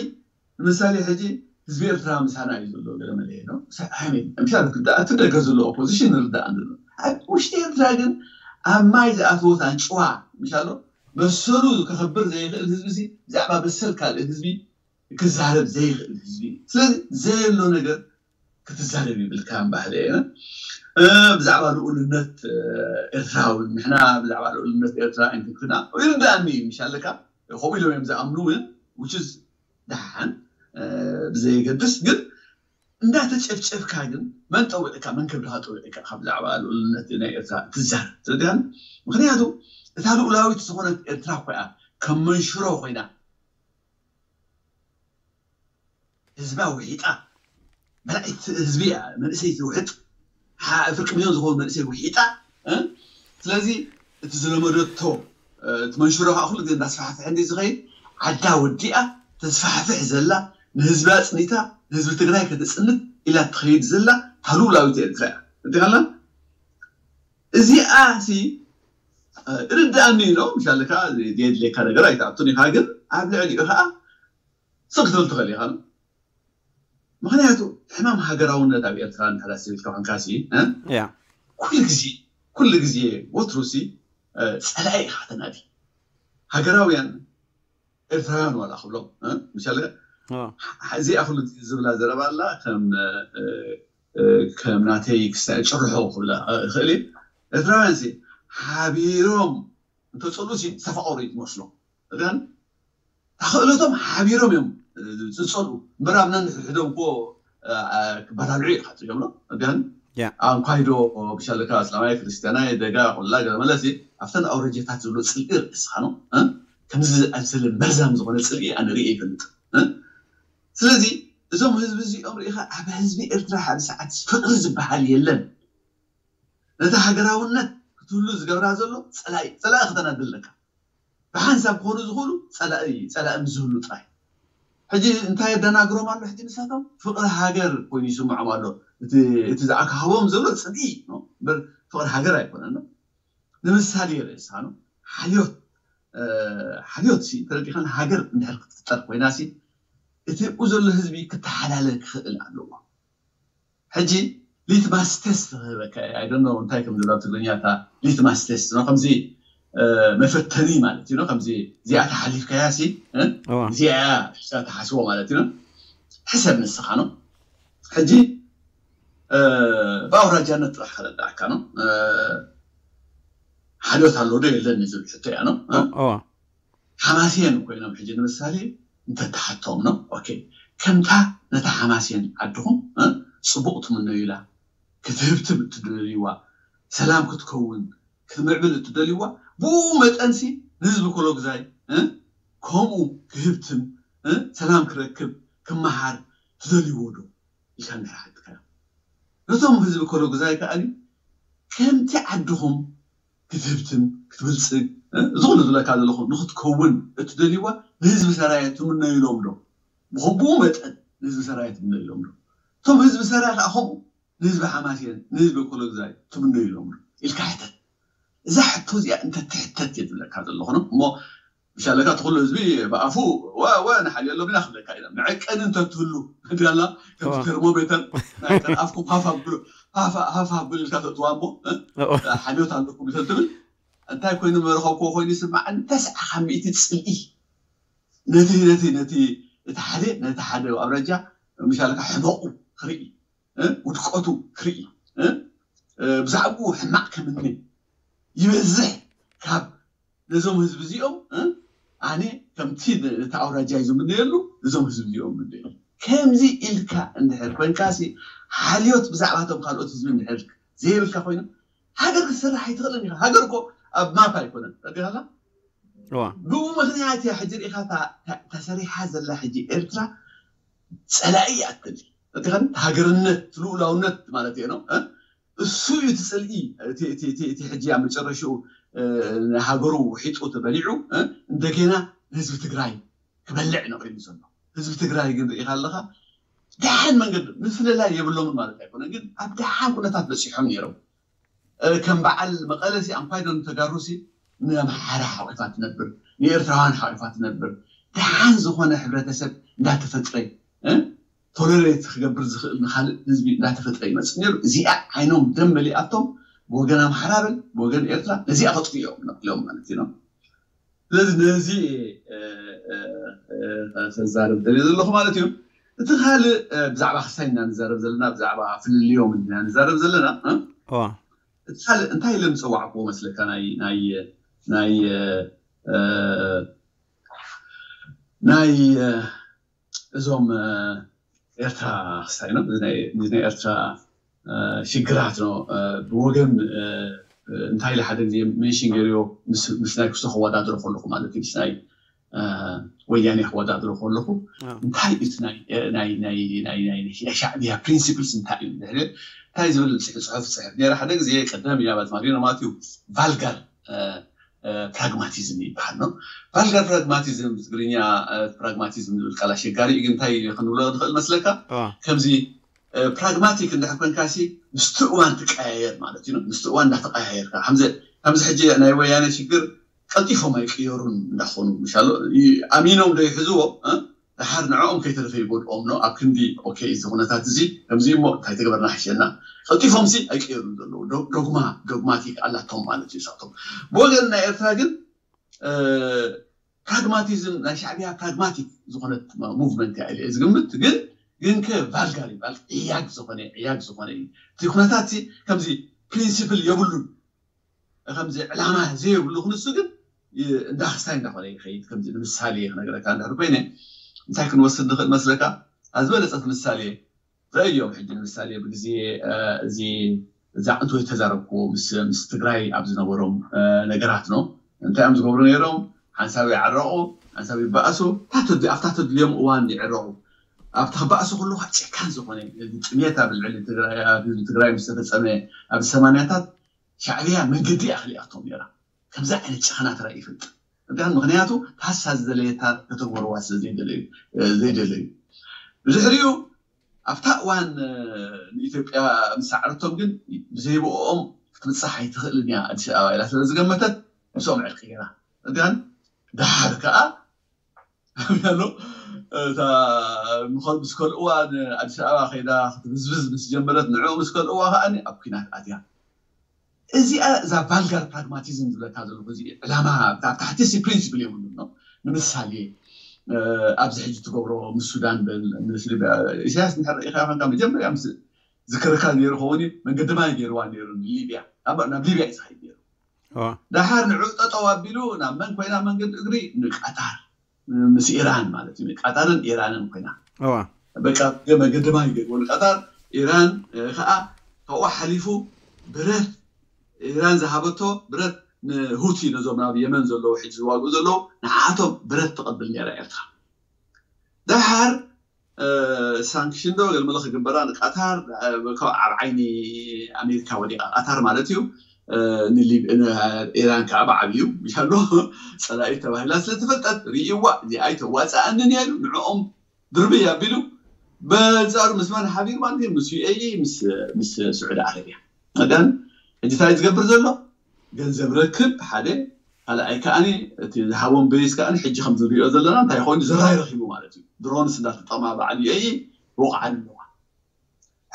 ንምሳሌ ሕጂ ህዝቢ ኤርትራ ምሳና እዩ ዘሎ ገለ መለ ነው። ምሻ እቲ ደገ ዘሎ ኦፖዚሽን ንርዳእ ኣሎ። ኣብ ውሽጢ ኤርትራ ግን ኣብ ማይ ዝኣተወት ኣንጭዋ ምሻሎ መሰሉ ከኸብር ዘይኽእል ህዝቢ ሲ ብዛዕባ መሰል ካልእ ህዝቢ ክዛረብ ዘይኽእል ህዝቢ። ስለዚ ዘየሎ ነገር ክትዛረብ ይብልካ ባህለ እየ። ብዛዕባ ልኡልነት ኤርትራ እውን ንሕና ብዛዕባ ልኡልነት ኤርትራ ኣይንትንክና ይርዳእኒ እዩ ምሻለካ ከምኡ ኢሎም እዮም ዝኣምኑ እውን ውችዝ ደሓን ብዘየገድስ ግን እንዳተጨፍጨፍካ ግን መን ጠዊዕካ መን ከብድኻ ጠዊዕካ ካብ ብዛዕባ ልኡልነት ናይ ኤርትራ ትዛረብ ትርዳኒ። ምክንያቱ እታ ልኡላዊት ዝኾነት ኤርትራ ኮይና ከም መንሽሮ ኮይና ህዝባ ውሒጣ መርዒት ህዝቢ እያ መንእሰይ ትውሕጥ ፍርቂ ሚሊዮን ዝኾኑ መንእሰይ ውሒጣ። ስለዚ እቲ ዝለመደቶ እቲ መንሽሮ ከዓ ኩሉ ግዜ እንዳስፋሕፍሐ እንዲ ዝኸይድ ዓዳ ወዲኣ ተስፋሕፍሕ ዘላ ንህዝቢ ኣፅኒታ ንህዝቢ ትግራይ ከተፅንት ኢላ ትኸይድ ዘላ ታሉላዊት ኤርትራ እያ እንዲኻላ እዚኣ ሲ ርድኣኒ ኢሎ ምሻለካ የድልየካ ነገር ኣይትኣቱን ኢኻ ግን ኣብ ልዕሊኡ ከዓ ስቕ ክትብል ትኽእል ኢኻ። ምኽንያቱ ሕማም ሃገራውነት ኣብ ኤርትራ እንድሕር ኣስቢልካ ኮንካሲ ያ ኩሉ ግዜ ኩሉ ግዜ ወትሩሲ ጸላኢ ኢኻ ተናዲ። ሃገራውያን ኤርትራውያን ዋላ ክብሎም ምሻለ እዚኣ ኩሉ ዝብላ ዘረባ ኣላ ከም ከም ናተይ ክሳይ ጭርሖ ክብላ ይኽእል እየ። ኤርትራውያን ሲ ሓቢሮም እንተፀሉ ሲ ዝተፋቀሩ እዩ ዝመስሎም። እዚኣን ተኽእለቶም ሓቢሮም እዮም ዝፀሉ እምበር ኣብ ነንሕድሕዶም እኮ ክበላልዑ ኢኻ ትሪኦም። እዚኣን ያ ኣንኳይዶ ብሻለካ እስላማይ ክርስቲያናይ ደጋ ኩላ ገለ መለሲ ኣብተን ኣውረጀታት ዝብሎ ፅልኢ ርእስኻ ነው ከምዚ ዝኣምሰለ መርዛም ዝኾነ ፅልኢ ኣነ ርእየ ይፈልጥ። ስለዚ እዞም ህዝቢ እዚኦም ርኢኻ ኣብ ህዝቢ ኤርትራ ሓደ ሰዓት ፍቅሪ ዝበሃል የለን። ነቲ ሃገራውነት ክትህሉ ዝገብራ ዘሎ ፀላኢ ፀላኢ ክተናድለካ ብሓንሳብ ክኾኑ ዝኽእሉ ፀላኢ ፀላኢ ምስ ዝህሉ ጥራይ። ሕጂ እንታይ የደናግሮም ኣሎ? ሕጂ ንሳቶም ፍቅሪ ሃገር ኮይኑ ይስምዖም ኣሎ። እቲ እቲ ዝኣካህቦም ዘሎ ፅልኢ ነው እምበር ፍቅሪ ሃገር ኣይኮነን። ንምሳሌ ርእሳ ነው ሓልዮት ሓልዮት ሲ ተረዲኸን ሃገር እንድሕር ክትፍጠር ኮይና ሲ እቲ ብኡ ዘሎ ህዝቢ ክተሓላለ ክኽእል ኣለዎ። ሕጂ ሊትማስ ቴስት ክህበካ ኣይደኖ እንታይ ከም ዝብላ ትግርኛ እታ ሊትማስ ቴስት ነው ከምዚ መፈተኒ ማለት እዩ። ከምዚ እዚኣ ተሓሊፍካያ ሲ እዚኣ ተሓስቦ ማለት እዩ። ሕሰብ ንስኻ ነው ሕጂ ብኣውራጃነት ጥራሕ ከረዳእካ ነው። ሓልዮት ኣሎ ዶ የለን ዝብል ሕቶ እያ ነው። ሓማስየን ኮይኖም ሕጂ ንምሳሌ እንተተሓቶም ነው ኦኬ፣ ከምታ ነታ ሓማስየን ዓድኹም ፅቡቅ ትምነዩላ ክትህብትም እትደልይዋ ሰላም ክትከውን ክትምዕብል እትደልይዋ ብኡ መጠንሲ ንህዝቢ ኮሎግዛይ ከምኡ ክህብትም ሰላም ክረክብ ክመሃር ትደልይዎ ዶ ኢልካ እንድሕር ሓትካ ነቶም ህዝቢ ኮሎግዛይ ከኣኒ ከምቲ ዓድኹም ክትህብትም ክትብልፅግ ዝኾነ ዝብለካ ዘለኹ ንክትከውን እትደልይዋ ንህዝቢ ሰራየ ትምነዩሎም ዶ? ብኸምኡ መጠን ንህዝቢ ሰራየ ትምነዩሎም ዶ? እቶም ህዝቢ ሰራየ ከዓ ከምኡ ንህዝቢ ሓማስየን ንህዝቢ ኮሎግዛይ ትምነዩሎም ዶ ኢልካ ሕተት። እዛ ሕቶ እዚኣ እንተትሕተት እየ ዝብለካ ዘለኹ ነው እሞ ምሻለካ እቲ ኩሉ ህዝቢ ብኣፉ ወ ወ ንሓልዮ ኣሎም ኢና ክብለካ ኢና። መዐቀኒ እንተትህሉ እንዲያላ ከምቲ ተርሞሜተር ናይ ቀን ኣፍኩም ሃፍ ኣብሉ ሃፍ ሃፍ ኣብሉ ኢልካ ተእትዋ እሞ ሓልዮት ኣለኩም እንተትብል እንታይ ኮይኑ መረኸብክዎ ኮይኑ ይስማዓኒ። ተስዓ ካብ ሚእቲ ፅልኢ ነቲ ነቲ ነቲ እቲ ሓደ ነቲ ሓደ ኣውራጃ ምሻለካ ሕመቑ ክርኢ ውድቀቱ ክርኢ ብዛዕባኡ ሕማቕ ከምኒ ይበዝሕ ካብ ነዞም ህዝቢ እዚኦም ኣነ ከምቲ እቲ ኣውራጃ እዩ ዝምነየሉ እዞም ህዝቢ እዚኦም ምንደየሉ ከምዚ ኢልካ እንድሕር ኮንካሲ ሓልዮት ብዛዕባቶም ካልኦት ህዝቢ እንድሕር ዘይብልካ ኮይኑ ሃገር ክትስራሕ ኣይትኽእልን ኢኻ። ሃገር እኮ ኣብ ማፕ ኣይኮነን ረዲኻላ እዋ ብኡ ምክንያት እያ ሕጂ ርኢኻ እታ- እታ- ተሰሪሓ ዘላ ሕጂ ኤርትራ ፀላኢ እያ ትደሊ ረዲኻኒ ሃገርነት ልኡላውነት ማለት እየ ነው እ? እሱ እዩ እቲ ፅልኢ እቲ- እቲ- እቲ- እቲ ሕጂ ኣብ መጨረሽኡ እ፣ ንሃገሩ ውሒጡ ተበሊዑ እ፣ እንደገና ንህዝቢ ትግራይ ክበልዕ ነቂሉ ዘሎ ህዝቢ ትግራይ ግን ርኢኻ ኣለኻ ደሓን መንገዲ ምፍልላይ የብሎምን ማለት ኣይኮነ ግን ኣብ ደሓን ኩነታት በፂሖም ነይሮም ከም በዓል መቐለሲ ኣንኳይዶ ንተጋሩሲ ንኣምሓራ ሓቂፋ ትነብር ንኤርትራውያን ሓቂፋ ትነብር ደሓን ዝኾነ ሕብረተሰብ እንዳተፈጥረ ቶለሬት ክገብር ዝኽእል ንካልእ ህዝቢ እንዳተፈጥረ ይመፅእ ነይሩ። እዚኣ ዓይኖም ደም መሊኣቶም ብወገን ኣምሓራ በል ብወገን ኤርትራ ነዚኣ ከጥፍኦም ነቅሎም ማለት እዩ። ስለዚ ነዚ ተዛረብ ደልየ ዘለኹ ማለት እዩ። እቲ ካልእ ብዛዕባ ክሳይ ኢና ንዛረብ ዘለና ብዛዕባ ፍልልዮም ኢና ንዛረብ ዘለና። እቲ ካልእ እንታይ ኢለ ምፀዋዕክዎ መስለካ ናይ ናይ ናይ ናይ እዞም ኤርትራ ክስታይ ነው ናይ ኤርትራ ሽግራት ነው ብወገን እንታይ ኢለ ሓደ ግዜ ሜንሽን ገይርዮ ምስ ናይ ክስቶ ከወዳድሮ ከለኹ ማለት እዩ ምስ ናይ ወያኔ ከወዳድሮ ከለኹ እንታይ እዩ ናይ ሻዕብያ ፕሪንሲፕልስ እንታይ እዩ እንታይ ዝብል ፅሑፍ ፅሕፍ ነረ ሓደ ግዜ ቀደም እያ ባዝማሪኖ ማለት እዩ ቫልጋር ፕራግማቲዝም ይበሃል ነው። ቫልጋር ፕራግማቲዝም ትግርኛ ፕራግማቲዝም ዝብል ቃል ኣሸጋሪ እዩ ግን እንታይ ክንብሎ ንኽእል መስለካ ከምዚ ፕራግማቲክ እንድሕር ኮንካሲ ምስቲ እዋን ትቀያየር ማለት እዩ። ምስቲ እዋን እንዳተቀያየርካ ከምዚ ሕጂ ናይ ወያነ ሽግር ቀልጢፎም ኣይቅየሩን እንዳኾኑ ምሻሎ ኣሚኖም ዶ ይሕዝዎ ድሓር ንዕኦም ከይተረፈ ይጎድኦም ነው ኣብ ክንዲ ኦኬ እዚ ኩነታት እዚ ከምዚ እሞ እንታይ ተገበርና ሓሸና ቀልጢፎም ሲ ኣይቀየሩን ዘለዉ ዶግማ ዶግማቲክ ኣላቶም ማለት እዩ ሳቶም ብወገን ናይ ኤርትራ ግን ፕራግማቲዝም ናይ ሻዕቢያ ፕራግማቲክ ዝኾነት ሙቭመንት እያ ኢለ ዝግምት ግን ግን ከ ቫልጋር ይባል ዕያግ ዝኾነ ዕያግ ዝኾነ እዩ እቲ ኩነታት ከምዚ ፕሪንሲፕል የብሉን ከምዚ ዕላማ ዘይብሉ ክንሱ ግን እንዳ ክስታይ እንዳኾነ ይኸይድ ከምዚ ንምሳሌ ክነገረካ እንድሕር ኮይነ እንታይ ክንወስድ ንኽእል መስለካ ኣዝበለፀት ምሳሌ ረእዮም ሕጂ ንምሳሌ ብግዜ እዚ እዛ ዕንቶ ዝተዛረብኩዎ ምስ ምስ ትግራይ ኣብ ዝነበሮም ነገራት ነው እንታይ እዮም ዝገብሩ ነይሮም ሓንሳብ ይዓረቑ ሓንሳብ ይበኣሱ ኣብታ ተድልዮም እዋን ይዕረቑ ኣብቲ ክበኣሱ ከለዉ ጨካን ዝኾነ ጥሜት ኣብ ልዕሊ ትግራይ ኣብ ህዝቢ ትግራይ ምስ ተፈፀመ ኣብ ሰማንያታት ሻዕብያ መንገዲ እያ ክልኣቶም ነይራ ከምዚ ዓይነት ጨኸና ተራእዩ ይፈልጥ እዳን ምክንያቱ ታሳ ዝደለየታ ከተግበርዋ ስለ ዘይደለዩ ዘይደለዩ ብድሕሪኡ ኣብታ እዋን ንኢትዮጵያ ምስ ሰዓረቶም ግን ብዘይብኦም ክትብፃሕ ኣይትኽእልን እያ ኣዲስ ኣበባ ኢላ ስለ ዝገመተት ምስኦም ዕርቂ ገይራ እዳን ደሓር ከዓ ኣሎ እታ ምስ ከልእዋ ንኣዲስ ኣበባ ከይዳ ክትብዝብዝ ምስ ጀመረት ንዕኡ ምስ ከልእዋ ከዓ ኣብ ኩናት ኣትያ እዚኣ እዛ ቫልጋር ፕራግማቲዝም ዝብለካ ዘለኹ እዚ ዕላማ ኣብ ታሕቲ ሲ ፕሪንሲፕል የብሉን ነው ንምሳሌ ኣብዚ ሕጂ ትገብሮ ምስ ሱዳን በል ምስ ሊብያ ኢሳያስ እንድሕር ርኢኻ ኮንካ መጀመርያ ምስ ዝክርካ ነይሩ ኸውን እዩ መንገዲ ማይ ገይርዋ ነይሩ ንሊብያ ኣብ ናብ ሊብያ እዩ ዝኸይድ ነይሩ ደሓር ንዑ ጠጠው ኣቢሉ ናብ መን ኮይና መንገዲ እግሪ ንቃታር ምስ ኢራን ማለት እዩ ቃታርን ኢራንን ኮይና በቃ መገደማ ይገድቦ ንቃታር ኢራን ከዓ ካብኡ ሓሊፉ ብረት ኢራን ዝሃበቶ ብረት ንሁቲ ነዞም ናብ የመን ዘለዉ ሕጂ ዝዋግኡ ዘለዉ ንዓቶም ብረት ትቐብል ነራ ኤርትራ ደሓር ሳንክሽን ዶ ገለ መለ ክግበራ ንቃታር ካብ ኣብ ዓይኒ ኣሜሪካ ወዲቃ ቃታር ማለት እዩ ኢራን ከዓ ብዓብዩ ይሻሎ ፀላኢ ተባሂላ ስለዝተፈልጠት ርእይዋ እዚኣ ኣይተዋፅኣንን እያ ኢሉ ንዕኦም ድርብይ ኣቢሉ በንፃሩ ምስ መን ሓቢሩ ማለት እዩ ምስ ዩኤኢ ምስ ስዑዲ ዓረብያ መዳን ሕጂ እንታይ ዝገብር ዘሎ ገንዘብ ረክብ ሓደ ካልኣይ ከዓኒ እቲ ዝሃቦም ቤዝ ከዓኒ ሕጂ ከም ዝሪኦ ዘለና እንታይ ኮይኑ ዝራይ ረኪቡ ማለት እዩ ድሮንስ እንዳተጠማ በዓል ዩኤኢ ይወቕዓን ኣለዋ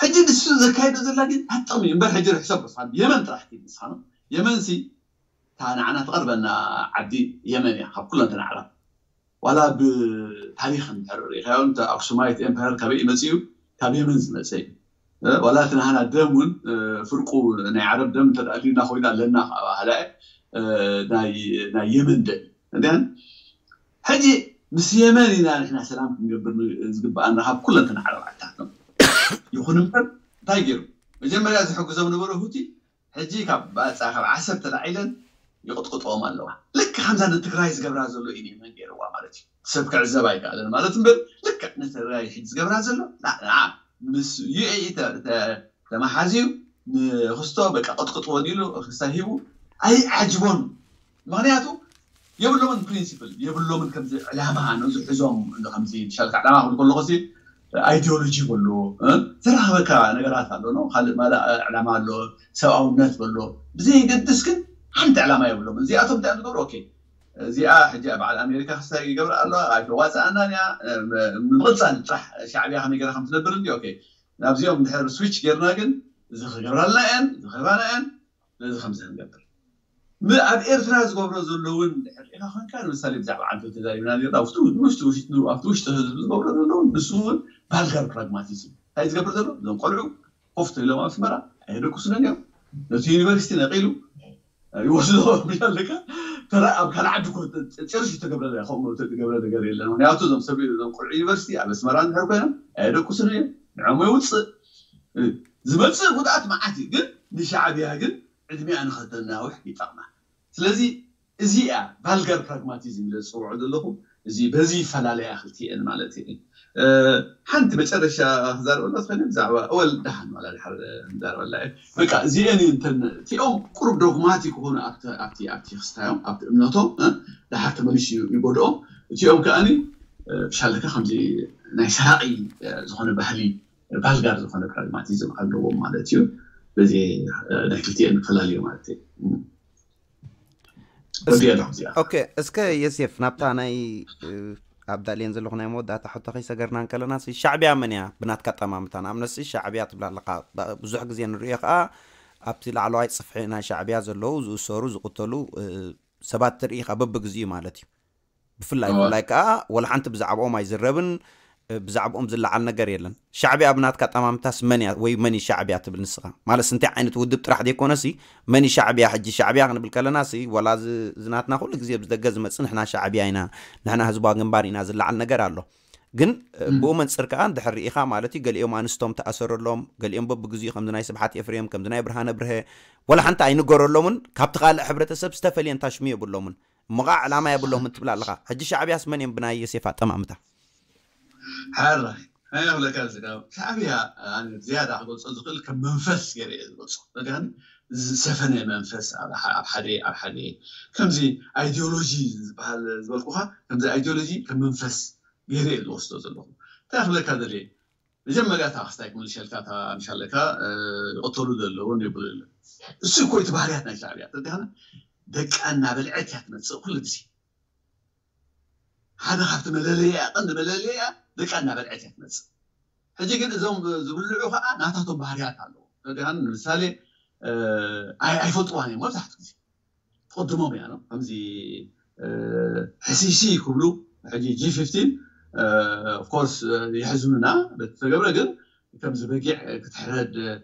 ሕጂ ንሱ ዘካይዶ ዘላ ግን ኣጥቕሚ እምበር ሕጂ ርሕሰብ በስኻ የመን ጥራሕ ኪድ ንስኻ ነው የመን ሲ እታ ንዓና ትቐርበና ዓዲ የመን እያ ካብ ኩለን ተናዕራ ዋላ ብታሪክ እንድሕር ሪኢኻዮ እንተ ኣክሱማይት ኤምፓየር ካበይ መፅኡ ካብ የመን ዝመፀ እዩ ዋላ እቲ ናህና ደም እውን ፍርቁ ናይ ዓረብ ደም እንተደኣልና ኮይና ኣለና ካባህላ ናይ የመን ደም እንዲያን ሕጂ ምስ የመን ኢና ንሕና ሰላም ክንገብር ዝግበኣና ካብ ኩለን ተናዕረብ ዓድታት ይኹን እምበር እንታይ ገይሩ መጀመርያ ዝሕግዞም ነበረ ሁቲ ሕጂ ካብ ባፃ ካብ ዓሰብ ተላዒለን ይቕጥቅጥዎም ኣለዋ ልክ ከምዛ ንትግራይ ዝገብራ ዘሎ እዩ የመን ገይርዋ ማለት እዩ ሰብ ክዕዘብ ኣይከኣለን ማለት እምበር ልክዕ ንትግራይ ሕጂ ዝገብራ ዘሎ ምስ ዩኤኢ ተመሓዝዩ ንክስቶ በቃ ቅጥቅጥዎን ኢሉ ክስታ ሂቡ ኣይዓጅቦን ምክንያቱ የብሎምን ፕሪንሲፕል የብሎምን ከምዚ ዕላማ ነዚ ሕዞም ከምዚ ሻልካ ዕላማ ክብል ከለኹ ኣይዲዮሎጂ በሎ ዘራኸበካ ነገራት ኣሎ ካልእ ማለ ዕላማ ኣሎ ሰብኣውነት በሎ ብዘየገድስ ግን ሓንቲ ዕላማ የብሎም እዚኣቶም እንታይ ዝገብሩ ኦኬ እዚኣ ሕጂ በዓል ኣሜሪካ ክስታይ ይገብር ኣሎ ኣይተዋፅኣናን እያ ንምቕፃል ጥራሕ ሻዕብያ ከመይ ገራ ከም ትነብር እንዲ ኦኬ ናብዚኦም ድሕር ስዊች ጌርና ግን እዚ ክገብራልና እየን እዚ ክህባና እየን ነዚ ከምዚ ክንገብር ኣብ ኤርትራ ዝገብሮ ዘሎ እውን ድሕር ሪኢኻ ኮንካ ንምሳሌ ብዛዕባ ዓንቶ ተዛሪብና ርና ውሽጢ ውሽጢ ውሽጢ ኣብቲ ውሽጢ ህዝቢ ዝገብሮ ዘሎ ንሱ እውን ባልጋር ፕራግማቲዝም እንታይ ዝገብር ዘሎ እዞም ቆልዑ ኮፍ ኢሎም ኣስመራ ኣየደቅሱን እዮም ነቲ ዩኒቨርሲቲ ነቒሉ ይወስዶ ኣለካ ተራ ኣብ ካልእ ዓዲ ጭርሽ ተገብረ ከምኡ ተገብረ ነገር የለን ምክንያቱ እዞም ሰብ እዞም ቆልዑ ዩኒቨርሲቲ ኣብ ኣስመራ እንድሕር ኮይኖም ኣየደቅሱን እዮም ንዕሞ ይውፅእ ዝመፅእ ጉድኣት መዓት እዩ ግን ንሻዕብያ ግን ዕድሚኣ ንኸተናውሕ ይጠቕማ ስለዚ እዚኣ ቫልጋር ፕራግማቲዝም ኢለ ዝፅውዖ ዘለኹ እዚ በዚ ይፈላለያ ክልቲኤን ማለት እዩ ሓንቲ መጨረሻ ክዛረበላ ዝኸነ ብዛዕባ እወል ደሓን ዋላ ድሓር ክዛረበላ እዩ በቃ እዚኤን እንተን እቲኦም ቁሩብ ዶግማቲ ክኾኑ ኣብቲ ኣብቲ ክስታዮም ኣብቲ እምነቶም ደሓር ተመሊሱ ይጎድኦም እቲኦም ከኣኒ ብሻለካ ከምዚ ናይ ሰራቂ ዝኾነ ባህሊ ቫልጋር ዝኾነ ፕራግማቲዝም ኣለዎም ማለት እዩ በዚ ናይ ክልቲኤን ክፈላለዩ ማለት እዩ ኦኬ እስከ የሴፍ ናብታ ናይ ኣብ ዳልየን ዘለኹ ናይ መወዳእታ ሕቶ ከይሰገርና እንከለና፣ ሲ ሻዕብያ መን እያ? ብናትካ ጠማምታ፣ ንኣብነት ሲ ሻዕብያ ትብላ ኣለኻ። ብ-፣ ብዙሕ ግዜ ንርእዮ ከኣ ኣብቲ ላዕለዋይ ጽፍሒ ናይ ሻዕብያ ዘለዉ ዝእሰሩ፣ ዝቕተሉ፣ እ፣ ሰባት ትርኢ ኢኻ በብግዚኡ ማለት እዩ። ብፍላይ፣ እወ። ብፍላይ ከኣ ወላ ሓንቲ ብዛዕባኦም ኣይዝረብን፣ እ፣ ብዛዕባኦም ዝለዓል ነገር የለን። ሻዕብያ ብናትካ ጠማምታስ መን እያ ወይ መን እዩ ሻዕብያ ትብል ንስኻ? ማለት እንታይ ዓይነት ውድብ ጥራሕ ዘይኮነሲ፣ መን እዩ ሻዕብያ? ሕጂ ሻዕብያ ክንብል ከለና ሲ፣ ወላ እዚ፣ እዚ ናትና ኩሉ ግዜ ብደገ ዝመጽእ ንሕና ሻዕብያ ኢና፣ ንሕና ህዝባዊ ግንባር ኢና ዝለዓል ነገር ኣሎ። ግን፣ እ፣ እም። ብኡ መንጽር ከኣ እንድሕር ርኢኻ ማለት እዩ፣ ገሊኦም ኣንስቶም ተኣሰረሎም፣ ገሊኦም በብግዚኡ ከምዚ ናይ ስብሓት ኤፍሬም፣ ከምዚ ናይ ብርሃነ ብርሀ፣ ወላ ሓንቲ ኣይንገረሎምን፣ ካብቲ ካልእ ሕብረተሰብ ዝተፈልየ እንታሽሙ የብሎምን። እሞ ኸዓ ዕላማ የብሎምን ትብል ኣለኻ። ሕጂ ሻዕብያስ መን እዮም ብናይ ዮሴፍ ኣጠማምታ? ሓራይ፣ እንታይ ይብለካ እዚ ካብ ሻዕብያ፣ ኣነ ዝያዳ ክገልጾ ዝኽእል ከም መንፈስ ገይረ እየ ዝገልጾ። በቃ ዝሰፈነ መንፈስ ኣብ ሓ-፣ ኣብ ሓደ፣ ኣብ ሓደ ከምዚ ኣይዲዮሎጂ ዝበሃል ዝበልኩኻ፣ ከምዚ ኣይዲዮሎጂ ከም መንፈስ ገይረ እየ ዝወስዶ ዘለኹ። እንታይ ክብለካ ደልየ? መጀመርያ እታ ክስታይ ክምልሸልካ፣ እታ ምሻለካ፣ እ፣ ይቕተሉ ዘለውን ይብሉ የለን። እሱ እኮ እቲ ባህርያት ናይ ሻዕብያ። ተረዲኻና? ደቃ እናበልዐት እያ ትመጽእ ኩሉ ግዜ። ሓደ ካብቲ መለለያ፣ ቀንዲ መለለያ ደቃ እናበልዐት እያ ትመጽእ። ሕጂ ግን እዞም ዝብልዑ ኸዓ ናታቶም ባህርያት ኣለዎ። ተረዲኻኒ? ንምሳሌ፣ እ፣ ኣይ-፣ ኣይፈልጥዋን እዮም መብዛሕትኡ ግዜ። ትቕድሞም እያ ነው። ከምዚ፣ እ፣ ሕሲሲ ክብሉ፣ ሕጂ ጂ ፊፍቲን፣ እ፣ ኦፍ ኮርስ፣ እ፣ የሕዝኑና በቲ ተገብረ፣ ግን ከምዚ በጊዕ ክትሕረድ፣ እ፣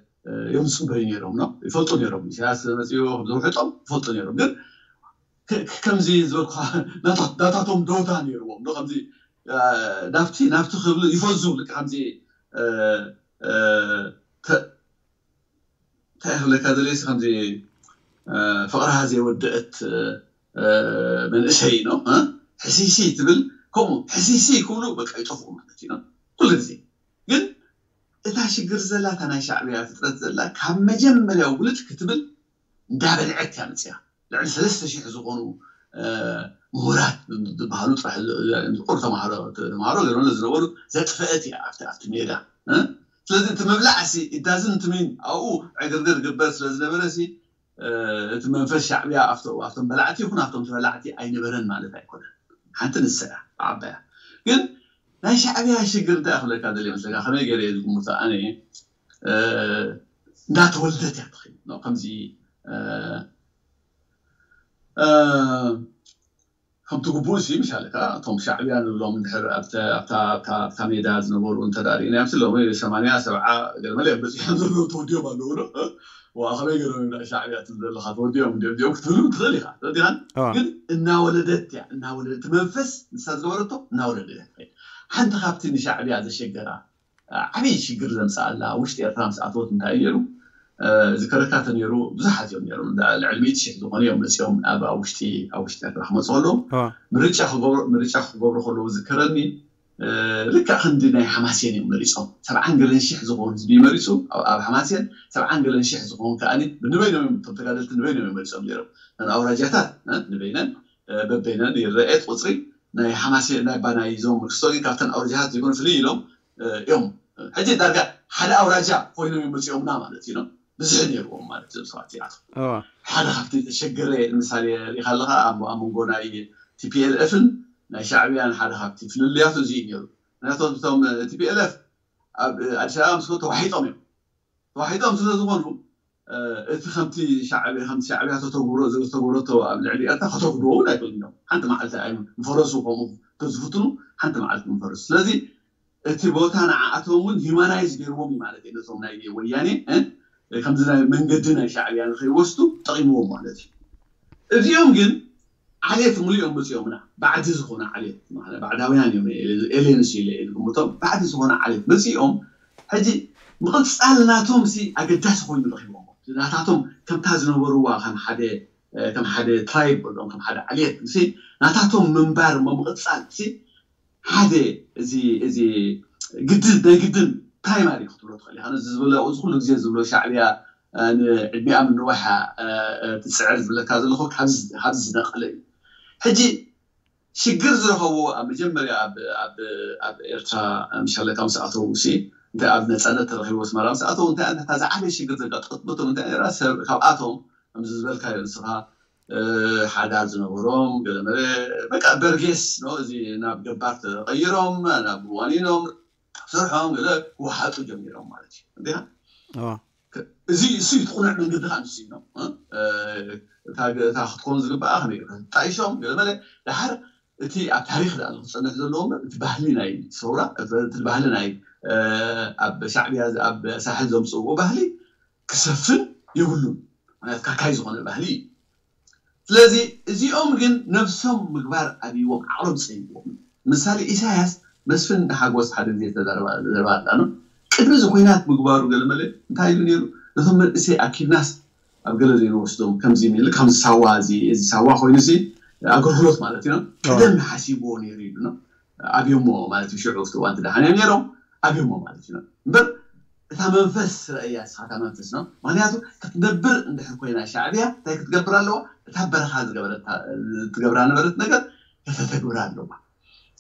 እዮም ዝጽበዩ ነይሮም ነው። ይፈልጡ ነይሮም። ኢሳያስ መጺኡ ከም ዘውሕጦም ይፈልጡ ነይሮም። ግን ከ-፣ ከ-፣ ከምዚ ዝበልኩኻ ናታ-፣ ናታቶም ደውታ ነይርዎም ነው። ከምዚ፣ እ፣ ናብቲ፣ ናብቲ ክብሉ ይፈዙ። ልክ ከምዚ፣ እ፣ እ፣ ተ-፣ እንታይ ክብለካ ደልየ፣ ከምዚ፣ እ፣ ፍቕራ ዘይወደአት፣ እ፣ መንእሰይ ነው፣ እ? ሕሲሲ ትብል፣ ከምኡ ሕሲሲ ክብሉ በቃ ይጠፍኡ ማለት እዩ ነው። ኩሉ ግዜ። ግን እታ ሽግር ዘላ፣ እታ ናይ ሻዕብያ ፍጥረት ዘላ፣ ካብ መጀመርያው ውልድ ክትብል እንዳበልዐት እያ መፅያ። ልዕሊ ሰለስተ ሽሕ ዝኾኑ፣ እ፣ ምሁራት ዝበሃሉ ጥራሕ ቁር ተምሃሮ፣ ተምሃሮ ገይሮም ዝነበሩ ዘጥፈአት እያ ኣብቲ፣ ኣብቲ ሜዳ፣ እ? ስለዚ እቲ ምብላዕ ሲ፣ it doesn't mean ኣብኡ ዕግርግር ግበር ስለ ዝነበረ ሲ፣ እ፣ እቲ መንፈስ ሻዕብያ ኣብቶ-፣ ኣብቶም በላዕቲ ይኹን ኣብቶም ተበላዕቲ ኣይነበረን ማለት ኣይኮነን። ሓንቲ ንሳ እያ ብዓባያ። ግን ናይ ሻዕብያ ሽግር እንታይ ክብለካ ደልየ መስለካ? ከመይ ገይረ እየ ዝግምቶ ኣነ? እ፣ እንዳተወልደት እያ ትኸይድ ነው። ከምዚ፣ እ፣ እ፣ ከምቲ ግቡእ ሲ፣ ምሻለካ፣ እቶም ሻዕብያ ንብሎም እንድሕር ኣብተ-፣ ኣብታ፣ ኣብታ፣ ኣብታ ሜዳ ዝነበሩ እንተ ደኣ ርኢናዮም፣ ሲ ሎሚ ሰማንያ፣ ሰብዓ ገለ መለ እዮም በጺሖም ዘለዉ፣ ተወዲኦም ኣለዉ ዶ? ዋ፣ ከመይ ገይሮም እዮም ናብ ሻዕብያ ትብል ዘለኻ? ተወዲኦም እንድዮም፣ እንድዮም ክትብሉ ትኽእል ኢኻ። ተወዲኻን? ኣዋ። ግን እናወለደት እያ፣ እናወለደት፣ እቲ መንፈስ ንሳ ዝገበረቶ እናወለደት እያ ትኸይድ። ሓንቲ ካብቲ ንሻዕብያ ዘሸገራ፣ ዓብዪ ሽግር ዘምፅኣላ ውሽጢ ኤርትራ ምስ ኣተወት እንታይ እዩ ነይሩ? እ፣ ዝከረካ ተነይሩ ብዙሓት እዮም ነይሮም። እንዳ ልዕሊ ሚእቲ ሽሕ ዝኾኑ እዮም መፂኦም ኣብ፣ ኣብ ውሽጢ፣ ኣብ ውሽጢ ኤርትራ ክመፁ ከለዉ። ኣዋ። ምርጫ ክገብሩ፣ ምርጫ ክገብሩ ከለዉ ዝከረኒ፣ እ፣ ልክዕ ክንዲ ናይ ሓማሴን እዮም መሪፆም። ሰብዓን ገለን ሽሕ ዝኾኑ ህዝቢ መሪፁ ኣብ፣ ኣብ ሓማሴን፣ ሰብዓን ገለን ሽሕ ዝኾኑ ከኣኒ ንበይኖም እዮም፣ እቶም ተጋደልቲ ንበይኖም እዮም መሪፆም ነይሮም። ነን ኣውራጃታት፣ እ፣ ንበይነን፣ እ፣ በበይነን ይረአ ቁፅሪ ናይ ሓማሴን፣ ናይ ባናይ ዞም ክስቶ ግን ካብተን ኣውራጃታት ዘይኮኑ ፍልይ ኢሎም፣ እ፣ እዮም። ሕጂ ዳርጋ ሓደ ኣውራጃ ኮይኖም እዮም መፂኦምና ማለት እዩ። ብዝሒ ነይርዎም ማለት እዮም ሰባት እዚኣቶም። ኣዋ። ሓደ ካብቲ ዘሸገረ ምሳሌ ርኢኻ ኣለኻ፣ ኣብ፣ ኣብ መንጎ ናይ ቲ ፒ ኤል ኤፍን ናይ ሻዕብያን ሓደ ካብቲ ፍልልያቱ እዚ እዩ ነይሩ። ምክንያቱ እቶም ቲ ፒ ኤል ኤፍ ኣብ ኣዲስ ኣበባ ምስ ተዋሒጦም እዮም። ተዋሒጦም ስለ ዝኾኑ፣ እ፣ እቲ ከምቲ ሻዕብያ፣ ከምቲ ሻዕብያ ተተግብሮ፣ ዝተግብረቶ ኣብ ልዕሊ ኤርትራ ከተግብሮ እውን ኣይክእሉን እዮም። ሓንቲ መዓልቲ ኣይም-፣ ንፈረሱ ከምኡ ተዝፍትኑ፣ ሓንቲ መዓልቲ ንፈረሱ። ስለዚ እቲ ቦታ ንዓኣቶም እውን ሂማናይዝ ገይርዎም እዩ ማለት እዩ። ነቶም ናይ ወያኔ፣ እ፣ ከምዚ ናይ መንገዲ ናይ ሻዕብያ ንኸይወስዱ ጠቒምዎም ማለት እዩ። እዚኦም ግን ዓሌት ሙሉኦም መፂኦምና። ባዕዲ ዝኾነ ዓሌት፣ ማለት ባዕዳውያን እዮም፣ ኤሌንስ ኢለ እየ ዝግምቶም። ባዕዲ ዝኾነ ዓሌት መፂኦም፣ ሕጂ ምቕፃል ናቶም ሲ ኣገዳሲ ኮይኑ ረኺቦም። ናታቶም ከምታ ዝነበርዋ ከም ሓደ፣ ከም ሓደ ትራይብ በሎም፣ ከም ሓደ ዓሌት ሲ ናታቶም ምንባር እሞ ምቕፃል ሲ ሓደ እዚ፣ እዚ ግድን፣ ናይ ግድን ፕራይማሪ ክትብሎ ትኽእል ኢኻ። እዚ ዝብሎ፣ እዚ ኩሉ ግዜ ዝብሎ ሻዕብያ፣ እ፣ ንዕድሚኣ ምንዋሕ እያ፣ እ፣ እ፣ ትፅዕር ዝብለካ ዘለኹ ካብዚ፣ ካብዚ ዝነቐለ እዩ። ሕጂ ሽግር ዝረኸብዎ ኣብ መጀመርያ ኣብ፣ ኣብ፣ ኣብ ኤርትራ ምሻለካ ምስ ኣተዉ ሲ፣ እንታይ ኣብ ነፃነት ተረኺቡ ኣስመራ ምስ ኣተዉ እንታይ፣ እንታይ ዝዓበየ ሽግር ዘጋጠመቶም እንታይ ነይራ? ሰብ ካብኣቶም ከምዚ ዝበልካዮ ንስኻ ሓዳር ዝነበሮም ገለመለ በቃ በርጌስ ነው። እዚ ናብ ገባር ተቐይሮም ናብ ዋኒኖም ስርሖም ገለ ክወሓጡ ጀሚሮም ማለት እዩ። እንዲኻ እዚ እሱ ይትቁነዕ መንገዲ ከዓ ንሱ ነው። እታ ክትኮኑ ዝግባኣ ከመይ ጣይሾም ገለመለ ድሓር እቲ ኣብ ታሪክ ዳ ክፀንሕ ዘለዎ እምበር እቲ ባህሊ ናይ ሰውራ እቲ ባህሊ ናይ ኣብ ሻዕብያ ኣብ ሳሕል ዘምፅእዎ ባህሊ ክሰፍን የብሉን። ምክንያቱ ካካይ ዝኾነ ባህሊ እዩ። ስለዚ እዚኦም ግን ነብሶም ምግባር ኣብይዎም ዓቕሎም ፀይዎም። ምሳሌ ኢሳያስ መስፍን ሓጎስ ሓደ ግዜ ተዛረባ ኣላ ነው። ቅድሚ እዚ ኩናት ምግባሩ ገለመለ እንታይ ኢሉ ነይሩ? ነቶም መንእሰይ ኣኪብናስ ኣብ ገለ ዘይንወስዶም ከምዚ ሚል ከም ሳዋ እዚ እዚ ሳዋ ኮይኑ እዚ ኣገልግሎት ማለት እዩ። ቀደም ሓሲብዎ ነይሩ ኢሉ ነው። ኣብዮሞ ማለት እዩ። ሽዑ ኣብቲ እዋን ትደሓንዮም ነይሮም ኣብዮሞ ማለት እዩ እምበር እታ መንፈስ ረእያ ስኻ እታ መንፈስ ነው። ምክንያቱ ክትነብር እንድሕር ኮይና ሻዕብያ እንታይ ክትገብር ኣለዋ? እታ በረኻ ዝገበረታ ትገብራ ነበረት ነገር ከተተግብራ ኣለዋ።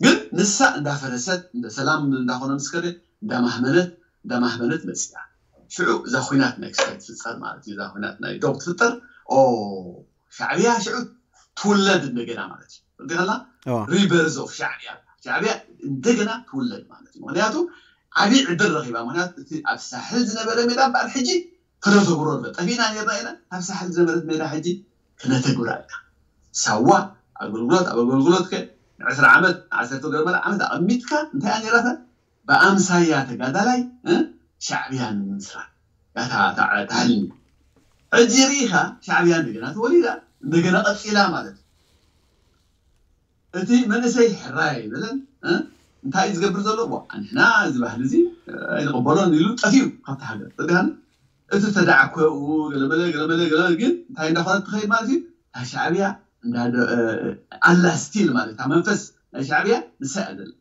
ግን ንሳ እንዳፈረሰት እንደ ሰላም እንዳኾነ ምስ ከደ እንዳማህመነት እንዳማህመነት መፅያ። ሽዑ እዛ ኩናት ናይ ክስታይ ትፍፀር ማለት እዩ። እዛ ኩናት ናይ ዶብ ትፍጠር ኦ ሻዕብያ ሽዑ ትውለድ እንደገና ማለት እዩ። እንዲኸላ ሪበርዝ ኦፍ ሻዕብያ ሻዕብያ እንደገና ትውለድ ማለት እዩ። ምክንያቱ ዓብዪ ዕድል ረኺባ። ምክንያቱ እቲ ኣብ ሳሕል ዝነበረ ሜዳ እምበኣር ሕጂ ክነተግብሮ ኣሎ። ጠፊእና ነርና ኢና። ኣብ ሳሕል ዝነበረት ሜዳ ሕጂ ክነተግብራ ኢና። ሳዋ ኣገልግሎት ኣብ ኣገልግሎት ከ ንዕስራ ዓመት ንዓሰርተ ገርመል ዓመት ኣቐሚጥካ እንታይ እያ ነይራታ? ብኣምሳያ ተጋዳላይ እ፣ ሻዕብያ ንምስራት እያ እታ እታ እታ ሕልሚ። ሕጂ ርኢኻ ሻዕብያ እንደገና ተወሊዳ እንደገና ቀፂላ ማለት እዩ። እቲ መንእሰይ ሕራይ ኣይበለን እ፣ እንታይ እዩ ዝገብር ዘሎ? ዋ ንሕና እዚ ባህሊ እዚ ኣይንቕበሎን ኢሉ ጠፊኡ ካብቲ ሃገር። ተጋን እቲ ተዳዕኮኡ ገለመለ ገለመለ ገለ ግን እንታይ እንዳኾነ ትኸይድ ማለት እዩ። እታ ሻዕብያ እንዳ ኣላ ስቲል ማለት እታ መንፈስ ናይ ሻዕብያ ንሳ እያ ዘላ።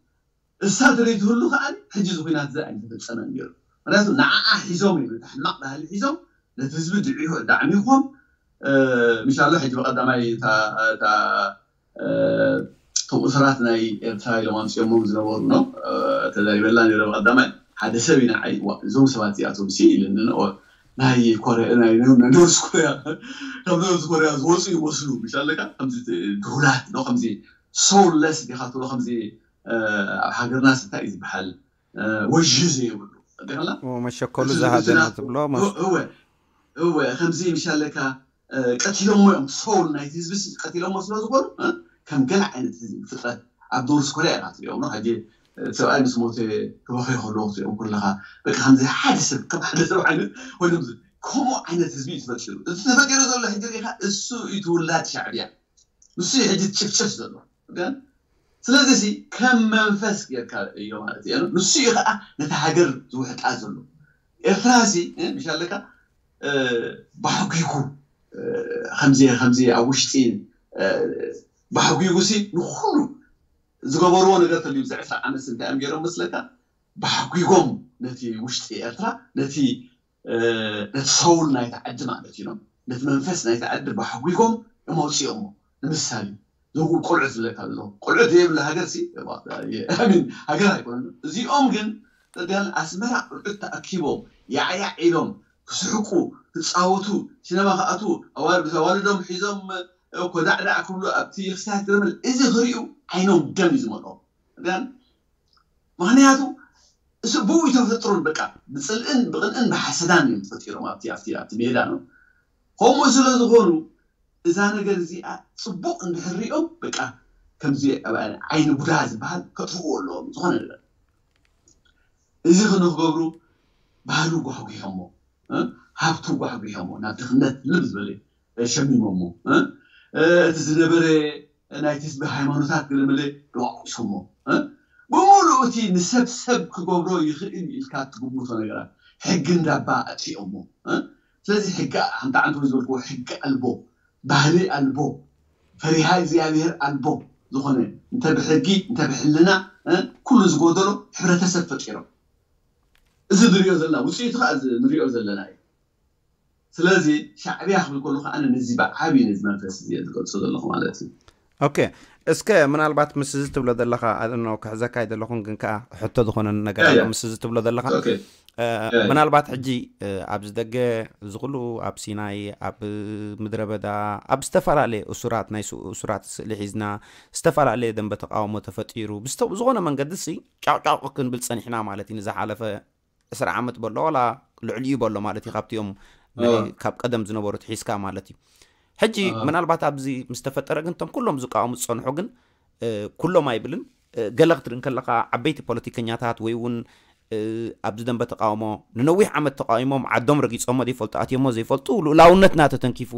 እሳ ትርኢትህሉ ከዓ ሕጂ እዚ ኩናት እዚ ኣይተፈፀመን ነይሩ። ምክንያቱ ንዓኣ ሒዞም እዮም፣ እቲ ሕማቕ ባህሊ ሒዞም ነቲ ህዝቢ ድዒ- ዳዕሚኾም ምሻሎ ሕጂ ብቐዳማይ እታ እታ እቶም እሱራት ናይ ኤርትራ ኢሎም ኣምፅኦሞም ዝነበሩ ነው ተዛሪበላ ነይረ። ብቐዳማይ ሓደ ሰብ እዩ ንዓይ ዋ እዞም ሰባት እዚኣቶም ሲ ኢልኒ ነው ናይ ኮርያ ናይ ኖርዝ ኮርያ ካብ ኖርዝ ኮርያ ዝወፁ ይመስሉ ምሻለካ ከምዚ ድሁላት ነው ከምዚ ሶውለስ ዲኻ ትብሎ ከምዚ ኣብ ሃገርና እንታይ እዩ ዝበሃል ወዥ ዘይብሉ ዲኸላ መሸከሉ ዝሃደና ትብሎ እወ ከምዚ ምሻለካ ቀቲሎሞ እዮም ሶል ናይቲ ህዝቢ ቀቲሎሞ ስለ ዝኾኑ ከም ገለ ዓይነት ህዝቢ ፍጥረት ኣብ ኖርዝ ኮርያ ኢኻ ትሪኦም ነው ሕጂ ሰብኣይ ምስ ሞተ ክበኸ ከለዎ ክትሪኦም ከለኻ በቃ ከምዚ ሓደ ሰብ ከም ሓደ ሰብ ዓይነት ኮይኖም ከምኡ ዓይነት ህዝቢ እዩ ተፈጢሩ እቲ ተፈጢሩ ዘሎ ሕጂ ሪኢኻ እሱ እዩ ትውላድ ሻዕብያ ንሱ እዩ ሕጂ ትጭፍጭፍ ዘሎ ግን ስለዚ ሲ ከም መንፈስ ጌርካ እዮ ማለት እዩ ንሱ እዩ ከዓ ነቲ ሃገር ዝውሕጣ ዘሎ ኤርትራ ሲ ምሻለካ ባሕጒጉ ከምዚ ከምዚ ኣብ ውሽጢ ባሕጒጉ ሲ ንኩሉ ዝገበርዎ ነገር ተልዩ ብዚ ዕስራ ዓመት እንታይ እዮም ገይሮም መስለካ ባሕጒጎም ነቲ ውሽጢ ኤርትራ ነቲ ነቲ ሰውል ናይቲ ዓዲ ማለት እዩ ነቲ መንፈስ ናይቲ ዓዲ ባሕጒጎም እዮም ኣውፅኦሞ ንምሳሌ ዘው ቆልዑት ዝብለካ ዘሎ ቆልዑት ዘይብሉ ሃገር ሲ ሃገር ኣይኮነ እዚኦም ግን ዳን ኣስመራ ቆልዑት ተኣኪቦም ያዕያዕ ኢሎም ክስሕቁ ክፃወቱ ሲነማ ክኣትዉ ኣዋልዶም ሒዞም ኮዳዕዳዕ ክብሉ ኣብቲ ክስታት ገረመል እዚ ክሪኡ ዓይኖም ደም እዩ ዝመልኦም ዳን ምክንያቱ እሱ ብኡ ተፈጥሮን በቃ ብፅልእን ብቅንእን ብሓሰዳን እዮም ተፈጢሮም ኣብቲ ኣብቲ ኣብቲ ሜዳ ነው ከምኡ ስለ ዝኾኑ እዛ ነገር እዚኣ ፅቡቅ እንድሕር ሪኦም በቃ ከምዚ ዓይኒ ቡዳ ዝበሃል ከጥፍዎ ኣለዎም ዝኾነ ነገር እዚ ክንክገብሩ ባህሉ ጓሕጒሖሞ ሃብቱ ጓሕጒሖሞ ናብ ድኽነት ልብ ዝበለ ሸሚሞሞ እቲ ዝነበረ ናይቲ ህዝቢ ሃይማኖታት ገለመለ ደዋቂሶሞ ብምሉእ እቲ ንሰብ ሰብ ክገብሮ ይኽእል ኢልካ ትግምቶ ነገራት ሕጊ እንዳባ ኣጥፊኦሞ ስለዚ ሕጊ ሓንቲ ዓንተ ዝበልክዎ ሕጊ ኣልቦ ባህሊ ኣልቦ ፈሪሃ እግዚኣብሔር ኣልቦ ዝኾነ እንተ ብሕጊ እንተ ብሕልና ኩሉ ዝጎደሎ ሕብረተሰብ ፈጢሮም እዚ ንሪኦ ዘለና ውፅኢቱ ከዓ ንሪኦ ዘለና እዩ ስለዚ ሻዕብያ ክብል ከሉ ከዓ ነዚ ብዓብዩ ነዚ መንፈስ እዚ ዝገልፆ ዘለኹ ማለት እዩ ኦኬ፣ እስከ ምናልባት ምስ እዚ ትብሎ ዘለኻ ኣኖ ክሕዘካ ኣይደለኹን፣ ግን ከዓ ሕቶ ዝኾነ ነገር ኣሎ። ምስ እዚ ትብሎ ዘለኻ ምናልባት ሕጂ ኣብዚ ደገ ዝኽሉ ኣብ ሲናይ፣ ኣብ ምድረ በዳ፣ ኣብ ዝተፈላለየ እሱራት፣ ናይ እሱራት ስእሊ ሒዝና፣ ዝተፈላለየ ደንበ ተቃውሞ ተፈጢሩ ብዝኾነ መንገዲ ሲ ጫውጫው ክንብል ፀኒሕና ማለት እዩ። ንዝሓለፈ ዕስራ ዓመት በሎ ዋላ ልዕሊኡ በሎ ማለት እዩ። ካብቲኦም ካብ ቀደም ዝነበሩ ትሒዝካ ማለት እዩ። ሕጂ ምናልባት ኣብዚ ምስ ተፈጠረ ግን እቶም ኩሎም ዝቃወሙ ዝፀንሑ ግን ኩሎም ኣይብልን፣ ገለ ክትርኢ ከለካ ዓበይቲ ፖለቲከኛታት ወይ እውን ኣብዚ ደንበ ተቃውሞ ንነዊሕ ዓመት ተቃዊሞም ዓዶም ረጊፆሞ ዘይፈልጡ ኣትዮሞ ዘይፈልጡ ልኡላውነትና ተተንኪፉ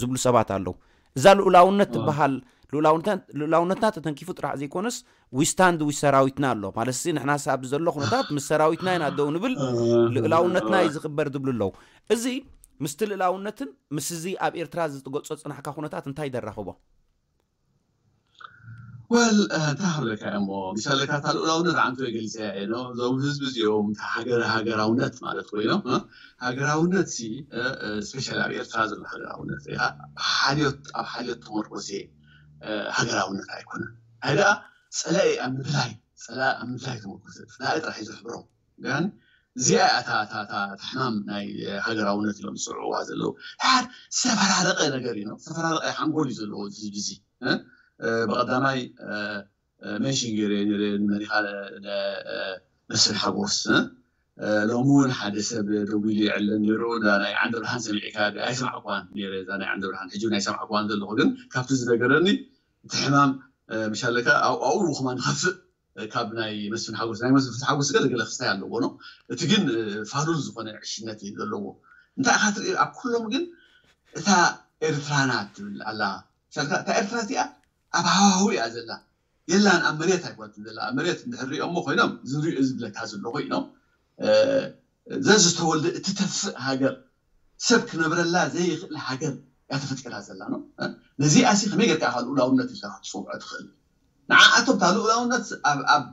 ዝብሉ ሰባት ኣለዉ። እዛ ልኡላውነት ትበሃል ልኡላውነትና ተተንኪፉ ጥራሕ ዘይኮነስ ዊስታንድ ዊ ሰራዊትና ኣሎ ማለት ሲ ንሕና ሳብ ዘሎ ኩነታት ምስ ሰራዊትና ኢና ደው ንብል፣ ልእላውነትና እዩ ዝኽበር ዝብሉ ኣለዉ። እዚ ምስቲ ልእላውነትን ምስ እዚ ኣብ ኤርትራ ዝትገልጾ ዝጽናሕካ ኩነታት እንታይ ደራኽቦ? ወል እንታይ ክብለካ እሞ ምሳሌካ እታ ልኡላውነት ዓንቶ የገልጽያ እየ ነው እዞም ህዝቢ እዚኦም እታ ሃገር ሃገራውነት ማለት ኮይኖም ሃገራውነት ሲ ስፔሻል ኣብ ኤርትራ ዘሎ ሃገራውነት ሪኢኻ ሓልዮት ኣብ ሓልዮት ተመርኮሰ ሃገራውነት ኣይኮነን። ኣይ ደኣ ጸላኢ ኣብ ምድላይ ጸላኢ ኣብ ምድላይ ተመርኮሰ ጸላኢ ጥራሕ እዩ ዘሕብሮም። ግን እዚኣ እያ እታ እታ እታ እታ ሕማም ናይ ሃገራውነት ኢሎም ዝጽውዕዋ ዘለዉ። ድሓር ዝተፈራረቐ ነገር እዩ ነው ዝተፈራረቐ ሓንጎል እዩ ዘለዎ እዚ ህዝቢ እዚ እ ብቐዳማይ እ ሜንሽን ገይረ ነይረ ንመሪኻ ነ- እ መስፍን ሓጎስ እ እ ሎሚ እውን ሓደ ሰብ ደዊሉ ይዕለን ነይሩ እዛ ናይ ዓንደ ብርሃን ሰሚዕካ ኣይሰማዕኳን ነይረ እዛ ናይ ዓንደ ብርሃን ሕጂ እውን ኣይሰማዕኳን ዘለኹ ግን ካብቲ ዝነገረኒ እቲ ሕማም እ ምሻለካ ኣብኡ ከማ ንኸፍእ ካብ ናይ መስፍን ሓጎስ ናይ መስፍን ሓጎስ ገለ ገለ ክስታይ ኣለዎ ነው እቲ ግን ፋሉል ዝኾነ ዕሽነት እዩ ዘለዎ እንታይ ኢኻ ትርኢ ኣብ ኩሎም ግን እታ ኤርትራና ትብል ኣላ ሻልካ እታ ኤርትራ እዚኣ ኣብ ሃዋሁ እያ ዘላ የላን ኣብ መሬት ኣይኮነትን ዘላ ኣብ መሬት እንድሕር ሪኦሞ ኮይኖም ዝሪኦ ዝብለካ ዘሎ ኮይኖም ዘዝተወልደ እትተፍእ ሃገር ሰብ ክነብረላ ዘይኽእል ሃገር እያ ተፈጢራ ዘላ ነው። ነዚኣ ሲ ከመይ ጌርካ ኢኻ ልኡላውነት ኢልካ ክትፅውዖ ትኽእል? ንዓኣቶም እታ ልኡላውነት ኣብ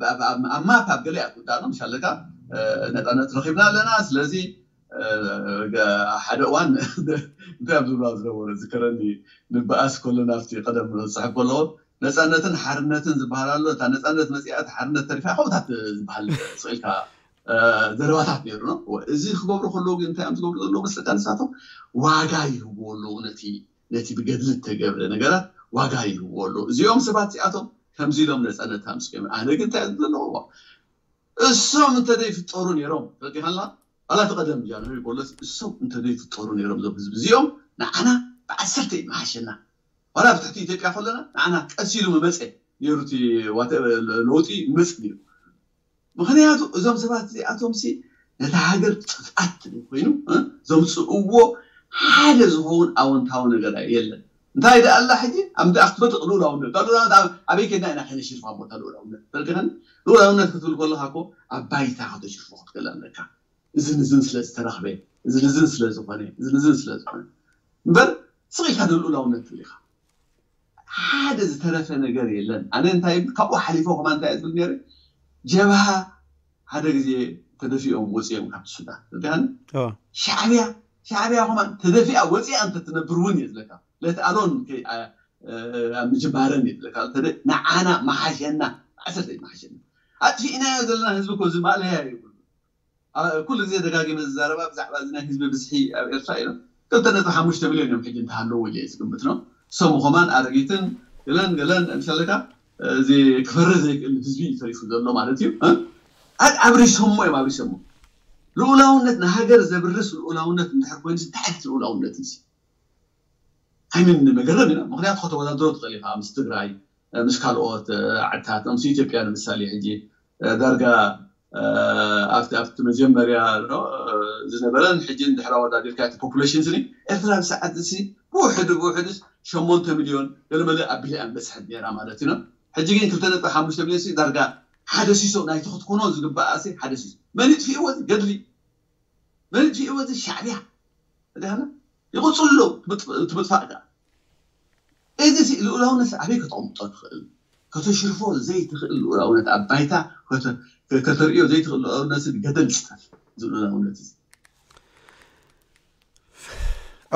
ማፕ ኣብ ገለ እያ ትውዳእ ነው። ምሻለካ ነፃነት ረኺብና ኣለና። ስለዚ ሓደ እዋን እንታይ ኣብ ዝብላ ዝነበሩ ዝከረኒ ንበኣስ ከሎ ናብቲ ቀደም ዝፅሕፍ ከለዎ ነፃነትን ሓርነትን ዝበሃል ኣሎ። እታ ነፃነት መፂኣ እታ ሓርነት ተሪፋ ከምታት ዝበሃል ስኢልካ ዘረባታት ነይሩ ነው። እዚ ክገብሩ ከለዉ ግን እንታይ እዮም ዝገብሩ ዘለዉ መስለካ ንሳቶም ዋጋ ይህብዎ ኣለዉ ነቲ ነቲ ብገድሊ እተገብረ ነገራት ዋጋ ይህብዎ ኣለዉ። እዚኦም ሰባት እዚኣቶም ከምዚ ኢሎም ነፃነት ኣምፅኦም ኣነ ግን እንታይ ዘለዎ እሶም እንተዘይፍጠሩ ነይሮም ረቂኻላ ዋላ እቲ ቀደም ጃንሆይ በሎስ እሶም እንተዘይፍጠሩ ነይሮም እዞም ህዝቢ እዚኦም ንዓና ብዓሰርተ ይመሓሸና ዋላ ብትሕቲ ኢትዮጵያ ከለና ንዓና ቀስ ኢሉ መመፀ ነይሩ እቲ ለውጢ መፅ ነይሩ ምክንያቱ እዞም ሰባት እዚኣቶም ሲ ነታ ሃገር ጥፍኣት ኮይኑ ዘምፅእዎ ሓደ ዝኸውን ኣወንታዊ ነገር የለን እንታይ ደኣ ኣላ ሕጂ ኣብ ምድኣ ክትመጥቕ ልኡላውነት ኣበይ ከድና ኢና ከነሽርፋ ቦታ ልኡላውነት ተረዲኸኒ ልኡላውነት ክትብል ከለካ እኮ ኣብ ባይታ ከተሽርፎ ክትክእል ኣለካ እዝን እዝን ስለ ዝተረኽበ እዝን እዝን ስለ ዝኾነ እዝን እዝን ስለ ዝኾነ እምበር ስቕ ኢልካ ልኡላውነት ትብል ኢኻ ሓደ ዝተረፈ ነገር የለን ኣነ እንታይ ካብኡ ሓሊፎ ከማ እንታይ ዝብል ነይረ ጀብሃ ሓደ ግዜ ተደፊኦም ወፂኦም ካብቲ ሱዳን ርዳን ሻዕብያ ሻዕብያ ከማ ተደፊኣ ወፂኣ እንተትነብር እውን እየ ዝለካ ለትኣሎን ኣብ ምጅማረን እየ ዝለካ ንዓና መሓሸና ዓሰርተ መሓሸና ኣጥፊእናዮ ዘለና ህዝቢ እኮ እዚ ማእለያ ይብሉ ኩሉ ግዜ ደጋጊመ ዝዛረባ ብዛዕባ እዚ ናይ ህዝቢ ብዝሒ ኣብ ኤርትራ ኢሎም ክልተ ነጥቢ ሓሙሽተ ሚልዮን እዮም ሕጂ እንተሃለዉ ኢለ ዝግምት ነው ሰሙ ከማን ኣረጊትን ገለን ገለን ምሻለካ እዚ ክፈርህ ዘይክእል ህዝቢ እዩ ተሪፉ ዘሎ ማለት እዩ ኣብሪሶሞ እዮም ኣብሪሶሞ ልኡላውነት ንሃገር ዘብርስ ልኡላውነት እንድሕር ኮይኑ እንታይ ዓይነት ልኡላውነት እዩ ኣይምን መገረም ኢና ምክንያቱ ከተወዳድሮ ትኽእል ኢኻ ምስ ትግራይ ምስ ካልኦት ዓድታት ምስ ኢትዮጵያ ንምሳሌ ሕጂ ዳርጋ ኣብቲ ኣብቲ መጀመርያ ዝነበረን ሕጂ እንድሕር ኣወዳዲርካ እቲ ፖፑሌሽን ስኒ ኤርትራ ብሰዓት እዚ ብውሕዱ ብውሕዱ ሸሞንተ ሚልዮን ገለመለ ኣቢላ እያ በፅሐት ነራ ማለት እዩ ሕጂ ግን ክልተ ነጥቢ ሓሙሽተ ሚልዮን ዳርጋ ሓደ ሲሶ ናይቲ ክትኮኖ ዝግባኣ ሓደ ሲሶ መን ይጥፊእዎ ገድሊ መን ይጥፊእዎ ሻዕብያ ይቕፅሉ ትምጥፋእ ከኣ እዚ ልኡላውነት ኣበይ ከተቕምጦ ትኽእል ከተሽርፎ ዘይትኽእል ልኡላውነት ኣብ ባይታ ከተርእዮ ዘይትኽእል ልኡላውነት ገደል ዝጠፍ እዚ ልኡላውነት እዚ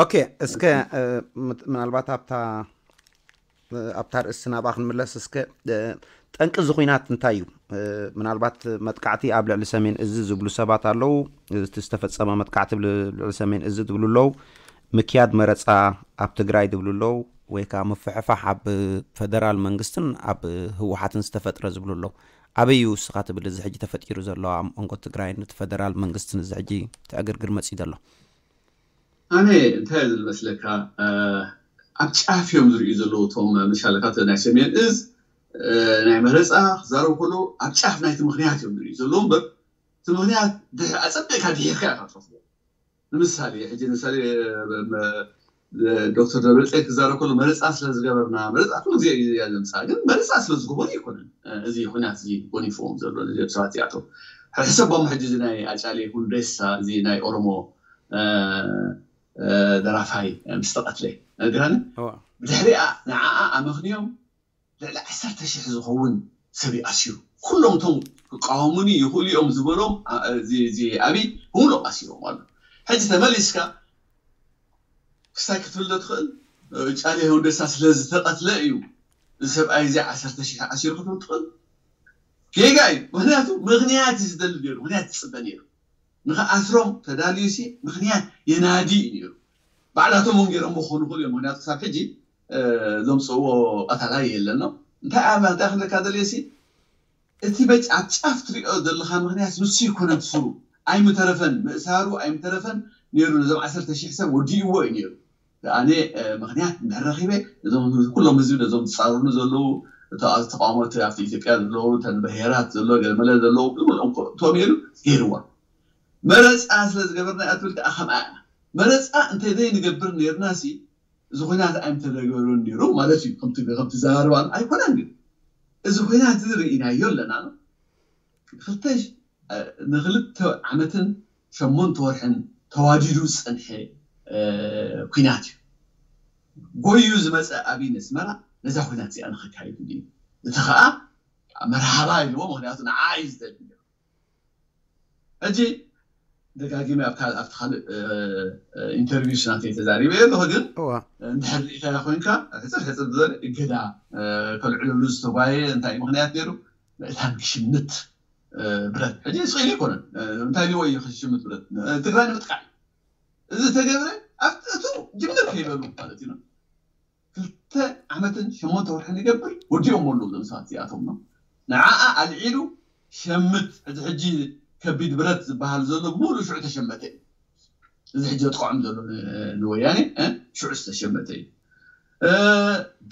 ኦኬ እስከ ምናልባት ኣብታ ኣብታ ርእሲ ናብኣ ክንምለስ እስከ። ጠንቂ እዚ ኹናት እንታይ እዩ? ምናልባት መጥቃዕቲ ኣብ ልዕሊ ሰሜን እዚ ዝብሉ ሰባት ኣለዉ። እቲ ዝተፈጸመ መጥቃዕቲ ኣብ ልዕሊ ሰሜን እዚ ዝብሉ ኣለዉ። ምክያድ መረፃ ኣብ ትግራይ ዝብሉ ኣለዉ። ወይ ከዓ ምፍሕፋሕ ኣብ ፈደራል መንግስትን ኣብ ህወሓትን ዝተፈጥረ ዝብሉ ኣለዉ። ኣበይ እዩ እስኻ ትብል እዚ ሕጂ ተፈጢሩ ዘሎ ኣብ መንጎ ትግራይን እቲ ፈደራል መንግስትን እዚ ሕጂ ትዕግርግር መፂኡ ዘሎ? ኣነ እንታይ ዝመስለካ፣ ኣብ ጫፍ እዮም ዝርእዩ ዘለዉ እቶም ምሻለካ ናይ ሰሜን እዝ ናይ መረፃ ክዛረቡ ከለዉ ኣብ ጫፍ ናይቲ ምክንያት እዮም ዝርእዩ ዘለዉ እምበር እቲ ምክንያት ኣፀቢቕካ ድሒርካ ኢካ ትረክቦ። ንምሳሌ ሕጂ ንምሳሌ ዶክተር ደብረፅዮን ክዛረብ ከሎ መረፃ ስለ ዝገበርና መረፃ ኩሉ ግዜ እዩ ዘምፃ ግን መረፃ ስለ ዝገበሩ ይኮነን። እዚ ኩናት እዚ ጎኒፍዎም ዘሎ ነዚኦም ሰባት እዚኣቶም ሕሰቦም ሕጂ እዚ ናይ ኣጫሌ ሁንዴሳ እዚ ናይ ኦሮሞ ደራፋይ ምስ ተቐትለ ነግረኒ። ብድሕሪኣ ንዓኣ ኣመኽንዮም ልዕሊ ዓሰርተ ሽሕ ዝኸውን ሰብ እዩ ኣሲሩ። ኩሎም እቶም ክቃወሙኒ ይኽእሉ እዮም ዝበሎም እዚ ኣብይ ብምሉእ ኣሲሮም ኣሎ። ሕጂ ተመሊስካ ክስታይ ክትብል ዶ ትኽእል? ጫሌ ሁንዴሳ ስለ ዝተቐትለ እዩ እዚ ሰብኣይ እዚ ዓሰርተ ሽሕ ኣሲሩ ክትብል ትኽእል? ጌጋ እዩ። ምክንያቱ ምክንያት እዩ ዝደሊ ነይሩ፣ ምክንያት ይፅበ ነይሩ። ንክኣስሮም ተዳልዩ ሲ ምክንያት የናዲ እዩ ነይሩ። ባዕላቶም እውን ገይሮም ክኾኑ ይኽእሉ እዮም። ምክንያቱ ክሳብ ሕጂ ዘምፅእዎ ቀታላይ የለን ነው። እንታይ ኣብ እንታይ ክብለካ ደልየ ሲ እቲ በጭ ኣብ ጫፍ ትሪኦ ዘለካ ምክንያት ንሱ ይኮነን ስሩ ኣይምተረፈን ምእሳሩ ኣይምተረፈን ነይሩ። ነዞም ዓሰርተ ሽሕ ሰብ ወዲእዎ እዩ ነይሩ። ኣነ ምክንያት እንድሕር ረኪበ እዞም ኩሎም ህዝቢ ነዞም ዝፃረሩ ዘለዉ ተቃወሞቲ ኣብቲ ኢትዮጵያ ዘለዉ ተን ብሄራት ዘሎ ገለመለ ዘለዉ ዝብሎም እቶም ኢሉ ገይርዋ። መረፃ ስለ ዝገበርና እያ ትብል ከዓ ከምኣ እያ። መረፃ እንተዘይንገብር ነይርና ሲ እዚ ኩናት ኣይምተደገበሩን ነይሩ ማለት እዩ። ከምቲ ከምቲ ዘራርባ ኣይኮነን ግን እዚ ኩናት እዚ ርኢናዮ ኣለና። ክልተ ንክልተ ዓመትን ሸሞንተ ወርሕን ተዋዲዱ ዝፀንሐ ኩናት እዩ። ጎዩ ዝመፀ ኣብይ ነስመራ ነዛ ኩናት እዚኣ ንክካይድ እዩ። እቲ ከዓ መርሃባ ኢልዎ ምክንያቱ ንዓ እዩ ዝደሊ። ሕጂ ደጋጊመ ኣብቲ ካልእ ኢንተርቪው ስናተይ ተዛሪበ ኣለኹ ግን እንድሕር ሪኢካያ ኮይንካ ሕፅር ሕፅር ዝበለ እገዳ ከልዕለሉ ዝተጓየ እንታይ ምክንያት ነይሩ? ምእታን ክሽምት ብረት ሕጂ ስኢሉ ኣይኮነን። እንታይ ሊዎ እዩ ክሽምት ብረት ትግራይ ንምጥቃዕ እዩ። እዚ ተገብረ ኣብቲ እቱ ጅምር ከይበሉ ማለት እዩ። ክልተ ዓመትን ሸሞንተ ወርሕን ይገብር ወዲኦም ኣለዉ እዞም ሰባት እዚኣቶም ነው። ንዓኣ ኣልዒሉ ሸምት እዚ ሕጂ ከቢድ ብረት ዝበሃል ዘሎ ሙሉ ሽዑ ተሸመተ እዩ። እዚ ሕጂ ዘጥቅዖም ዘሎ ንወያኔ ሽዑ ዝተሸመተ እዩ።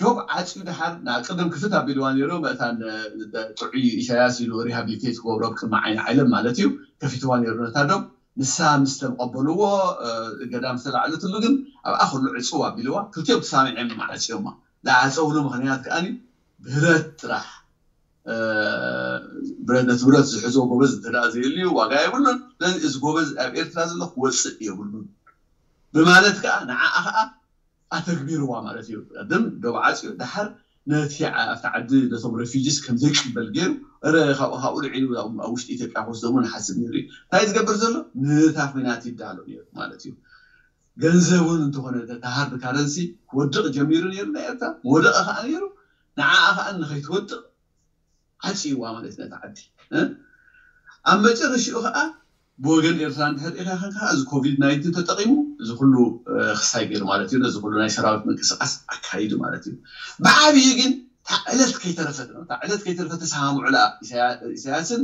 ዶብ ዓፅዩ ድሓር ቅድም ክፍት ኣቢልዋ ነይሩ መእታን ጥዑይ ኢሳያስ ኢሉ ሪሃብሊቴት ክገብሮ ቅድሚ ዓይኒ ዓለም ማለት እዩ ከፊትዋ ነይሩ ነታ ዶብ። ንሳ ምስ ተቐበልዎ እገዳ ምስ ተላዕለትሉ ግን ኣብኣ ኩሉ ዕፅው ኣቢልዋ ክልቲኦም ተሳሚዖም ዓፅዮማ። ዝዓፀውሉ ምክንያት ከዓ ብረት ጥራሕ ብረት ነቲ ብረት ዝሕዞ ጎበዝ እንተ ደኣ ዘየልዩ ዋጋ የብሉን። ስለዚ እዚ ጎበዝ ኣብ ኤርትራ ዘሎ ክወፅእ የብሉን ብማለት ከዓ ንዓኣ ከዓ ኣተግቢርዋ ማለት እዩ። ቅድም ዶብ ዓፅዩ ድሓር ነቲ ኣብቲ ዓዲ ነቶም ሬፊጂስ ከም ዘይቅበል ገይሩ እረ ካብኡ ካብኡ ልዒሉ ኣብ ውሽጢ ኢትዮጵያ ክወስዶም ንሓስብ ነይሩ እዩ። እንታይ ዝገብር ዘሎ ነታ ኩናት ይዳሎ ነይሩ ማለት እዩ። ገንዘብ እውን እንተኾነ ተሃርድ ካረንሲ ክወድቕ ጀሚሩ ነይሩ ናይ ኤርትራ መወደቐ ከዓ ነይሩ። ንዓኣ ከዓ ንኸይትወድቕ ዓፅይዋ ማለት ነታ ዓዲ። ኣብ መጨረሽኡ ከዓ ብወገን ኤርትራ እንድሕር ኢኻ ከንካ እዚ ኮቪድ ናይንቲን ተጠቂሙ እዚ ኩሉ ክስታይ ገይሩ ማለት እዩ። ነዚ ኩሉ ናይ ሰራዊት ምንቅስቃስ ኣካይዱ ማለት እዩ። ብዓብዩ ግን እታ ዕለት ከይተረፈት ነው። እታ ዕለት ከይተረፈት ተሰማምዑላ ኢሳያስን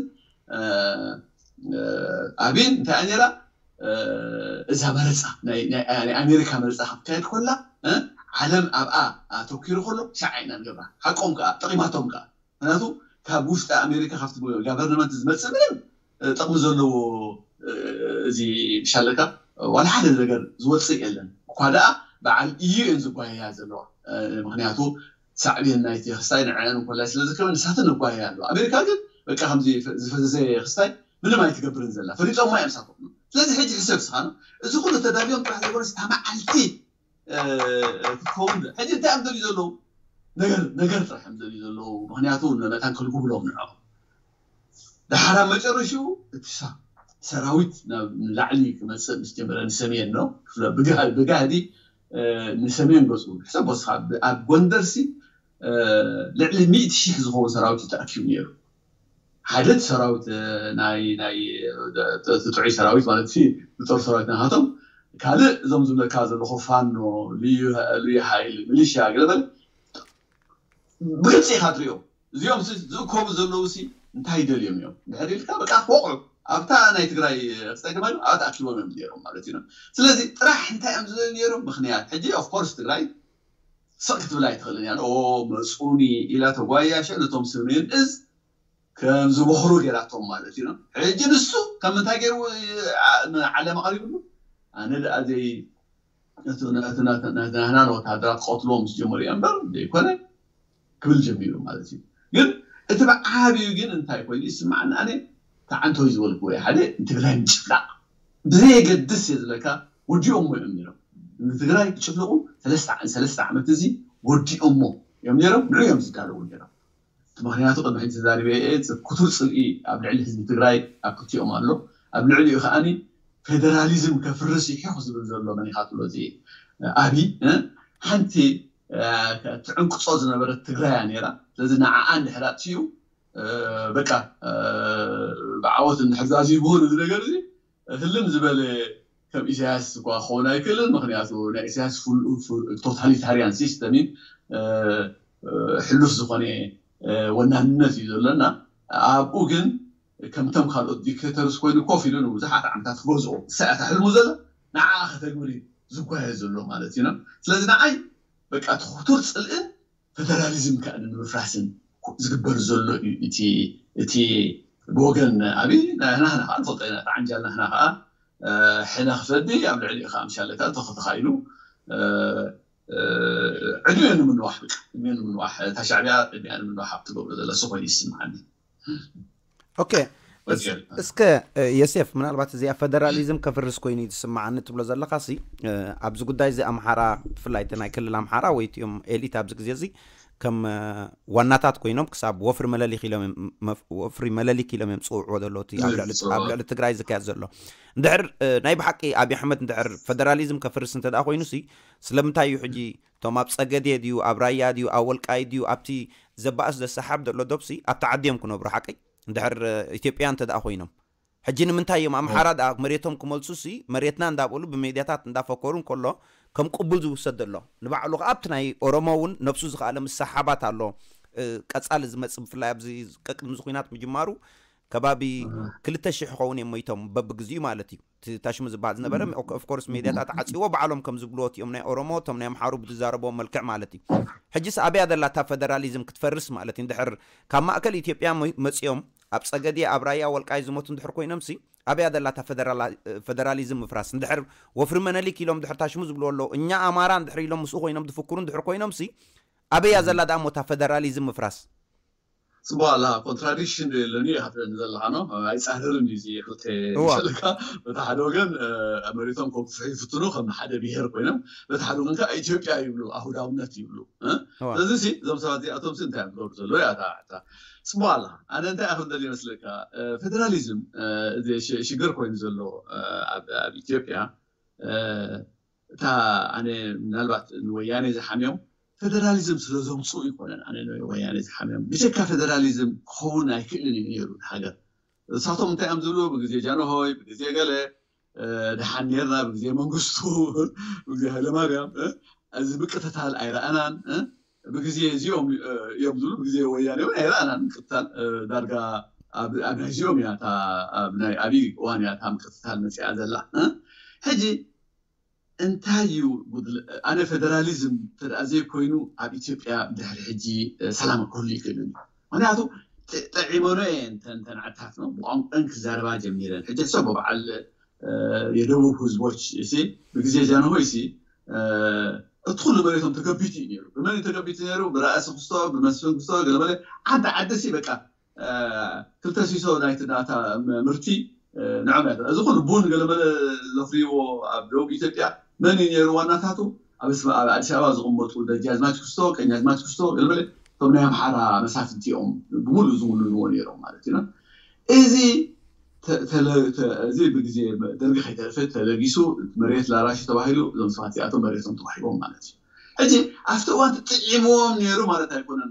ኣብይን እንታይ ነራ እዛ መረፃ ናይ ኣሜሪካ መረፃ ክትካየድ ኮላ ዓለም ኣብኣ ኣተኪሩ ከሎ ሻዓ ኢና ንገብራ። ሓቆም ከዓ ጠቂማቶም ከዓ ምክንያቱ ካብ ውሽጢ ኣሜሪካ ካብቲ ጋቨርንመንት ዝመፅእ ምንም ጥቕሚ ዘለዎ እዚ ሻለካ ዋላ ሓደ ነገር ዝወፅእ የለን። እኳ ደኣ በዓል እዩ እየን ዝጓየያ ዘለዋ። ምክንያቱ ሳዕቤን ናይቲ ክስታይ ንዐን ኮላይ ስለ ዝከበ ንሳትን ንጓየያ ኣለዋ። ኣሜሪካ ግን በቃ ከምዚ ዝፈዘዘ ክስታይ ምንም ኣይትገብርን ዘላ ፈሊጦማ እዮም ሳቶም። ስለዚ ሕጂ ሕሰብ ስኻ ነው እዚ ኩሉ ተዳልዮም ጥራሕ ዘይኮነስ እታ መዓልቲ ክትከውን ሕጂ እንታይ እዮም ዘልዩ ዘለዉ ነገር ነገር ጥራሕ እዮም ዘልዩ ዘለዉ። ምክንያቱ መታን ከልጉብሎም ንዕኦም ድሓር ኣብ መጨረሽኡ እቲ ሰራዊት ናብ ንላዕሊ ክመፅእ ምስ ጀመረ ንሰሜን ነው ብጋህዲ ንሰሜን ገፁ ሕሰብ ወስኻ ኣብ ጎንደርሲ ልዕሊ ሚእቲ ሺሕ ዝኸውን ሰራዊት እዩ ተኣኪቡ ነይሩ። ሓደ እቲ ሰራዊት ናይ ናይ እቲ ጥዑይ ሰራዊት ማለት ሲ ዝጦር ሰራዊት ናሃቶም፣ ካልእ እዞም ዝብለካ ዘለኹ ፋኖ፣ ልዩ ሓይሊ፣ ሚሊሽያ ገለበለ ብግልፂ ኢኻ ትሪኦ። እዚኦም ዝእከቡ ዘለዉ ሲ እንታይ ደልዮም እዮም ድሕር ኢልካ በቃ ክወቕዑ ኣብታ ናይ ትግራይ ክፀገማ ኣብታ ኣኪቦም እዮም ነይሮም ማለት እዩ። ስለዚ ጥራሕ እንታይ እዮም ዝደልዩ ነይሮም? ምክንያት ሕጂ ኦፍኮርስ ትግራይ ስቕ ክትብል ኣይትኽእልን እያ። ኦ መፁኒ ኢላ ተጓያሸ ነቶም ሰሜን እዝ ከም ዝበኽሩ ገይራቶም ማለት እዩ። ሕጂ ንሱ ከም ምንታይ ገይሩ ንዓለም ኣቕሪብሉ? ኣነ ደኣ ዘይ ናህና ንወታደራት ክቐትልዎም ምስ ጀመሩ እያ እምበር ዘይኮነ ክብል ጀሚሩ ማለት እዩ። ግን እቲ ብዓብዩ ግን እንታይ ኮይኑ ይስማዓኒ ኣነ ተዓንተወይ ዝበልኩ ወይ ሓደ ንትግራይ ምጭፍላቕ ብዘየገድስ እየ ዝብለካ ወዲኦሞ እዮም ነይሮም። ንትግራይ ክጭፍልቑ ሰለስተ ዓመት እዚ ወዲኦሞ እዮም ነይሮም። ንዑ እዮም ዝዳለዉ ነይሮም። ምክንያቱ ቅድሚ ሕጂ ተዛሪበ እየ፣ ክቱር ፅልኢ ኣብ ልዕሊ ህዝቢ ትግራይ ኣብ ክልቲኦም ኣሎ። ኣብ ልዕሊኡ ከዓኒ ፌደራሊዝም ከፍርስ ይሕኹ ዝብል ዘሎ መን ኢኻ ትብሎ እዚ ኣብይ ሓንቲ ትዕንቅፆ ዝነበረት ትግራይ እያ ነይራ። ስለዚ ንዓኣ እንድሕር ኣጥፊኡ በቃ ብዓወት እንድሕር ዛዚሙ እዚ ነገር እዚ ህልም ዝበለ ከም ኢሳያስ እኳ ክኸውን ኣይክእልን። ምክንያቱ ናይ ኢሳያስ ቶታሊታሪያን ሲስተም እዩ። ሕሉፍ ዝኾነ ወናንነት እዩ ዘለና። ኣብኡ ግን ከምቶም ካልኦት ዲክቴተርስ ኮይኑ ኮፍ ኢሉ ንብዙሓት ዓመታት ክገዝኦ ሰኣታ ሕልሙ ዘሎ ንዓ ከተግብር እዩ ዝጓየ ዘሎ ማለት እዩ። ስለዚ ንዓይ በቃ ትኽቱር ፅልእን ፌደራሊዝም ከዓ ንምፍራስን ዝግበር ዘሎ እዩ። እቲ ብወገን ኣብይ ናህና ከዓ ንፈልጦ ኢና። ተዓንጃል ናህና ከዓ ሕነ ክፈዲ ኣብ ልዕሊ ከዓ ምሻለካ ተኸተኻኢሉ ዕድሜ ንምንዋሕ በቃ ዕድሜ ንምንዋሕ እታ ሻዕቢያ ዕድሜ ንምንዋሕ ኣብ ትገብሮ ዘላ ሱ ኮይኑ ይስምዓኒ። ኦኬ እስከ የሴፍ ምናልባት እዚኣ ፌደራሊዝም ከፍርስ ኮይኑ እዩ ዝስምዓኒ ትብሎ ዘለካ ሲ ኣብዚ ጉዳይ እዚ ኣምሓራ ብፍላይ እቲ ናይ ክልል ኣምሓራ ወይ እቲኦም ኤሊት ኣብዚ ግዜ እዚ ከም ዋናታት ኮይኖም ክሳብ ወፍሪ መለሊክ ኢሎም ወፍሪ መለሊክ ኢሎም እዮም ዝፅውዕዎ ዘለዉ እቲ ኣብ ልዕሊ ትግራይ ዝካየድ ዘሎ እንድሕር ናይ ብሓቂ ኣብይ ኣሕመድ እንድሕር ፌደራሊዝም ከፍርስ እንተ ደኣ ኮይኑ ሲ ስለምንታይ እዩ ሕጂ እቶም ኣብ ፀገዴ ድዩ ኣብ ራያ ድዩ ኣብ ወልቃይ ድዩ ኣብቲ ዘባእስ ዘሰሓብ ዘሎ ዶብሲ ኣብቲ ዓዲ እዮም ክነብሩ ሓቀይ እንድሕር ኢትዮጵያ እንተ ደኣ ኮይኖም ሕጂ ንምንታይ እዮም ኣምሓራ ደኣ መሬቶም ክመልሱ ሲ መሬትና እንዳበሉ ብሜድያታት እንዳፈከሩ እንከሎ ከም ቅቡል ዝውሰድ ዘሎ ንባዕሉ ከዓ ኣብቲ ናይ ኦሮሞ እውን ነብሱ ዝኸኣለ ምሰሓባት ኣሎ ቀፃሊ ዝመፅእ ብፍላይ ኣብዚ ቀቅድሚ ዝኩናት ምጅማሩ ከባቢ ክልተ ሽሕ ክኸውን እዮም ሞይቶም በብግዚኡ ማለት እዩ ታሽሙ ዝበሃል ዝነበረ ኦፍኮርስ ሜድያታት ዓፂዎ ባዕሎም ከም ዝብልዎ እቲኦም ናይ ኦሮሞ እቶም ናይ ኣምሓሩ ብዝዛረብዎ መልክዕ ማለት እዩ ሕጂስ ኣበያ ዘላ እታ ፌደራሊዝም ክትፈርስ ማለት እዩ እንድሕር ካብ ማእከል ኢትዮጵያ መፂኦም ኣብ ፀገዴ ኣብ ራያ ወልቃይ ዝሞቱ እንድሕር ኮይኖም ሲ ኣበያ ዘላ እታ ፌደራሊዝም ምፍራስ እንድሕር ወፍሪ መነሊክ ኢሎም እንድሕር ታሽሙ ዝብልዎ ኣለዉ እኛ ኣማራ እንድሕር ኢሎም ምስኡ ኮይኖም ዝፍክሩ እንድሕር ኮይኖም ሲ ኣበያ ዘላ ደኣ ሞታ ፌደራሊዝም ምፍራስ ፅቡቅ ኣላ ኮንትራዲክሽን ዶ የለን እዩ ሃፍለኒ ዘለካ ነው ኣይፃረርን እዩ ክልተ ዘለካ በቲ ሓደ ወገን መሬቶም ከብፍሑ ይፍትኑ ከም ሓደ ብሄር ኮይኖም በቲ ሓደ ወገን ከዓ ኢትዮጵያ ይብሉ ኣሁዳውነት ይብሉ ስለዚ ሲ እዞም ሰባት እዚኣቶም ሲ እንታይ እዮም ዝገብሩ ዘሎ እያ እታ ሕታ ፅቡቅ ኣላ ኣነ እንታይ ኣክል ደል ይመስለካ ፌደራሊዝም ሽግር ኮይኑ ዘሎ ኣብ ኢትዮጵያ እታ ኣነ ምናልባት ንወያኔ ዝሓምዮም ፌደራሊዝም ስለ ዘምፅኡ ይኮነን ኣነ ወያኔ ዝሓምዮም ብጀካ ፌደራሊዝም ክኸውን ኣይክእልን እዩ ነይሩ ሃገር እሳቶም እንታይ እዮም ዝብሉ ብግዜ ጃንሆይ ብግዜ ገለ ድሓን ነርና ብግዜ መንግስቱ ብግዜ ሃይለማርያም እዚ ምቅትታል ኣይረኣናን ብግዜ እዚኦም እዮም ዝብሉ ብግዜ ወያኔ እውን ኣይረኣናን ምቅትታል ዳርጋ ኣብ ናይዚኦም እያ ናይ ኣብይ እዋን እያ እታ ምቅትታል መፅኣ ዘላ ሕጂ እንታይ እዩ ኣነ ፌደራሊዝም ተደኣ ዘይኮይኑ ኣብ ኢትዮጵያ ድሕሪ ሕጂ ሰላም ክህሉ ይክእል እዩ ምክንያቱ ጠዒመኖ እየ እንተን ዓድታት ነው ብቋንቋን ክዛረባ ጀሚረን ሕጂ ሰብ በዓል የደቡብ ህዝቦች ሲ ብግዜ ጃንሆይ ሲ እቲ ኩሉ መሬቶም ተገቢቱ እዩ ነሩ ብመን ተገቢቱ ነሩ ብራእሲ ክስቶ ብመስፍን ክስቶ ገለመለ ዓዲ ዓዲ ሲ በቃ ክልተ ሲሶ ናይቲ ናታ ምርቲ ንዕም እያ እዚ ኩሉ ቡን ገለመለ ዘፍርይዎ ኣብ ደቡብ ኢትዮጵያ መን እዩ ነሩ ዋናታቱ ኣብ ኣዲስ ኣበባ ዝቕመጡ ደጃዝማች ክስቶ ቀኛዝማች ክስቶ ገለመለ እቶም ናይ ኣምሓራ መሳፍንቲ እዮም ብሙሉእ ዝውንንዎ ነሮም ማለት እዩ እዚ እዚ ብግዜ ደርጊ ከይተረፈ ተለጊሱ መሬት ላራሽ ተባሂሉ እዞም ሰባት እዚኣቶም መሬቶም ተዋሂቦም ማለት እዩ ሕጂ ኣብቲ እዋን ጥዒምዎም ነይሩ ማለት ኣይኮነን።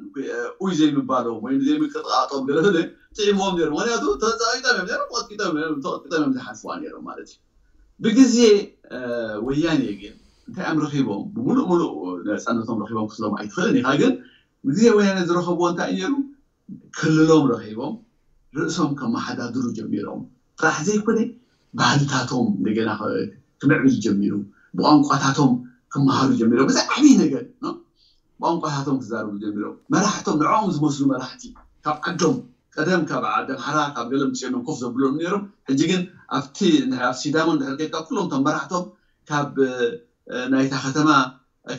ኡይ ዘይምባሎም ወይ ዘይምቅጥቃጦም ገለ ገለ ጥዒምዎም ነይሩ። ምክንያቱ ተፃቂጦም እዮም ነይሮም፣ ተቐጥቂጦም እዮም፣ ተቐጥቂጦም እዮም ዝሓልፍዋ ነይሮም ማለት እዩ። ብግዜ ወያኔ ግን እንታይ እዮም ረኺቦም? ብምሉእ ምሉእ ነፃነቶም ረኺቦም ክትሎም ኣይትኽእልን ኢኻ። ግን ብግዜ ወያኔ ዝረኸብዎ እንታይ እዩ ነይሩ? ክልሎም ረኺቦም ርእሶም ከመሓዳድሩ ጀሚሮም። ጥራሕ ዘይኮነ ባህልታቶም እንደገና ክምዕብል ጀሚሩ፣ ብቋንቋታቶም ክመሃሩ ጀሚሮም። እዚ ዓብዪ ነገር ነው። ብቋንቋታቶም ክዛረቡ ጀሚሮም። መራሕቶም ንዕኦም ዝመስሉ መራሕቲ ካብ ዓዶም ቀደም ካብ ዓዲ ኣምሓራ ካብ ገለ ምፅኦም ኮፍ ዘብሎም ነይሮም። ሕጂ ግን ኣብቲ ኣብ ሲዳሞ እንድሕር ከይድካ ኩሎም እቶም መራሕቶም ካብ ናይታ ከተማ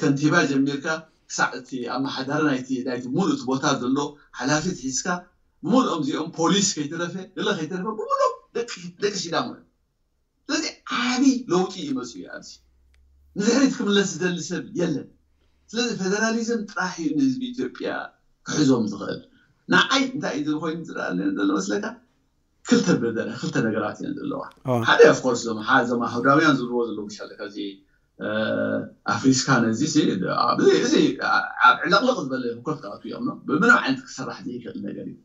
ከንቲባ ጀሚርካ ክሳዕ እቲ ኣመሓዳሪ ናይቲ ናይቲ ሙሉእ እቲ ቦታ ዘሎ ሓላፊት ሒዝካ ብምሉኦም እዚኦም ፖሊስ ከይተረፈ ገለ ከይተረፈ ብምሉኦም ደቂ ደቂ ሲዳሞ እዮም። ስለዚ ዓቢ ለውጢ እዩ መፅኡ ኣብዚ። ንድሕሪት ክምለስ ዝደሊ ሰብ የለን። ስለዚ ፌደራሊዝም ጥራሕ እዩ ንህዝቢ ኢትዮጵያ ክሕዞም ዝኽእል። ንዓይ እንታይ እዩ ኮይኑ ዝረኣለኒ ዘሎ መስለካ? ክልተ በደረ ክልተ ነገራት እየን ዘለዋ። ሓደ ኦፍኮርስ ዞም እዞም ኣህዳውያን ዝብልዎ ዘለዉ ምሻለ ከዚ ኣፍሪስካ ነዚ እዚ ኣብ ዕለቕልቕ ዝበለ ህኮት ክኣቱ እዮም ነው ብምንም ዓይነት ክሰራሕ ዘይክእል ነገር እዩ።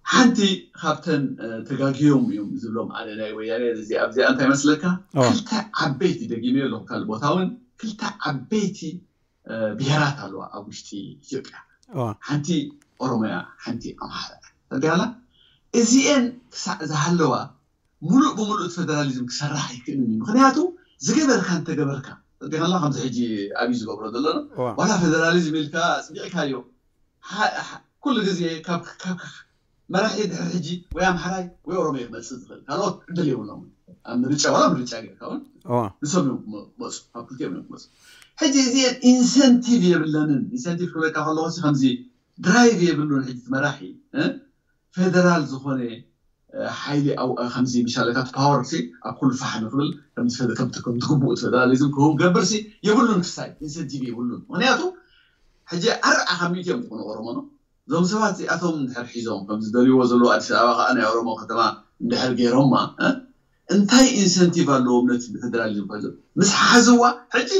ሓንቲ ካብተን ተጋግዮም እዮም ዝብሎም ኣነ ናይ ወያኔ እዚ ኣብዚኣ እንታይ መስለካ? ክልተ ዓበይቲ ደጊመ ኣለኹ ካልእ ቦታ እውን ክልተ ዓበይቲ ብሄራት ኣለዋ ኣብ ውሽጢ ኢትዮጵያ። ሓንቲ ኦሮሞያ፣ ሓንቲ ኣምሓራ። ተጋላ እዚኤን ክሳዕ ዝሃለዋ ሙሉእ ብሙሉእ እቲ ፌደራሊዝም ክሰርሕ ኣይክእልን እዩ። ምክንያቱ ዝገበርካ እንተገበርካ ተጋላ ከምዚ ሕጂ ኣብይ ዝገብሮ ዘሎ ዋላ ፌደራሊዝም ኢልካ ኣፅዲቕካዮ ኩሉ ግዜ ካብ መራሒ ድሕሪ ሕጂ ወይ ኣምሓራይ ወይ ኦሮሞ ክመፅእ ዝኽእል ካልኦት ዕድል የብሎም። ኣብ ምርጫ ዋላ ምርጫ ጌርካ እውን ንሶም እዮም ክመፁ፣ ካብ ክልቲኦም እዮም ክመፁ። ሕጂ እዚአን ኢንሰንቲቭ የብለንን። ኢንሰንቲቭ ክብለካ ከለኹ ከምዚ ድራይቭ የብሉን። ሕጂ መራሒ ፌደራል ዝኾነ ሓይሊ ከምዚ ምሻለካ ፓወር ኣብ ኩሉ ፋሕ ንክብል ከምቲ ግቡእ ፌደራሊዝም ክህቡ ገብር የብሉን። ክሳይ ኢንሰንቲቭ የብሉን። ምክንያቱ ሕጂ ኣርዓ ካብ ሚእቲ እዮም ዝኾኑ ኦሮሞ ነው እዞም ሰባት እዚኣቶም እንድሕር ሒዞም ከም ዝደልይዎ ዘለዉ ኣዲስ ኣበባ ከዓ ናይ ኦሮሞ ከተማ እንድሕር ገይሮማ እንታይ ኢንሰንቲቭ ኣለዎም ነቲ ብፌደራሊዝም ኮይዞም ምስ ሓዝዋ ሕጂ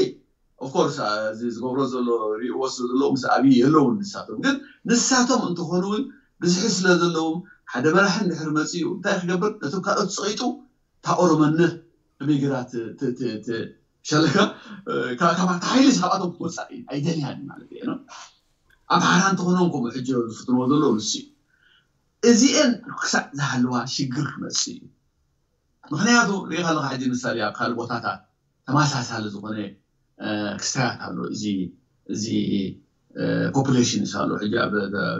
ኦፍኮርስ እዚ ዝገብሮ ዘሎ ሪእዎ ስለ ዘለዉ ምስ ኣብይ የለውን ንሳቶም ግን ንሳቶም እንትኾኑ እውን ብዝሒ ስለ ዘለዎም ሓደ መራሒ እንድሕር መፅኡ እንታይ ክገብር ነቶም ካልኦት ፀቂጡ እታ ኦሮመነት ብሚግራት ሸለካ ካብ ሓይሊ ሳብኣቶም ክወፃእ ኣይደልያን ማለት እዩ። ኣምሓራ እንተኾኖም ከምኡ ሕጂ ዝፍትንዎ ዘለዉ ንሱ እዩ። እዚአን ክሳዕ ዝሃለዋ ሽግር ክመፅእ እዩ። ምክንያቱ ሪኢኻ ኣለካ ሕጂ ምሳሌ ኣብ ካልእ ቦታታት ተመሳሳሊ ዝኾነ ክስታያት ኣሎ። እዚ እዚ ፖፑሌሽን ኣሎ። ሕጂ ኣብ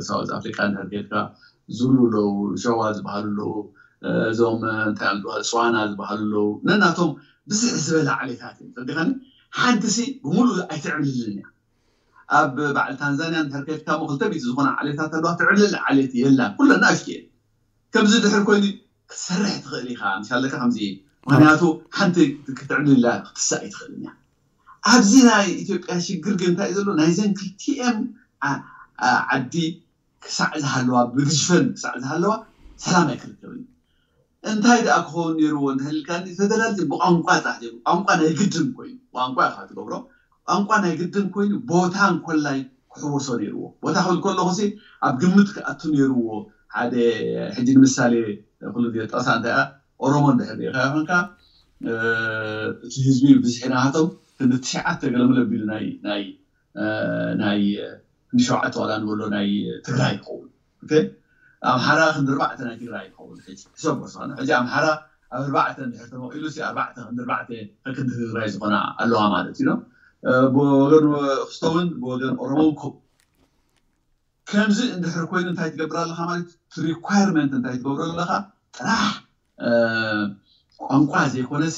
ሳውዝ ኣፍሪካ እንድሕር ጌርካ ዙሉ ኣለዉ፣ ሸዋ ዝበሃሉ ኣለዉ፣ እዞም እንታይ ዝበሃሉ ፅዋና ዝበሃሉ ኣለዉ። ነናቶም ብዝሕ ዝበለ ዓሌታት እዮም። ተዲኻኒ ሓንቲ ሲ ብምሉእ ኣይትዕብልልን እያ። ኣብ በዓል ታንዛንያ እንድሕር ከድካ ሞ ክልተ ሚእቲ ዝኾና ዓሌታት ኣለዋ። ትዕብልል ዓሌት የላን። ኩለን ንኣሽቱ እየን። ከምዚ ድሕር ኮይኑ ክትሰርሕ ትኽእል ኢኻ። ምሻለካ ከምዚ ምክንያቱ ሓንቲ ክትዕብልላ ክትሳእ ኣይትኽእልን እያ። ኣብዚ ናይ ኢትዮጵያ ሽግር ግን እንታይ ዘሎ ናይዘን ክልቲኤን ዓዲ ክሳዕ ዝሃለዋ ብግዝፈን ክሳዕ ዝሃለዋ ሰላም ኣይክርከብን። እንታይ ደኣ ክኸውን ነይርዎ እንተህልካኒ ፌደራሊዝም ብቋንቋ ጥራሕ ዘይኮነ ቋንቋ ናይ ግድን ኮይኑ ቋንቋ ኢኻ ትገብሮ ቋንቋ ናይ ግድን ኮይኑ ቦታ እንኮላይ ክሕወሶ ነይርዎ። ቦታ ክብል ከለኹ ሲ ኣብ ግምት ክኣቱ ነይርዎ። ሓደ ሕጂ ንምሳሌ ኩሉ ግዜ ጠቕሳ እንታይ እያ ኦሮሞ እንድሕር ሪኢኻ ኮንካ እቲ ህዝቢ ብዝሒ ናሃቶም ክንዲ ትሽዓተ ገለመለ ኣቢሉ ናይ ናይ ናይ ክንዲ ሸውዓተ ዋላ ንበሎ ናይ ትግራይ ይኸውን። ኣምሓራ ክንዲ ኣርባዕተ ናይ ትግራይ ይኸውን። ሕጂ ሕሰብ በስኻ ሕጂ ኣምሓራ ኣብ ኣርባዕተ እንድሕር ተመቒሉ ሲ ኣርባዕተ ክንዲ ኣርባዕተ ከክንዲ ትግራይ ዝኾና ኣለዋ ማለት እዩ። ብወገን ክስቶ እውን ብወገን ኦሮሞ እውን ከምኡ። ከምዚ እንድሕር ኮይኑ እንታይ ትገብር ኣለኻ ማለት እቲ ሪኳየርመንት እንታይ ትገብሮ ኣለኻ ጥራሕ ቋንቋ ዘይኮነሲ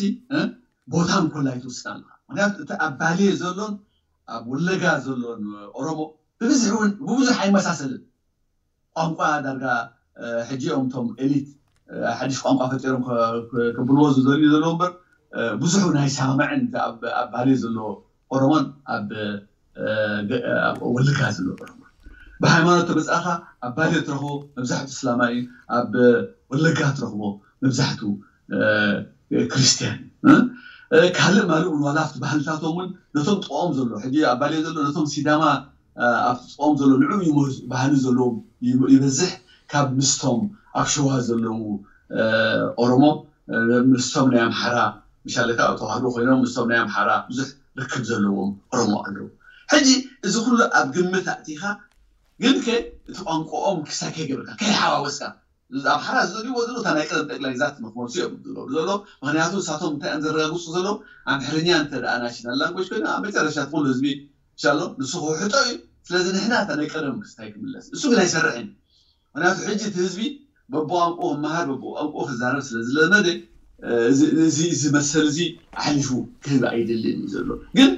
ቦታ እንኮላይ ትውስድ ኣለኻ። ምክንያቱ እቲ ኣብ ባሌ ዘሎን ኣብ ወለጋ ዘሎን ኦሮሞ ብብዝሒ እውን ብብዙሕ ኣይመሳሰልን። ቋንቋ ዳርጋ ሕጂ እዮም እቶም ኤሊት ሓድሽ ቋንቋ ፈጢሮም ከብልዎ ዝደልዩ ዘለዉ እምበር ብዙሑ ናይ ሰማምዕን ኣብ ባሌ ዘሎ ኦሮሞን ኣብ ወልጋ ዘሎ ኦሮሞ ብሃይማኖት ተመፃእካ ኣብ ባሌ ትረኽቦ መብዛሕቱ እስላማይ ኣብ ወለጋ ትረኽቦ መብዛሕቱ ክርስትያን ካልእ ማለት እውን ዋላ ኣብቲ ባህልታቶም እውን ነቶም ጥቕኦም ዘሎ ሕጂ ኣብ ባሌ ዘሎ ነቶም ሲዳማ ኣብቲ ጥቕኦም ዘሎ ንዑ ባህሊ ዘለዎም ይበዝሕ ካብ ምስቶም ኣብ ሸዋ ዘለዉ ኦሮሞ ምስቶም ናይ ኣምሓራ ምሻለካ ተዋህዶ ኮይኖም ምስቶም ናይ ኣምሓራ ብዙሕ ርክብ ዘለዎም ኦሮሞ ኣለዉ። ሕጂ እዚ ኩሉ ኣብ ግምት ኣእቲኻ ግን ከ እቲ ቋንቋኦም ክሳይ ከይገበርካ ከይሓዋወስካ ኣምሓራ ዝደልይዎ ዘለዉ እታ ናይ ቀደም ጠቅላይ ግዛት ንክመልሱ እዮም ዝገብሩ ዘለዉ። ምክንያቱ ንሳቶም እንታይ እዮም ዘረጋግፁ ዘለዉ ኣምሕርኛ እንተ ደኣ ናሽናል ላንጎጅ ኮይኑ ኣብ መጨረሻ ኩሉ ህዝቢ ኢንሻሎ ንሱ ክውሕጦ እዩ። ስለዚ ንሕና እታ ናይ ቀደም ክስታይ ክምለስ እሱ ግን ኣይሰርሕን። ምክንያቱ ሕጂ እቲ ህዝቢ በብቋንቁ ክመሃር በብቋንቁ ክዛረብ ስለ ዝለመደ እዚ መሰል እዚ ኣሕሊፉ ክህብ ኣይደልን እዩ ዘሎ። ግን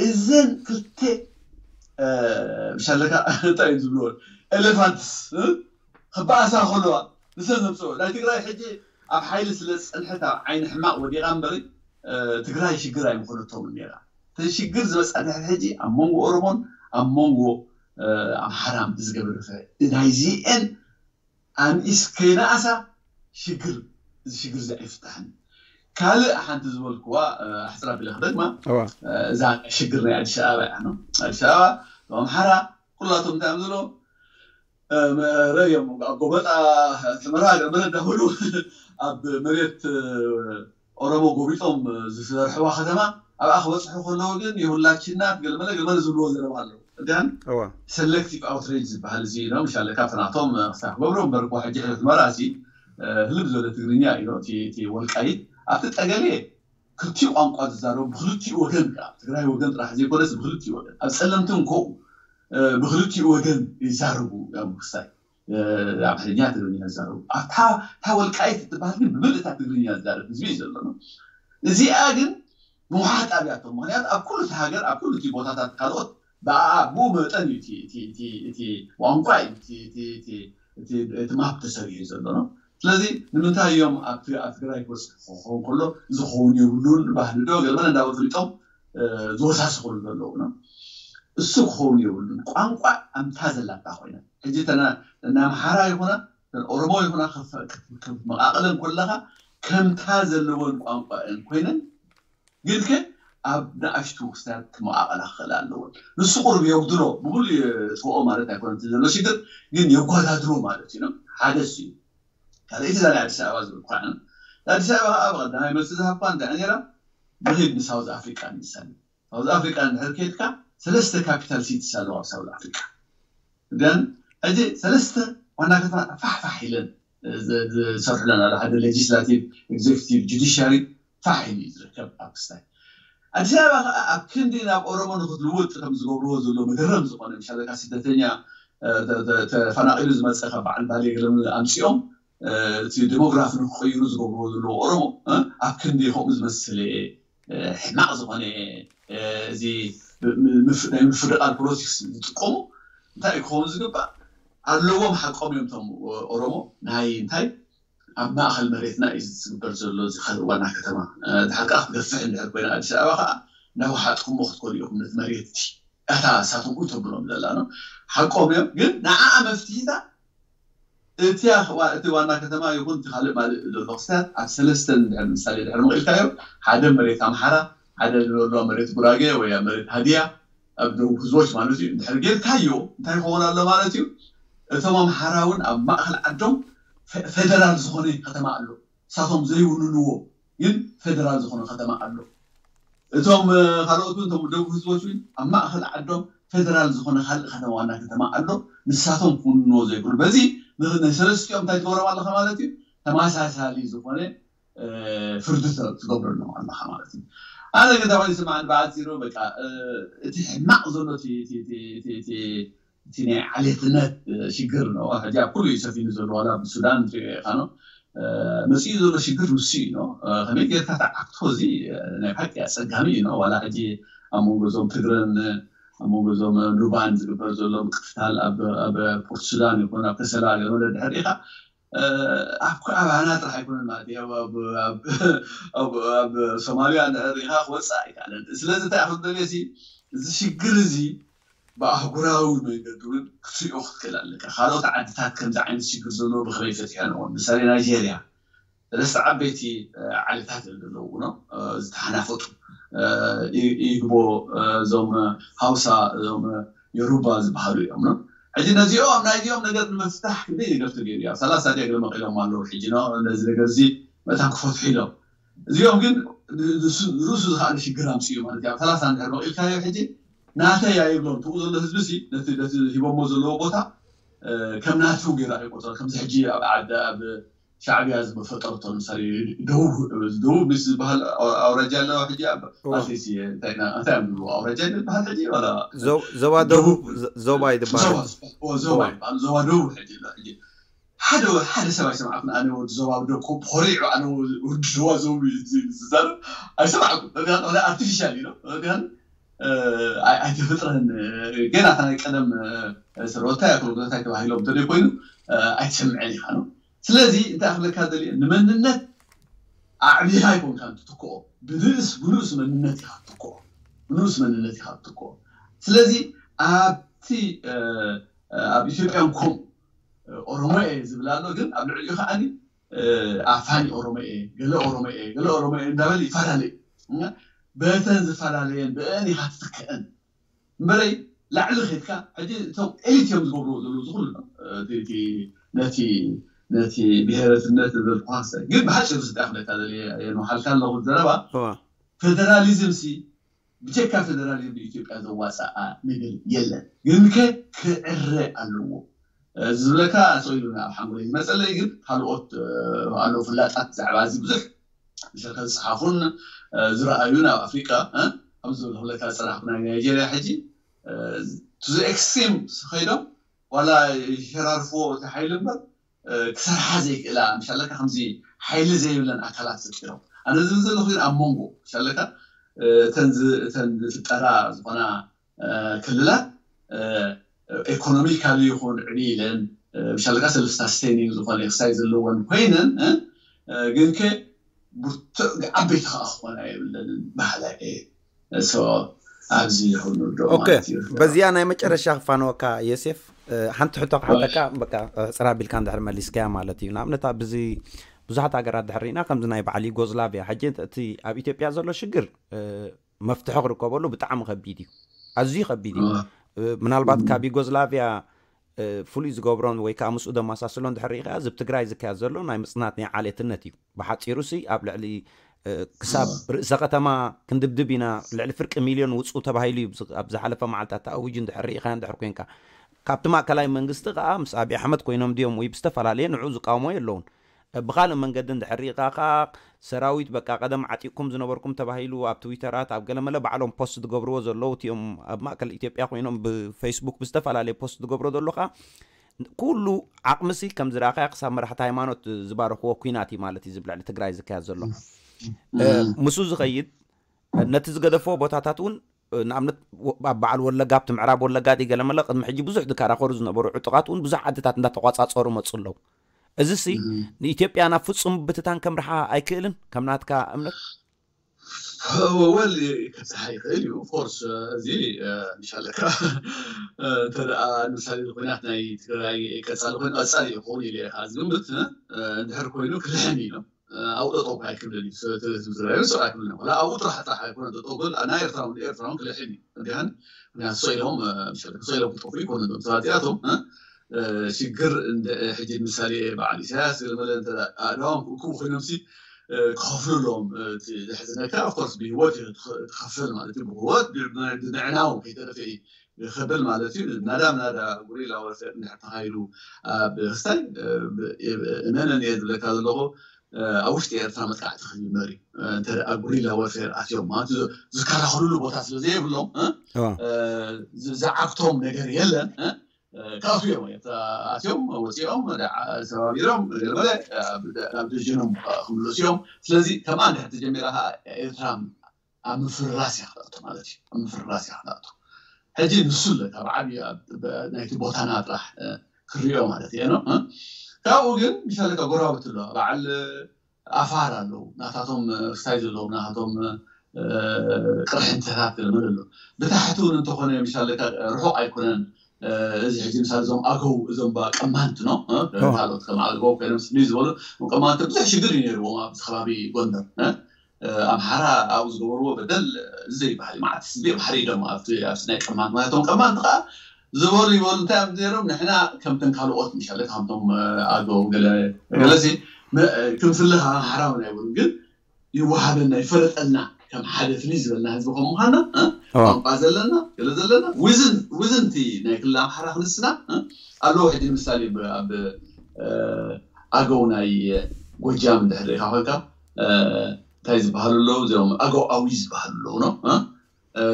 እዘን ክልተ ምሻለካ እንታይ እዩ ዝብልዎ ኤሌፋንትስ ክበኣሳ ከለዋ ንሰን ዘምፅኦ ናይ ትግራይ ሕጂ ኣብ ሓይሊ ስለ ዝፀንሐት ኣብ ዓይኒ ሕማቕ ወዲቓ እምበሪ ትግራይ ሽግር ኣይምኾነቶምን ነራ። እተን ሽግር ዝበፅሐ ድሕሪ ሕጂ ኣብ መንጎ ኦሮሞን ኣብ መንጎ ኣምሓራን ብዝገበረ ናይዚአን ኣንኢስ ከይነኣሳ ሽግር እዚ ሽግር እዚ ኣይፍታሕን። ካልእ ሓንቲ ዝበልክዋ ኣሕፅር ኣቢለ ክደግማ እዛ ሽግር ናይ ኣዲስ ኣበባ እያ። ኣዲስ ኣበባ ኣምሓራ ኩላቶም እንታይ እዮም ዝብሎ ረእዮም ኣብ ጎበጣ ሕመራ ገመረ እንዳበሉ ኣብ መሬት ኦሮሞ ጎቢጦም ዝሰርሕዋ ከተማ ኣብኣ ክበፅሑ ከለዉ ግን የሁላችን ናት ገለመለ ገለመለ ዝብልዎ ዘረባ ኣለዉ። እዳን ሰሌክቲቭ ኣውትሬጅ ዝበሃል እዚ ነው ምሻለ ካብቲ ናቶም ክሳብ ክገብሮ እምበር እኮ ሕጂ ሕመራ እዚ ህልብ ዝበለ ትግርኛ እዩ እቲ ወልቃይት ኣብቲ ጠገሌ ክልቲኡ ቋንቋ ዝዛረቡ ብክልቲኡ ወገን ከዓ ትግራይ ወገን ጥራሕ ዘይኮነስ ብክልቲኡ ወገን ኣብ ፀለምቲ እንኮ ብክልቲኡ ወገን ይዛረቡ እዮም ክሳይ ኣምሓርኛ ትግርኛ ዝዛረቡ ኣብታ ወልቃይት እትበሃል ግን ብምልእታ ትግርኛ ዝዛረብ ህዝቢ እዩ ዘሎ። እዚኣ ግን ምውሓጥ ኣብያቶም ምክንያቱ ኣብ ኩሉ እቲ ሃገር ኣብ ኩሉ እቲ ቦታታት ካልኦት ብኡ መጠን እዩ እቲ ቋንቋ እዩ እቲ ማፕ ተሰሪሑ ዘሎ ነው። ስለዚ ንምንታይ እዮም ኣብ ትግራይ ክበፅሑ ክኸውን ከሎ ዝኸውን የብሉን ባህሊ ዶ ገለመለ እንዳበሉ ፈሊጦም ዝወሳስኹሉ ዘለዉ ነው። እሱ ክኸውን የብሉን። ቋንቋ ኣምታ ዘላታ ኮይና ሕጂ ናይ ኣምሓራ ይኹና ኦሮሞ ይኹና መቃቅለን ከለካ ከምታ ዘለወን ቋንቋ እን ኮይነን ግን ከ ኣብ ንኣሽቱ ክስታት ክመቃቀላ ክኽእል ኣለወን። ንሱ ቁርብ የጉድሎ ብሙሉ የጥፍኦ ማለት ኣይኮነ ዘሎ ሽግር ግን የጓዳድሮ ማለት እዩ። ሓደ እሱ እዩ። ካልኣይቲ እዛ ናይ ኣዲስ ኣበባ ዝብል ኳ ኣዲስ ኣበባ ከዓ ብቀዳማይ መልሲ ዝሃብኳ እንታይ ነራ ንኺድ ንሳውዝ ኣፍሪቃ ንምሳሌ ሳውዝ ኣፍሪቃ እንድሕር ከድካ ሰለስተ ካፒታል ሲቲስ ኣለዋ ኣብ ሳውዝ ኣፍሪቃ። ግን ሕጂ ሰለስተ ዋና ከተማ ፋሕፋሕ ኢለን ዝሰርሑለን ኣሎ ሓደ ሌጂስላቲቭ ኤግዜክቲቭ ጁዲሽያሪ ፋሕ ኢሉ እዩ ዝርከብ ኣብ ክስታይ ኣዲስ ኣበባ ከዓ ኣብ ክንዲ ናብ ኦሮሞ ንክትልውጥ ከም ዝገብርዎ ዘሎ መገረም ዝኾነ ምሻለካ ስደተኛ ተፈናቂሉ ዝመፀ ካብ በዓል ባሌ ገለም ኣምፂኦም እቲ ዲሞግራፊ ንክቀይሩ ዝገብርዎ ዘለዉ ኦሮሞ ኣብ ክንዲ ከምኡ ዝመስለ ሕማቕ ዝኾነ እዚ ናይ ምፍድቃል ፖለቲክስ ዝጥቀሙ እንታይ ክኸውን ዝግባእ ኣለዎም ሓቆም እዮም ቶም ኦሮሞ ናይ እንታይ ኣብ ማእኸል መሬትና እዩ ዝግበር ዘሎ እዚ ካልእ ዋና ከተማ ድሓር ከዓ ክትገፍሕ እንድሕር ኮይና ኣዲስ ኣበባ ከዓ እንዳወሓጥኩሞ ክትኮኑ ኢኹም ነቲ መሬት እቲ እታ እሳቶም እውን ተብሎም ዘላ ነው ሓቆም እዮም ግን ንዓኣ መፍትሒታ እቲ እቲ ዋና ከተማ ይኹን እቲ ካልእ ማልእ ዘሎ ክስታት ኣብ ሰለስተ እንድሕር ምሳሌ ድሕር መቂልካዮ ሓደ መሬት ኣምሓራ ሓደ ንበሎ መሬት ጉራጌ ወይ ኣብ መሬት ሃዲያ ኣብ ደቡብ ህዝቦች ማለት እዩ እንድሕር ጌርካዮ እንታይ ይኸውን ኣሎ ማለት እዩ እቶም ኣምሓራ እውን ኣብ ማእኸል ዓዶም ፌደራል ዝኾነ ከተማ ኣሎ እሳቶም ዘይውንንዎ ግን ፌደራል ዝኾነ ከተማ ኣሎ እቶም ካልኦት እውን እቶም ደቡብ ህዝቦች እውን ኣብ ማእኸል ዓዶም ፌደራል ዝኾነ ካልእ ከተማ ዋና ከተማ ኣሎ ንሳቶም ክውንንዎ ዘይክእሉ በዚ ንሰለስቲኦም እንታይ ትገብሮም ኣለኻ ማለት እዩ ተመሳሳሊ ዝኾነ ፍርዲ ትገብረሎም ኣለኻ ማለት እዩ ኣነ ግን ተባሂሉ ስማዕ ብዓፂሩ በቃ እቲ ሕማቕ ዘሎ እቲ ናይ ዓሌትነት ሽግር ነው ሕጂ ኣብ ኩሉ እዩ ሰፊኑ ዘሎ ዋላ ብሱዳን ትሪኦ ኢኻ ነው መፅኡ ዘሎ ሽግር ንሱ እዩ ነው ከመይ ጌርካ ተዓክቶ እዚ ናይ ብሓቂ ኣፀጋሚ እዩ ነው ዋላ ሕጂ ኣብ መንጎ እዞም ትግረን ኣብ መንጎ እዞም ሉባን ዝግበር ዘሎ ምቅትታል ኣብ ፖርት ሱዳን ይኹን ኣብ ከሰላ ገለ ድሕር ኢኻ ኣብ ኣባና ጥራሕ ኣይኮነን ማለት እዩ ኣብ ሶማልያ ንዕር ኢኻ ክወፅእ ኣይከኣለን ስለዚ እንታይ ኣክል ደልዮ እዚ ሽግር እዚ ብኣህጉራዊ መንገዲ እውን ክትሪኦ ክትክእል ኣለካ ካልኦት ዓድታት ከምዚ ዓይነት ሽግር ዘለዎ ብከመይ ፈትሖ ንኦም ምሳሌ ናይጀርያ ሰለስተ ዓበይቲ ዓሌታት እዮም ዘለውዎ ነው ዝተሓናፈጡ። ኢግቦ፣ እዞም ሃውሳ፣ እዞም ዮሩባ ዝበሃሉ እዮም ነው። ሕጂ ነዚኦም ናይዚኦም ነገር ንምፍታሕ ክንደይ ነገር ተገይሩ እዩ። ኣብ ሰላሳ ዲያ ገለ መቂሎም ኣለዉ። ሕጂ ነው ነዚ ነገር እዚ መታን ክፈትሑ ኢሎም። እዚኦም ግን ርእሱ ዝኸኣለ ሽግር ኣምፅኡ ማለት እዩ። ኣብ ሰላሳ እንድሕር መቂልካዮ ሕጂ ናተይ ኣይብሎም። ትኡ ዘሎ ህዝቢ ሲ ነቲ ሂቦሞ ዘለዎ ቦታ ከም ናቱ ገይሩ ኣይቆፅሮ። ከምዚ ሕጂ ኣብ ዓዲ ኣብ ሻዕብያ ዝፈጠረቶ ምሳሌ ደቡብ ደቡብ ምስ ዝበሃል ኣውራጃ ኣለዋ። ሕጂ ኣባቴሲ እንታይ ኢና እንታይ እዮም ዝብሉ ኣውራጃ ዝበሃል ሕጂ ዋላ ዞባ ደቡብ ዞባ ይድበሃል። ዞባ ይበሃል። ዞባ ደቡብ ሕጂ ኣሎ። ሕጂ ሓደ ሓደ ሰብ ኣይሰማዕኩን። ኣነ ወዲ ዞባ ደኮ ኮሪዑ ኣነ ወዲ ዞባ ዞብ ዝዛረብ ኣይሰማዕኩን። ኣርቲፊሻል እዩ ኣይተፈጥረን። ገና ናይ ቀደም ሰረወታይ ኣክሎ እንታይ ተባሂሎም እንተ ኮይኑ ኣይትሰምዐን ኢኻ ነው። ስለዚ እንታይ ክብለካ ደልየ ንመንነት ኣዕቢኻ ኣይኮንካ ትትክኦ። ብንእስ ብንኡስ መንነት ኢኻ ትትክኦ። ብንኡስ መንነት ኢኻ ትትክኦ። ስለዚ ኣብቲ ኣብ ኢትዮጵያን ኮም ኦሮሞ እየ ዝብል ኣሎ። ግን ኣብ ልዕሊኡ ከዓኒ ኣፋኒ ኦሮሞ እየ፣ ገለ ኦሮሞ እየ፣ ገለ ኦሮሞ እየ እንዳበለ ይፈላለ እዩ። በተን ዝፈላለየን ብአን ኢኻ ትትክአን እምበረይ ላዕሊ ኸድካ ሕጂ እቶም ኤሊት እዮም ዝገብርዎ ዘለዉ ዝኩሉ ነቲ ነቲ ብሄረትነት ዘልኳሰ ግን ብሓፂሩ ስጣ ክለካ ዘለ የንውሓልካ ኣለኹ ዘረባ። ፌደራሊዝም ሲ ብጀካ ፌደራሊዝም ንኢትዮጵያ ዘዋፀኣ ነገር የለን። ግን ከ ክዕረ ኣለዎ ዝብለካ ተኢሉ ኣብ ሓንጎለይ ዝመፀለይ ግን ካልኦት ኣለዉ ፍላጣት ብዛዕባ እዚ ብዙሕ ዝፀሓፉን ዝረኣዩን ኣብ ኣፍሪቃ ከም ዝብለካ ዝፀናሕኩ ናይ ናይጀርያ ሕጂ ቱ ዘ ኤክስትሪም ከይዶም ዋላ ይሸራርፍዎ እቲ ሓይሊ እምበር ክሰርሓ ዘይክእላ ምሻለካ ከምዚ ሓይሊ ዘይብለን ኣካላት ፈጢሮም። ኣነ ዝብል ዘለኹ ግን ኣብ መንጎ ምሻለካ እተን ዝፍጠራ ዝኾና ክልላት ኢኮኖሚካሊ ይኹን ዕብይ ኢለን ምሻለካ ሰልፍ ሳስቴኒንግ ዝኾነ ክሳይ ዘለወን ኮይነን ግን ከ ብርቱዕ ዓበይቲ ከዓ ክኾና የብለንን ባህላ እየ። ኣብዚ ይኹን ንወደኦ ማለት እዩ። በዚኣ ናይ መጨረሻ ክፋነወካ የሴፍ ሓንቲ ሕቶ ክሓተካ በቃ ሕፅር ኣቢልካ እንድሕር መሊስካያ ማለት እዩ። ንኣብነት ኣብዚ ብዙሓት ሃገራት ድሕር ርኢና ከምዚ ናይ በዓል ዩጎዝላቪያ ሕጂ እቲ ኣብ ኢትዮጵያ ዘሎ ሽግር መፍትሒ ክርከበሉ ብጣዕሚ ከቢድ እዩ። ኣዝዩ ከቢድ እዩ። ምናልባት ካብ ዩጎዝላቪያ ፍሉይ ዝገብሮን ወይ ከዓ ምስኡ ዘመሳስሎን ድሕር ርኢኻ እዚ ኣብ ትግራይ ዝካየድ ዘሎ ናይ ምፅናት ናይ ዓሌትነት እዩ። ብሓፂሩ ሲ ኣብ ልዕሊ ክሳብ ርእሰ ከተማ ክንድብድብ ኢና ልዕሊ ፍርቂ ሚልዮን ውፅኡ ተባሂሉ እዩ ኣብ ዝሓለፈ መዓልታት ተኣዊጁ እንድሕር ርኢኻዮ እንድሕር ኮይንካ ካብቲ ማእከላይ መንግስቲ ከዓ ምስ ኣብይ ኣሕመድ ኮይኖም ድዮም ወይ ብዝተፈላለየ ንዑ ዝቃወሞ የለውን። ብኻልእ መንገዲ እንድሕር ርኢኻ ከዓ ሰራዊት በቃ ቀደም ዓጢቕኩም ዝነበርኩም ተባሂሉ ኣብ ትዊተራት ኣብ ገለመለ ባዕሎም ፖስት ዝገብርዎ ዘለዉ እቲኦም ኣብ ማእከል ኢትዮጵያ ኮይኖም ብፌስቡክ ብዝተፈላለየ ፖስት ዝገብሮ ዘሎ ከዓ ኩሉ ዓቕምሲ ከም ዝረኣኻያ ክሳብ መራሕቲ ሃይማኖት ዝባረኽዎ ኩናት እዩ ማለት እዩ ዝብልዕሊ ትግራይ ዝካየድ ዘሎ። ምስኡ ዝኸይድ ነቲ ዝገደፍዎ ቦታታት እውን ንኣብነት ኣብ በዓል ወለጋ ኣብቲ ምዕራብ ወለጋ ዲ ገለመለ ቅድሚ ሕጂ ብዙሕ ዝከራኸሩ ዝነበሩ ዕጡቓት እውን ብዙሕ ዓድታት እንዳተቋፃፀሩ መፁ ኣለዉ። እዚሲ ንኢትዮጵያ ናብ ፍፁም ብትታን ከምርሓ ኣይክእልን ከም ናትካ እምነት? ወል ክብፅሓ ይኽእል እዩ ኦፍኮርስ። እዚ ምሻለካ እንተ ደኣ ንምሳሌ ኩናት ናይ ትግራይ ቀፃሊ ኮይኑ ቀፃሊ ይኸውን ኢለ ኢኻ ዝግምት እንድሕር ኮይኑ ክልሕን እዩ። ኣብኡ ጠጠው ኣይክብልን እዩ። ዝራዩ ሰብኣይ ክብልን ወላ ኣብኡ ጥራሕ ጥራሕ ኣይኮነ ጠጠው ክብል ናይ ኤርትራ እውን ኤርትራ እውን ክልሕን እዩ። እንዲያን ምክንያቱ ሰኢሎም ምሻለ ሰኢሎም ክጠፉ ይኮነ ዞም ሰባት እዚኣቶም ሽግር ሕጂ ምሳሌ በዓል ኢሳያስ ገለመለ ኣድዋም ክእክቡ ኮይኖም ሲ ክኸፍሉ ኣለዎም። ዘሕዝነካ ኦፍኮርስ ብህይወት ትኸፍል ማለት እዩ። ብህይወት ብምዕናው ከይተረፈ እዩ ክብል ማለት እዩ። ናዳ ናዳ ጉሪላ ወርፌር እንድሕር ተኻይዱ ኣብ ክስታይ እመነን እየ ዝብለካ ዘለኹ ኣብ ውሽጢ ኤርትራ መጥቃዕቲ ክጅመር እዩ። እንተ ጉሪላ ወርፌር ኣትዮም ማለት ዝከላኸሉሉ ቦታ ስለ ዘየብሎም ዝዓግቶም ነገር የለን። ክኣትዉ እዮም። ኣትዮም ወፂኦም ሰባቢሮም ገለመለ ናብ ደጀኖም ክምለሱ እዮም። ስለዚ ከምኣ እንድሕር ተጀሚራ ከዓ ኤርትራ ኣብ ምፍርራስ እያ ክነእቱ ማለት እዩ። ኣብ ምፍርራስ እያ ክነእቱ። ሕጂ ንሱ ኣሎ ካብ ዓብዪ ናይቲ ቦታና ጥራሕ ክሪኦ ማለት እየ ነው። ካብኡ ግን ምሻለካ ጎረባብቲ ኣሎ በዓል ኣፋር ኣለዉ ናታቶም ክስታይ ዘለዎም ናታቶም ቅርሕንተታት ገለመለ ኣሎ። ብታሕቲ እውን እንተኾነ ምሻለካ ርሑቕ ኣይኮነን። እዚ ሕጂ ምሳሌ እዞም ኣገው እዞም ቀማንት ነው ካልኦት ከም ኣገው ኮይኖም ስኒ ዝበሉ ቀማንት ብዙሕ ሽግር እዩ ነይርዎም ኣብዚ ከባቢ ጎንደር። ኣምሓራ ኣብኡ ዝገበርዎ በደል ዘይበሃል እዩ። መዓት ህዝቢ ኣምሓሪ ኢሎም ኣብቲ ኣብቲ ናይ ቀማንት ማለቶም ቀማንት ከዓ ዝበሉ ይበሉ እንታይ እዮም ነይሮም ንሕና ከምተን ካልኦት ምሻለ ከምቶም ኣገው ገለ ገለሲ ክንፍለ ኣምሓራ እውን ኣይበሉ ግን ይወሃበና ይፈለጠልና ከም ሓደ ፍልይ ዝበልና ህዝቢ ከም ምዃና ቋንቋ ዘለና ገለ ዘለና ውዝን ውዝንቲ ናይ ክልል ኣምሓራ ክንስና ኣለዎ። ሕጂ ንምሳሌ ኣብ ኣገው ናይ ጎጃም እንድሕር ሪኢኻ ኮይንካ እንታይ ዝበሃሉ ኣለዉ እዚኦም ኣገው ኣዊ ዝበሃሉ ኣለዉ ነው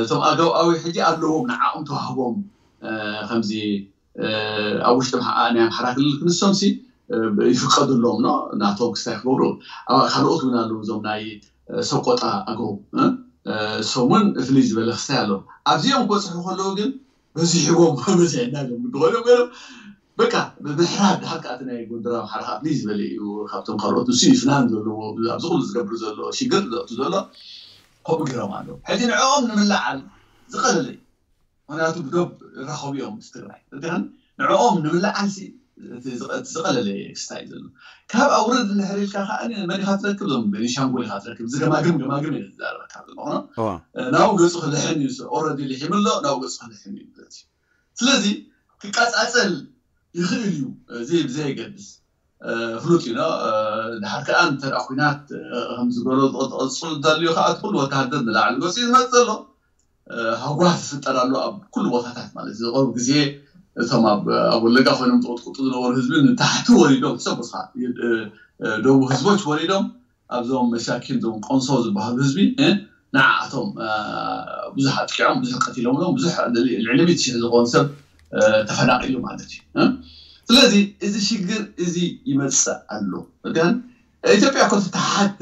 እቶም ኣገው ኣዊ ሕጂ ኣለዎም ንዓኦም ተዋህቦም ከምዚ ኣብ ውሽጢ ናይ ኣምሓራ ክልል ክንሶም ሲ ይፍቀዱሎም ነው ናቶም ክስታይ ክገብሩ ካልኦት እውን ኣለዉ እዞም ናይ ሰቆጣ ኣገው እሶም እውን ፍልይ ዝበለ ክስታይ ኣለዎም ኣብዚኦም ክበፅሑ ከለዉ ግን በዚሕዎም በዚሕና ኢሎም ክኾኑ ኮይኖም በቃ ብምሕራድ ድሓር ከኣ ናይ ጎንደር ኣምሓራ ከኣ ፍልይ ዝበለ እዩ ካብቶም ካልኦት ንሱ እዩ ፍናን ዘለዎ ኣብዚ ኩሉ ዝገብር ዘሎ ሽግር ዘእቱ ዘሎ ከምኡ ገይሮም ኣለዉ ሕጂ ንዕኦም ንምልዓል ዝቐለለ እዩ ምክንያቱ ብዶብ ይራኸቡ እዮም ምስ ትግራይ እዚን ንዕኦም ንምልዓል ዝቐለለ ክስታይ ዘሎ ካብ ኣውረድ እንድሕር ኢልካ ከዓ መን ኢኻ ትረክብ ዞም ቤኒሻንጉል ኢኻ ትረክብ ዝገማግም ገማግም እዩ ዝዛረበካ ዘሎ ናብኡ ገፁ ክልሕም እዩ ኦረዲ ልሒም ኣሎ ናብኡ ገፁ ክልሕም እዩ ማለት እዩ ስለዚ ክቀፃፀል ይኽእል እዩ እዚ ብዘየገድስ ፍሉጥ እዩ ድሓር ከዓ እንተ ኩናት ከምዝገሎ ዝቐፅሉ እንተልዩ ከዓ እቲ ኩሉ ወታሃደር ንላዕሊ ገፂ ዝመፅ ዘሎ ሃጓፍ ዝፍጠር ኣሎ ኣብ ኩሉ ቦታታት ማለት እዩ ዝቐርቡ ግዜ እቶም ኣብ ወለጋ ኮይኖም ዝቕጥቅጡ ዝነበሩ ህዝቢ ንታሕቲ ወሪዶም ሰብ ደቡብ ህዝቦች ወሪዶም ኣብዞም መሻኪን ዞም ቆንሶ ዝበሃሉ ህዝቢ ንዓኣቶም ብዙሕ ኣጥቂዖም ብዙሕ ቀቲሎምሎም ብዙሕ ልዕሊ ሚእቲ ሽሕ ዝኾኑ ሰብ ተፈናቂሉ ማለት እዩ ስለዚ እዚ ሽግር እዚ ይመፅእ ኣሎ ግን ኢትዮጵያ እኮ ትተሓት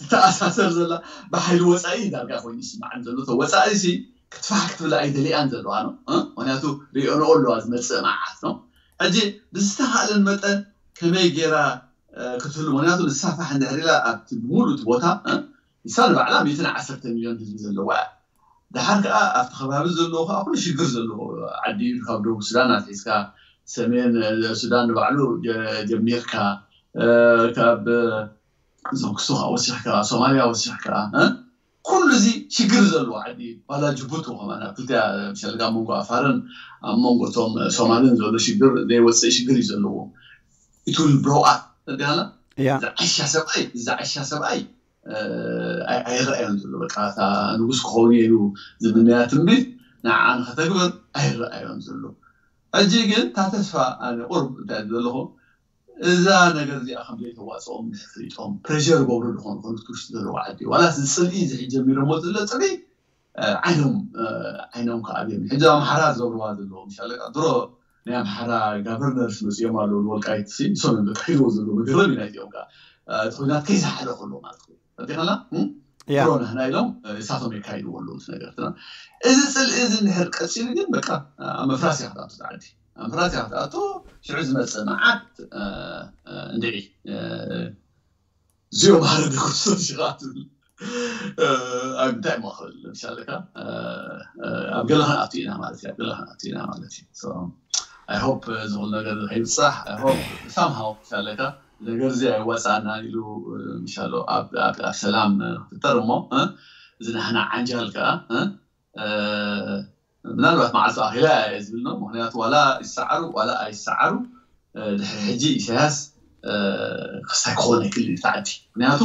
ትተኣሳሰር ዘላ ብሓይሊ ወፃኢ ዳርጋ ኮይኑ ይስማዓን ዘሎ ወፃኢ ሲ ክትፋሕ ክትብል ኣይደሊኣን ዘለዋ ነው ምክንያቱ ሪኦንኦ ኣለዋ ዝመፅእ መዓት ነው ሕጂ ብዝተኻእለን መጠን ከመይ ገይራ ክትህሉ ምክንያቱ ንሳፋሕ እንድሕር ኢላ ኣብቲ ብምሉእ እቲ ቦታ ንሳ ንባዕላ ሚእትን ዓሰርተ ሚሊዮን ህዝቢ ዘለዋ እያ ድሓር ከዓ ኣብቲ ከባቢ ዘለዎ ከዓ ኩሉ ሽግር ዘለዎ ዓዲ እዩ ካብ ደቡብ ሱዳን ኣትሒዝካ ሰሜን ሱዳን ንባዕሉ ጀሚርካ ካብ እዞም ክሱ ከዓ ወሲኽካ ሶማልያ ወሲኽካ ኩሉ እዚ ሽግር ዘለዎ ዓዲ ባላ ጅቡቲ ከማን ኣብ ክልቲያ ሸልጋ መንጎ ኣፋርን ኣብ መንጎ እቶም ሶማልን ዘሎ ሽግር ዘይወፅእ ሽግር እዩ ዘለዎ ኢትል ብሮኣት ተጋና ዝዓሻ ሰብኣይ ዝዓሻ ሰብኣይ ኣይረኣዮን ዘሎ በቃ እታ ንጉስ ክኸውን ኢሉ ዝምነያ ትንቢት ንዓ ንኸተግብር ኣይረኣዮን ዘሎ ሕጂ ግን እታ ተስፋ ኣነ ቁርብ እንታይ ዘለኹ እዛ ነገር እዚኣ ከም ዘይተዋፅኦም ፍሊጦም ፕሬር ገብሩ ዝኾኑ ኮኑት ውሽጢ ዘለዎ ዓዲ ዋላ ዝፅልኢ ዝሕጅ ጀሚሮሞ ዘሎ ፅልኢ ዓይኖም ዓይኖም ከዓ ኣብዮም ሕጂ ኣምሓራ ዝገብርዋ ዘለዎ ምሻለ ድሮ ናይ ኣምሓራ ጋቨርነርስ መፅኦም ኣለዉ ንወልቃይት ንሶም እዮም በቃ ሂልዎ ዘለዉ መገረም ኢና እዚኦም ከዓ እቲ ኩናት ከይዝሓለ ከሎ ማለት እዩ ፈቲኸላ ድሮ ንሕና ኢሎም እሳቶም የካይድዎ ኣለዉ እቲ ነገር እዚ ፅልኢ እዚ እንድሕር ቀፂሉ ግን በቃ ኣብ ምፍራስ እያ ክትኣቱ ዓዲ ኣብ ምፍራስ እያ ክትኣቱ ሽዑ ዝመፅእ መዓት እንድዒ እዚኦም ሓደ ደኮሶ ሽቃ ትብል ኣብ እንታይ እሞ ክብል ምሻለካ ኣብ ገለ ክንኣቱ ኢና ማለት እዩ ኣብ ገለ ክንኣቱ ኢና ማለት እዩ I hope ዝኹል ነገር ከይብፃሕ I hope somehow ምሻለካ ነገር እዚ ኣይዋፃና ኢሉ ምሻሎ ኣብ ሰላም ክፍጠር እሞ እዚ ናሕና ዓንጃል ከዓ ምናልባት መዓልቱ ኣኺላ እየ ዝብል ነው ምክንያቱ ዋላ ይሰዓሩ ዋላ ኣይሰዓሩ ድሕሪ ሕጂ ኢሳያስ ክስታይ ክኾነ ክል ተዓዲ ምክንያቱ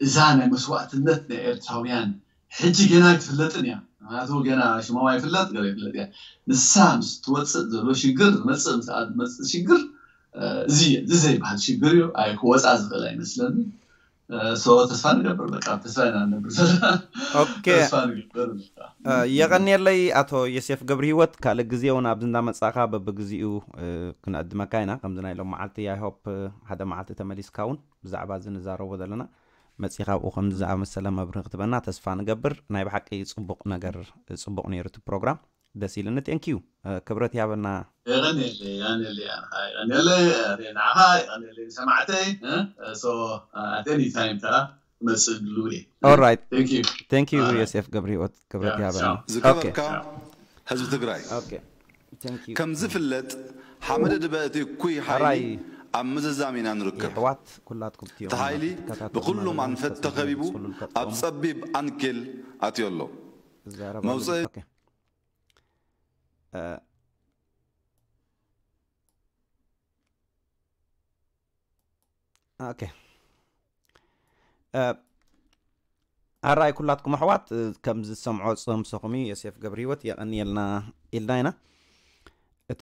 እዛ ናይ መስዋእትነት ናይ ኤርትራውያን ሕጂ ገና ኣይትፍለጥን እያ ምክንያቱ ገና ሽሞም ኣይፍለጥ ገለ ይፍለጥ እያ ንሳ ምስ ትወፅእ ዘሎ ሽግር ዝመፅእ ምስ ዝመፅእ ሽግር እዚ እዚ ዘይበሃል ሽግር እዩ ኣይ ክወፃ ዝኽእል ኣይመስለኒ ተስፋ ንገብር በቃ ተስፋ ኢና ንነብር ዘለና የቐንየለይ ኣቶ ዮሴፍ ገብሪ ህይወት ካልእ ግዜ እውን ኣብዚ እንዳመፃእካ በብግዚኡ ክንዕድመካ ኢና ከምዚ ናይ ሎም መዓልቲ ኣይሆፕ ሓደ መዓልቲ ተመሊስካ እውን ብዛዕባ እዚ ንዛረቦ ዘለና መፂኻ ኣብኡ ከምዚ ዝኣመሰለ መብርህ ክትበና ተስፋ ንገብር ናይ ብሓቂ ፅቡቕ ነገር ፅቡቕ ነይሩ እቲ ፕሮግራም ደስ ኢልኒ thank you ክብረት ያበና የቐንየለይ የቐንየለይ ኣንኻ የቐንየለይ ንዓኻ የቐንየለይ ንሰማዕተይ so at any time ከዓ ክመፅእ ድልው እየ alright thank you thank you ዮሴፍ ገብረ ህይወት ክብረት ያበና ዝከበርካ ህዝቢ ትግራይ okay Thank you. ከም ዝፍለጥ ሓመደ ድበ እቲ እኩይ ሓይሊ ሕራይ ኣብ ምዝዛም ኢና ንርከብ። የሕዋት ኩላትኩም እትዮም እቲ ሓይሊ ትከታተሉ ብኩሉም ዘለኹም ኣንፈት ተስፋ ተኸቢቡ ዝገልጽ ኩሉ ኣብ ልቀጥሎም። ጸቢብ ኣንኬል ኣትዮ ኣሎ። ዝዛረብ መውፅኢ- ኦኬ። እ፣ ኦኬ። እ፣ ኣራይ ኩላትኩም ኣሕዋት፣ እ፣ ከም ዝሰምዖ ዝሰምሰኹም እዩ። ዮሴፍ ገብረ ህይወት የቐንየልና ኢልና ኢና።